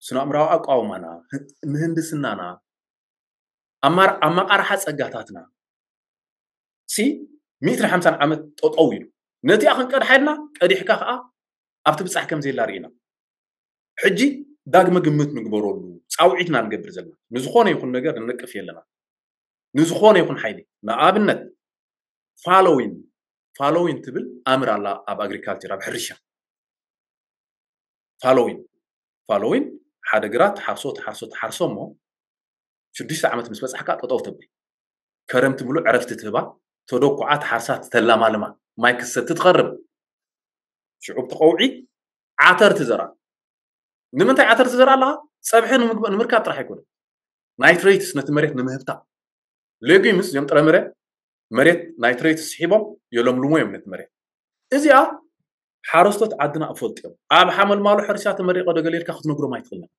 ስነ-ኣእምራዊ ኣቃውማና፣ ምህንድስናና፣ ኣማር- ኣመቃርሓ ጸጋታትና ሲ ሚእትን ሓምሳን ዓመት ጠጠው ኢሉ ነቲኣ ክንቀድሓ ኢልና ቀዲሕካ ከዓ ኣብቲ ብጻሕ ከም ዘየላ ርኢና። ሕጂ ዳግመ ግምት ንግበረሉ ጻውዒትና ንገብር ዘለና ንዝኾነ ይኹን ነገር ንነቅፍ የለና። ንዝኾነ ይኹን ሓይሊ ንኣብነት ፋሎዊን ፋሎዊን ትብል ኣምር ኣላ ኣብ ኣግሪካልቸር ኣብ ሕርሻ ፋሎዊን ፋሎዊን ሓደ ግራት ትሓርሶ ትሓርሶ ትሓርሶ እሞ ሽዱሽተ ዓመት ምስ በጻሕካ ጠጠው ተብል። ከረምቲ ምሉእ ዕረፍቲ ትህባ፣ ተደኩዓ ትሓርሳ ትተላማልማ፣ ማይ ክሰቲ ትኸርብ። ሽዑብ ትቐውዒ ዓተር ትዘራ። ንምንታይ ዓተር ትዘራ ኣለኻ? ጸብሒ ንምግብ- ንምርካብ ጥራሕ ኣይኮነን። ናይትሬትስ ነቲ መሬት ንምህብታ። ሌጊምስ እዚኦም ጥረምረ መሬት ናይትሬትስ ስሒቦም የለምልሞ እዮም ነቲ መሬት። እዚኣ ሓረስቶት ዓድና እፈልጡ እዮም። ኣብ ሓመልማሎ ሕርሻ ተመሪቆ ዶ ገለ ኢልካ ክትነግሮም ኣይትኽእልን።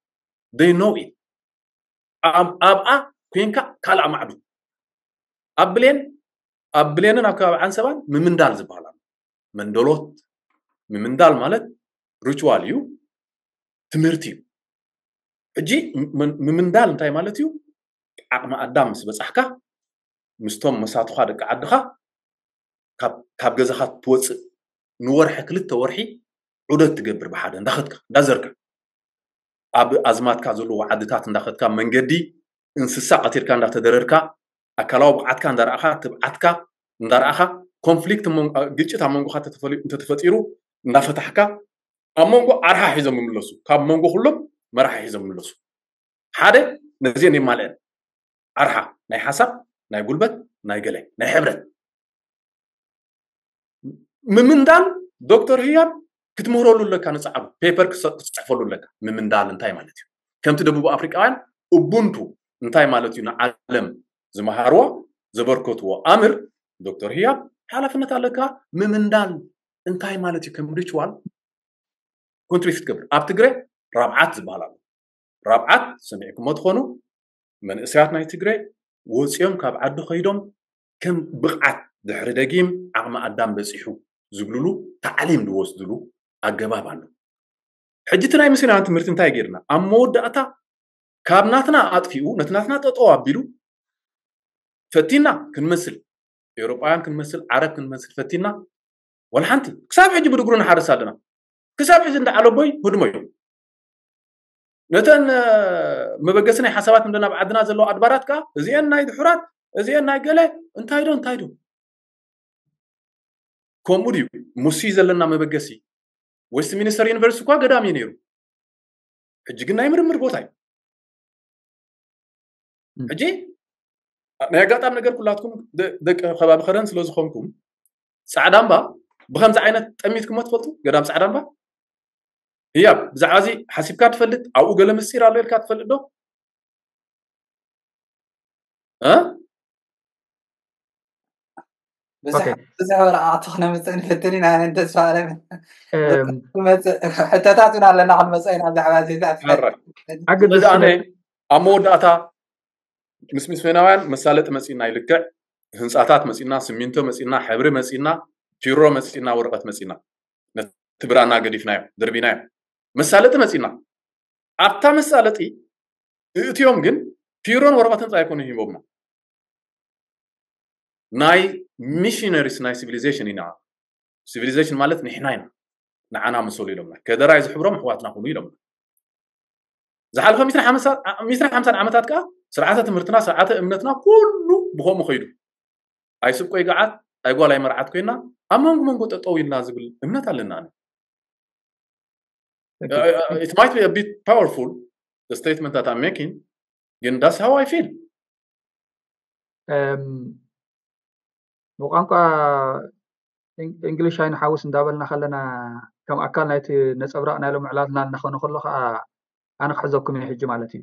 They know it። ኣብ- ኣብኣ ኮንካ ካልኣ ማዕዱ ኣብ ብሌን ኣብ ብሌንን ኣብ ከባቢ ዓንሰባን ምምንዳል ዝበሃል ኣሎ። መንደሎት ምምንዳል ማለት ሪቹዋል እዩ፣ ትምህርቲ እዩ። ሕጂ ም- ምምንዳል እንታይ ማለት እዩ? ዓቕሚ ኣዳም ምስ በጻሕካ ምስቶም መሳቱኻ ደቂ ዓድኻ ካብ- ካብ ገዛኻ ትወፅእ ንወርሒ ክልተ ወርሒ ዑደት ትገብር ብሓደ እንዳኸድካ እንዳዘርካ ኣብ ኣዝማትካ ዘለዎ ዓድታት እንዳኸድካ መንገዲ እንስሳ ቀቲልካ እንዳተደረርካ ኣካላዊ ብቕዓትካ እንዳረኣኻ ትብዓትካ እንዳረኣኻ ኮንፍሊክት መን- ግጭት ኣብ መንጎኻ ተተፈሊ- እንተተፈጢሩ እንዳፈታሕካ ኣብ መንጎ ኣርሓ ሒዞም ይምለሱ። ካብ መንጎ ኩሎም መራሒ ሒዞም ይምለሱ። ሓደ ነዚአን የማልአን ኣርሓ ናይ ሓሳብ ናይ ጉልበት ናይ ገለ ናይ ሕብረት ምምንዳል ዶክተር ህያብ ክትምህረሉ ኣለካ። ንፃዕሩ ፔፐር ክትፅ- ክትፅሕፈሉ ኣለካ። ምምንዳል እንታይ ማለት እዩ? ከምቲ ደቡብ ኣፍሪቃውያን ኡቡንቱ እንታይ ማለት እዩ ንዓለም ዝመሃርዎ ዘበርከትዎ ኣምር ዶክተር ህያብ ሓላፍነት ኣለካ። ምምንዳል እንታይ ማለት እዩ? ከም ሪችዋል ኮንትሪቢዩት ትገብር ኣብ ትግረ ራብዓት ዝበሃል ኣሎ። ራብዓት ሰሚዕኩሞ ትኾኑ መንእሰያት ናይ ትግረ ወፂኦም ካብ ዓዲ ከይዶም ከም ብቕዓት ድሕሪ ደጊም ዓቕሚ ኣዳም በፂሑ ዝብልሉ ታዕሊም ዝወስድሉ ኣገባብ ኣሎ። ሕጂ እቲ ናይ ምስናን ትምህርቲ እንታይ ገይርና ኣብ መወዳእታ ካብ ናትና ኣጥፊኡ ነቲ ናትና ጠጠው ኣቢሉ ፈቲና ክንመስል ኤውሮጳውያን ክንመስል ዓረብ ክንመስል ፈቲና ወላ ሓንቲ ክሳብ ሕጂ ብድግሩ ንሓርስ ኣለና። ክሳብ ሕጂ እንዳ ዓለቦይ ህድሞ እዩ። ነተን መበገሲ ናይ ሓሳባት እንደ ናብ ዓድና ዘለዋ ኣድባራት ከዓ እዚአን ናይ ድሑራት እዚአን ናይ ገለ እንታይ ዶ እንታይ ዶ ከምኡ ድዩ? ሙሲ ዘለና መበገሲ ዌስት ሚኒስተር ዩኒቨርሲቲ እኳ ገዳም እዩ ነይሩ። ሕጂ ግን ናይ ምርምር ቦታ እዩ። ሕጂ ናይ ኣጋጣሚ ነገር ኩላትኩም ደቂ ከባቢ ከረን ስለ ዝኾንኩም ፃዕዳ እምባ ብከምዚ ዓይነት ጠሚትኩሞ ትፈልጡ? ገዳም ፃዕዳ እምባ ህያብ ብዛዕባ እዚ ሓሲብካ ትፈልጥ? ኣብኡ ገለ ምስጢር ኣሎ ኢልካ ትፈልጥ ዶ? እ? ብዙሕ ወረቃቅቲ ክነምፅእ ንፍትን ኢና። ኣነ ተስፋ ኣለም ሕቶታት እውን ኣለና ክንመፅኦ ኢና ብዛዕባ ኣነ ኣብ መወዳእታ ምስ ሚስዮናውያን መሳለጢ መፂና ይልክዕ ህንፃታት መፂና ስሚንቶ መፂና ሕብሪ መፂና ፒሮ መፂና ወረቀት መፂና ነቲ ብራና ገዲፍናዮ ደርቢናዮ መሳለጢ መፂና ኣብታ መሳለጢ እእትዮም ግን ፒሮን ወረቀትን ፃ ኣይኮኑ ሂቦምና ናይ ሚሽነሪስ ናይ ሲቪሊዜሽን ኢና። ሲቪሊዜሽን ማለት ንሕና ኢና። ንዓና ምሰሉ ኢሎምና። ከደራይ ዝሕብሮም ኣሕዋትና ኩኑ ኢሎምና። ዝሓለፈ ሚስራ ሓምሳን ዓመታት ከዓ ስርዓተ ትምህርትና ስርዓተ እምነትና ኩሉ ብኸምኡ ከይዱ ኣይስብ ቆይ ገዓት ኣይ ጓል ኣይመርዓት ኮይና ኣብ መንጎ መንጎ ጠጠው ኢልና ዝብል እምነት ኣለና። It might be a bit powerful, the statement that I'm making, ግን that's how I feel. ብቋንቋ እንግሊሽ ኣይንሓውስ እንዳበልና ከለና ከም ኣካል ናይቲ ነፀብራቕ ናይ ሎም ዕላልና እናኾነ ከሎ ከዓ ኣነ ክሕዘኩም እየ ሕጂ ማለት እዩ።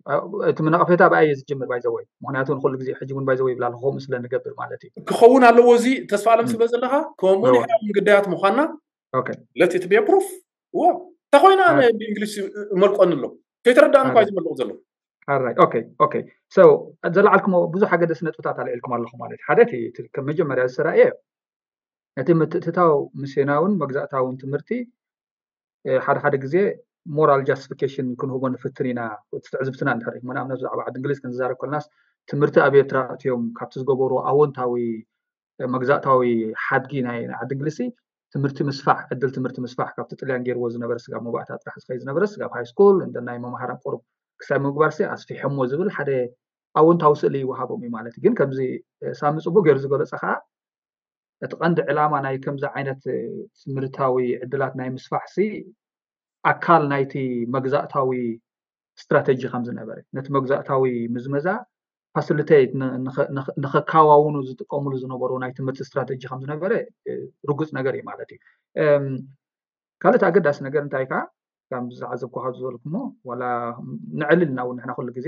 እቲ ምነቐፌታ ብኣየ ዝጅምር ባይዘወይ፣ ምክንያቱ ንኩሉ ግዜ ሕጂ እውን ባይዘወይ ይብላ ከምኡ ስለ ንገብር ማለት እዩ። ክኸውን ኣለዎ፣ እዚ ተስፋ ኣለም ስለ ዘለካ ከምኡ ንሕና እውን ግዳያት ምኳንና let it be a proof። እዎ እንተኮይና ብእንግሊሽ መልቆኒ ኣሎ፣ ከይተረዳእኒ እኳ ዝመልቕ ዘሎ። ኦኬ ኦኬ። ዘላዓልኩሞ ብዙሕ ኣገደሲ ነጥብታት ኣልዒልኩም ኣለኹ ማለት እዩ። ሓደ እቲ ከም መጀመርያ ዝሰራየ እቲ ምትእትታው ምስዮናውን መግዛእታውን ትምህርቲ ሓደ ሓደ ግዜ ሞራል ጃስቲፊኬሽን ክንህቦ ንፍትን ኢና። እቲ ትዕዝብትና እንድሕር ኢኹም ንኣብነት ብዛዕባ ዓዲ እንግሊዝ ክንዛረብ ከለናስ ትምህርቲ ኣብ ኤርትራ እትዮም ካብቲ ዝገበሩ ኣወንታዊ መግዛእታዊ ሓድጊ ናይ ዓዲ እንግሊዝ ትምህርቲ ምስፋሕ ዕድል ትምህርቲ ምስፋሕ ካብቲ ጥልያን ገይርዎ ዝነበረ ስጋብ መባእታ ጥራሕ ዝኸይ ዝነበረ ስጋብ ሃይ ስኩል እንደ ናይ መምሃራን ቁሩብ ክሳብ ምግባር ሲ ኣስፊሐሞ ዝብል ሓደ ኣወንታዊ ስእሊ ይወሃቦም እዩ ማለት እዩ። ግን ከምዚ ሳሚ ፅቡቅ ገይሩ ዝገለፀ ከዓ እቲ ቀንዲ ዕላማ ናይ ከምዚ ዓይነት ትምህርታዊ ዕድላት ናይ ምስፋሕ ሲ ኣካል ናይቲ መግዛእታዊ ስትራተጂ ከም ዝነበረ ነቲ መግዛእታዊ ምዝመዛ ፋሲሊቴት ንኸካዋውኑ ዝጥቀምሉ ዝነበሩ ናይ ትምህርቲ ስትራተጂ ከም ዝነበረ ርጉፅ ነገር እዩ ማለት እዩ። ካልእቲ ኣገዳሲ ነገር እንታይ ከዓ ከም ዝዓዘብኩ ካብ ዝበልኩሞ ዋላ ንዕልል ኢና እውን ንሕና ኩሉ ግዜ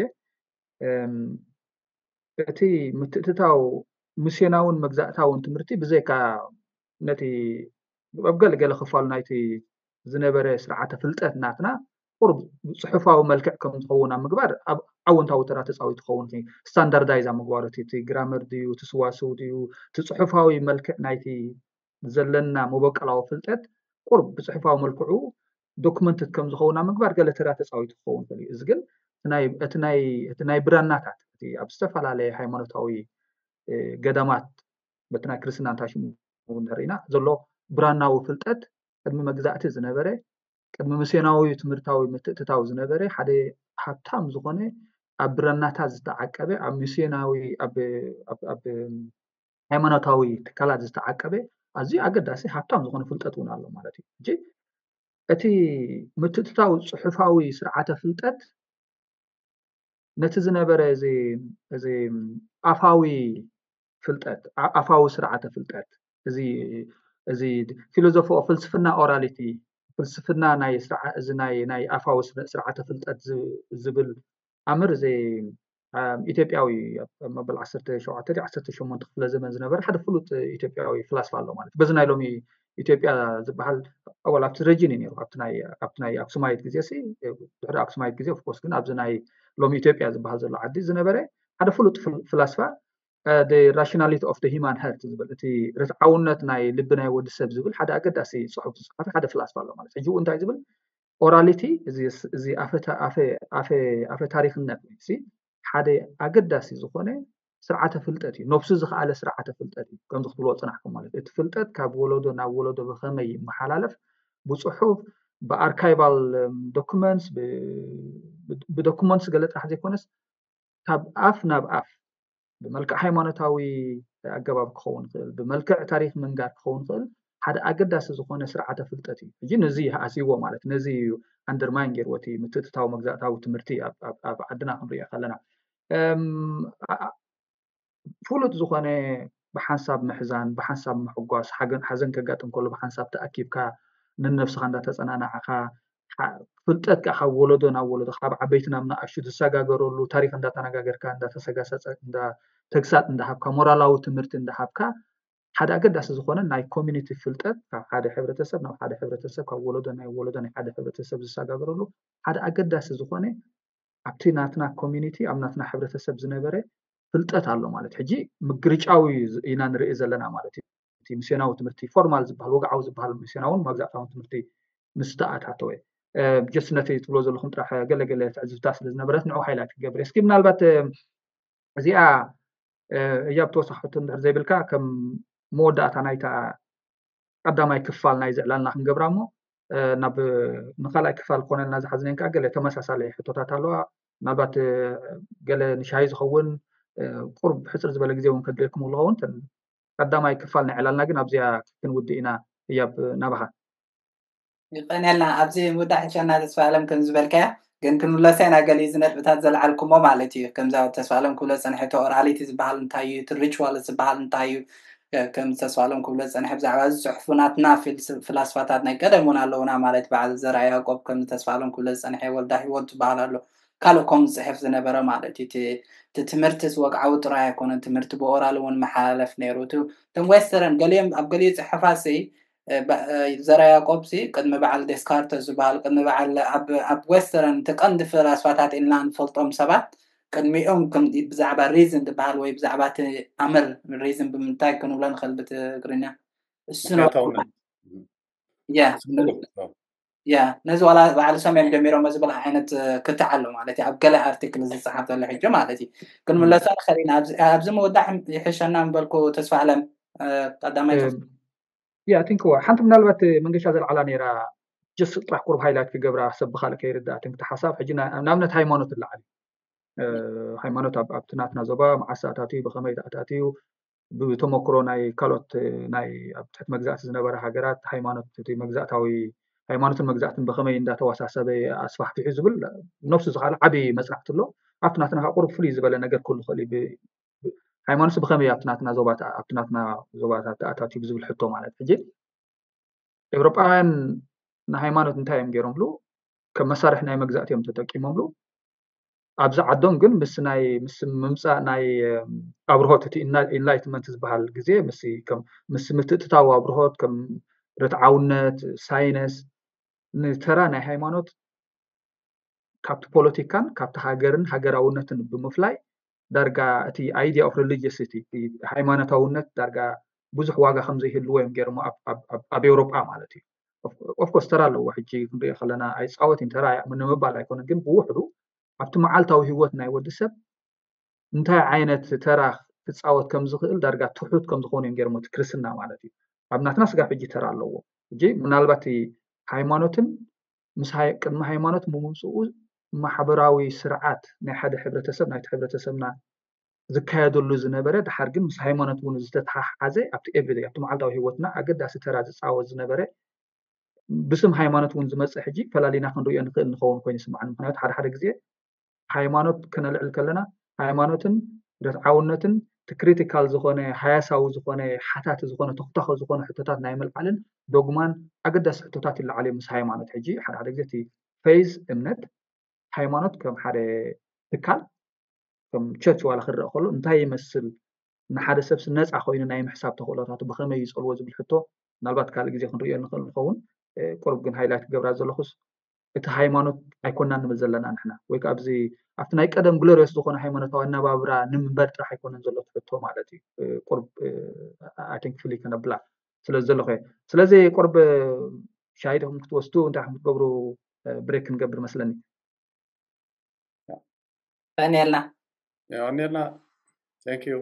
እቲ ምትእትታው ምስዮናውን መግዛእታውን ትምህርቲ ብዘይካ ነቲ ኣብ ገለገለ ክፋሉ ናይቲ ዝነበረ ስርዓተ ፍልጠት ናትና ቁሩብ ብፅሑፋዊ መልክዕ ከም ዝኸውን ኣብ ምግባር ኣብ ኣወንታዊ ተራ ተፃዊቱ ክኸውን ስታንዳርዳይዝ ኣብ ምግባሩ እቲ ግራመር ድዩ እቲ ስዋስው ድዩ እቲ ፅሑፋዊ መልክዕ ናይቲ ዘለና መበቀላዊ ፍልጠት ቁሩብ ብፅሑፋዊ መልክዑ ዶክመንትድ ከም ዝኸውን ኣብ ምግባር ገለ ተራ ተፃዊቱ ክኸውን ይኽእል እዩ። እዚ ግን እቲ ናይ ብራናታት እቲ ኣብ ዝተፈላለየ ሃይማኖታዊ ገዳማት በቲ ናይ ክርስትና እንታይ ሽሙ እውን ንርኢና ዘሎ ብራናዊ ፍልጠት ቅድሚ መግዛእቲ ዝነበረ ቅድሚ ምስዮናዊ ትምህርታዊ ምትእትታው ዝነበረ ሓደ ሃብታም ዝኾነ ኣብ ብራናታት ዝተዓቀበ ኣብ ምስዮናዊ ኣብ ሃይማኖታዊ ትካላት ዝተዓቀበ ኣዝዩ ኣገዳሲ ሃብታም ዝኾነ ፍልጠት እውን ኣሎ ማለት እዩ። ሕጂ እቲ ምትእትታው ፅሑፋዊ ስርዓተ ፍልጠት ነቲ ዝነበረ እዚ ኣፋዊ ፍልጠት ኣፋዊ ስርዓተ ፍልጠት እዚ እዚ ፊሎዞፎ ፍልስፍና ኦራሊቲ ፍልስፍና ናይ እዚ ናይ ኣፋዊ ስርዓተ ፍልጠት ዝብል ኣምር እዚ ኢትዮጵያዊ መበል ዓሰርተ ሸውዓተ ዓሰርተ ሸሞንተ ክፍለ ዘመን ዝነበረ ሓደ ፍሉጥ ኢትዮጵያዊ ፍላስፋ ኣሎ ማለት በዚ ናይ ሎሚ ኢትዮጵያ ዝበሃል ኣወል ኣብቲ ረጂን እዩ ነሩ ኣብቲ ናይ ኣክሱማይት ግዜ ድሕሪ ኣክሱማይት ግዜ ኦፍኮርስ ግን ኣብዚ ናይ ሎሚ ኢትዮጵያ ዝበሃል ዘሎ ዓዲ ዝነበረ ሓደ ፍሉጥ ፍላስፋ ራሽናሊቲ ኦፍ ሂማን ሀርት ዝብል እቲ ርትዓውነት ናይ ልቢ ናይ ወዲ ሰብ ዝብል ሓደ ኣገዳሲ ፅሑፍ ዝፅሓፈ ሓደ ፍላስፋ ኣሎ ማለት ሕጂ እንታይ ዝብል ኦራሊቲ እዚ ኣፈ ታሪክነት ሓደ ኣገዳሲ ዝኾነ ስርዓተ ፍልጠት እዩ። ነብሱ ዝኸኣለ ስርዓተ ፍልጠት እዩ። ከምዚ ክትብልዎ ፅናሕኩም ማለት እቲ ፍልጠት ካብ ወለዶ ናብ ወለዶ ብኸመይ ይመሓላለፍ ብፅሑፍ ብኣርካይቫል ዶኩመንትስ ብዶኩመንትስ ገለ ጥራሕ ዘይኮነስ ካብ ኣፍ ናብ ኣፍ ብመልክዕ ሃይማኖታዊ ኣገባብ ክኸውን ይኽእል፣ ብመልክዕ ታሪክ ምንጋር ክኸውን ይኽእል ሓደ ኣገዳሲ ዝኾነ ስርዓተ ፍልጠት እዩ። ሕጂ ነዚ ኣስይዎ ማለት ነዚ እዩ ኣንደርማይን ገይርዎ እቲ ምትእትታዊ መግዛእታዊ ትምህርቲ ኣብ ዓድና ክንሪኦ ከለና ፍሉጥ ዝኾነ ብሓንሳብ ምሕዛን ብሓንሳብ ምሕጓስ ሓዘን ከጋጥም ከሎ ብሓንሳብ ተኣኪብካ ነነብስኻ እንዳተፀናናዕኻ ፍልጠት ከዓ ካብ ወለዶ ናብ ወለዶ ካብ ዓበይቲ ናብ ንኣሽቱ ዝሰጋገረሉ ታሪክ እንዳተነጋገርካ እንዳተሰጋሰፀ ተግሳጥ እንዳሃብካ ሞራላዊ ትምህርቲ እንዳሃብካ ሓደ ኣገዳሲ ዝኾነ ናይ ኮሚኒቲ ፍልጠት ካብ ሓደ ሕብረተሰብ ናብ ሓደ ሕብረተሰብ ካብ ወለዶ ናይ ወለዶ ናይ ሓደ ሕብረተሰብ ዝሰጋገረሉ ሓደ ኣገዳሲ ዝኾነ ኣብቲ ናትና ኮሚኒቲ ኣብ ናትና ሕብረተሰብ ዝነበረ ፍልጠት ኣሎ ማለት ሕጂ ምግርጫዊ ኢና ንርኢ ዘለና ማለት እዩ። እቲ ሚስዮናዊ ትምህርቲ ፎርማል ዝበሃል ወግዓዊ ዝበሃል ሚስዮናውን መግዛእታውን ትምህርቲ ምስ ተኣታተወ ጀስት ነቲ ትብሎ ዘለኹም ጥራሕ ገለገለ ትዕዝብታ ስለ ዝነበረት ንዑ ሃይላይት ክገብር እስኪ ምናልባት እዚኣ እያ ብተወሳኺ ሕቶ እንድሕር ዘይብልካ ከም መወዳእታ ናይታ ቀዳማይ ክፋል ናይ ዝዕላልና ክንገብራ እሞ ናብ ንካልኣይ ክፋል ክኾነልና ዝሓዝነን ከዓ ገለ ተመሳሳሊ ሕቶታት ኣለዋ ምናልባት ገለ ንሻሂ ዝኸውን ቁርብ ሕፅር ዝበለ ግዜ እውን ከድልየኩም ዝኸውን ቀዳማይ ክፋል ናይ ዕላልና ግን ኣብዚኣ ክንውድእ ኢና። እያብ ናባኻ። ይቀንየልና። ኣብዚ ምውዳእ ሕሸና ተስፋ ኣለም ከም ዝበልካያ ግን ክንብለሰ ኢና ገሊ እዚ ነጥብታት ዘልዓልኩሞ ማለት እዩ። ከምዛ ተስፋ ኣለም ክብሎ ፀንሐ እቲ ኦራሊቲ ዝበሃል እንታይ እዩ፣ እቲ ሪቹዋል ዝበሃል እንታይ እዩ፣ ከም ተስፋ ኣለም ክብሎ ፀንሐ ብዛዕባ እዚ ፅሑፉ ናትና ፍላስፋታት ናይ ቀደም እውን ኣለውና ማለት በዓል ዘርኣ ያዕቆብ ከም ተስፋ ኣለም ክብሎ ዝፀንሐ ወልዳ ህይወት ዝበሃል ኣሎ። ካልእ ከም ዝፅሕፍ ዝነበረ ማለት እዩ። እቲ ትምህርቲ ወግዓዊ ጥራይ ኣይኮነን፣ ትምህርቲ ብኦራል እውን መሓላለፍ ነይሩ። እቶም ዌስተረን ገሊኦም ኣብ ገሊኡ ፅሑፋት ዘርኣ ያዕቆብ ሲ ቅድሚ በዓል ዴስካርተ ዝበሃል ቅድሚ በዓል ኣብ ዌስተረን እቲ ቀንዲ ፈላስፋታት ኢልና ንፈልጦም ሰባት ቅድሚኦም ብዛዕባ ሪዝን ዝበሃል ወይ ብዛዕባ እቲ ኣምር ሪዝን ብምንታይ ክንብሎ ንኽእል ብትግርኛ እሱ ያ ነዚ ዋላ በዓል ሰሜን ጀሚሮም ዝብል ዓይነት ክትዕ ኣሎ ማለት እዩ። ኣብ ገለ ኣርቲክል ዝፀሓፍ ዘሎ ሕጂ ማለት እዩ። ክንምለሶ ንኽእል ኢና። ኣብዚ ምውዳእ ይሕሸና ምበልኩ ተስፋ ኣለም ቀዳማይ ያ ቲንክ ሓንቲ ምናልባት መንገሻ ዘልዓላ ነይራ ጀስ ጥራሕ ቁሩብ ሃይላይት ክገብራ ሰብ ብካልእ ከይርዳእ ቲንክ ሓሳብ ሕጂ ንኣብነት ሃይማኖት ኣለዓል ሃይማኖት ኣብቲ ናትና ዞባ መዓስ ኣታትዩ ብከመይ ኣታትዩ ብተመክሮ ናይ ካልኦት ናይ ኣብ ትሕቲ መግዛእቲ ዝነበረ ሃገራት ሃይማኖት እቲ መግዛእታዊ ሃይማኖትን መግዛእትን ብከመይ እንዳተዋሳሰበ ኣስፋሕፊሑ ዝብል ነፍሱ ዝካለ ዓብዪ መፅናዕቲ ኣሎ። ኣብቲ ናትና ቁሩብ ፍሉይ ዝበለ ነገር ክህሉ ይኽእል እዩ። ሃይማኖት ብከመይ ኣብቲ ናትና ዞባታት ኣብቲ ናትና ዞባታት ኣታትዩ ብዝብል ሕቶ ማለት ሕጂ ኤውሮጳውያን ንሃይማኖት እንታይ እዮም ገይሮምሉ? ከም መሳርሒ ናይ መግዛእቲ እዮም ተጠቂሞምሉ። ኣብዚ ዓዶም ግን ምስ ናይ ምስ ምምፃእ ናይ ኣብርሆት እቲ ኢንላይትመንት ዝበሃል ግዜ ምስ ከም ምስ ምትእትታው ኣብርሆት ከም ርትዓውነት ሳይነስ ንተራ ናይ ሃይማኖት ካብቲ ፖለቲካን ካብቲ ሃገርን ሃገራውነትን ብምፍላይ ዳርጋ እቲ idea of religiosity ሃይማኖታውነት ዳርጋ ብዙሕ ዋጋ ከም ዘይህልዎ እዮም ገይሮሞ ኣብ ኤውሮጳ ማለት እዩ። ኦፍኮርስ ተራ ኣለዎ ሕጂ ክንሪኦ ከለና ኣይፃወትን ተራ ንምባል ኣይኮነን ግን ብውሕዱ ኣብቲ መዓልታዊ ህይወት ናይ ወዲ ሰብ እንታይ ዓይነት ተራ ክፃወት ከም ዝኽእል ዳርጋ ትሑት ከም ዝኾኑ እዮም ገይሮሞ እቲ ክርስትና ማለት እዩ። ኣብ ናትና ስጋብ ሕጂ ተራ ኣለዎ። ሕጂ ምናልባት ሃይማኖትን ምስ ቅድሚ ሃይማኖት ብምምፅኡ ማሕበራዊ ስርዓት ናይ ሓደ ሕብረተሰብ ናይቲ ሕብረተሰብና ዝካየደሉ ዝነበረ ድሓር ግን ምስ ሃይማኖት እውን ዝተተሓሓዘ ኣብቲ ኤቭሪደይ ኣብቲ መዓልታዊ ህይወትና ኣገዳሲ ተራ ዝፃወት ዝነበረ ብስም ሃይማኖት እውን ዝመፅእ ሕጂ ፈላሊና ክንሪኦ ንኽእል ንኸውን ኮይኑ ይስምዓኒ። ምክንያቱ ሓደ ሓደ ግዜ ሃይማኖት ክነልዕል ከለና ሃይማኖትን ርትዓውነትን እቲ ክሪቲካል ዝኾነ ሃያሳዊ ዝኾነ ሓታቲ ዝኾነ ተኽታኸ ዝኾነ ሕቶታት ናይ ምልዓልን ዶግማን ኣገዳሲ ሕቶታት ይለዓል እዮም ምስ ሃይማኖት። ሕጂ ሓደ ሓደ ግዜ እቲ ፌዝ እምነት ሃይማኖት ከም ሓደ ትካል ከም ቸርች ዋላ ክረአ ከሎ እንታይ ይመስል ንሓደ ሰብስ ነፃ ኮይኑ ናይ ምሕሳብ ተኽእሎታቱ ብኸመይ ይፀልዎ ዝብል ሕቶ ምናልባት ካልእ ግዜ ክንሪኦ ንኽእል ንኸውን። ቁሩብ ግን ሃይላይት ክገብራ ዘለኹስ እቲ ሃይማኖት ኣይኮና ንብል ዘለና ንሕና ወይ ከዓ ኣብዚ ኣብቲ ናይ ቀደም ግሎሪዮስ ዝኾነ ሃይማኖታዊ ኣነባብራ ንምንበር ጥራሕ ኣይኮነን ዘሎ ትሕቶ ማለት እዩ። ቁርብ ኣይንክ ፍሊ ከነብላ ስለ ዘለኹ ስለዚ ቁርብ ሻሂ ዲኹም ክትወስዱ እንታይ ኹም ክትገብሩ ብሬክ ክንገብር መስለኒ። ቀንየልና ቀንየልና። Thank you።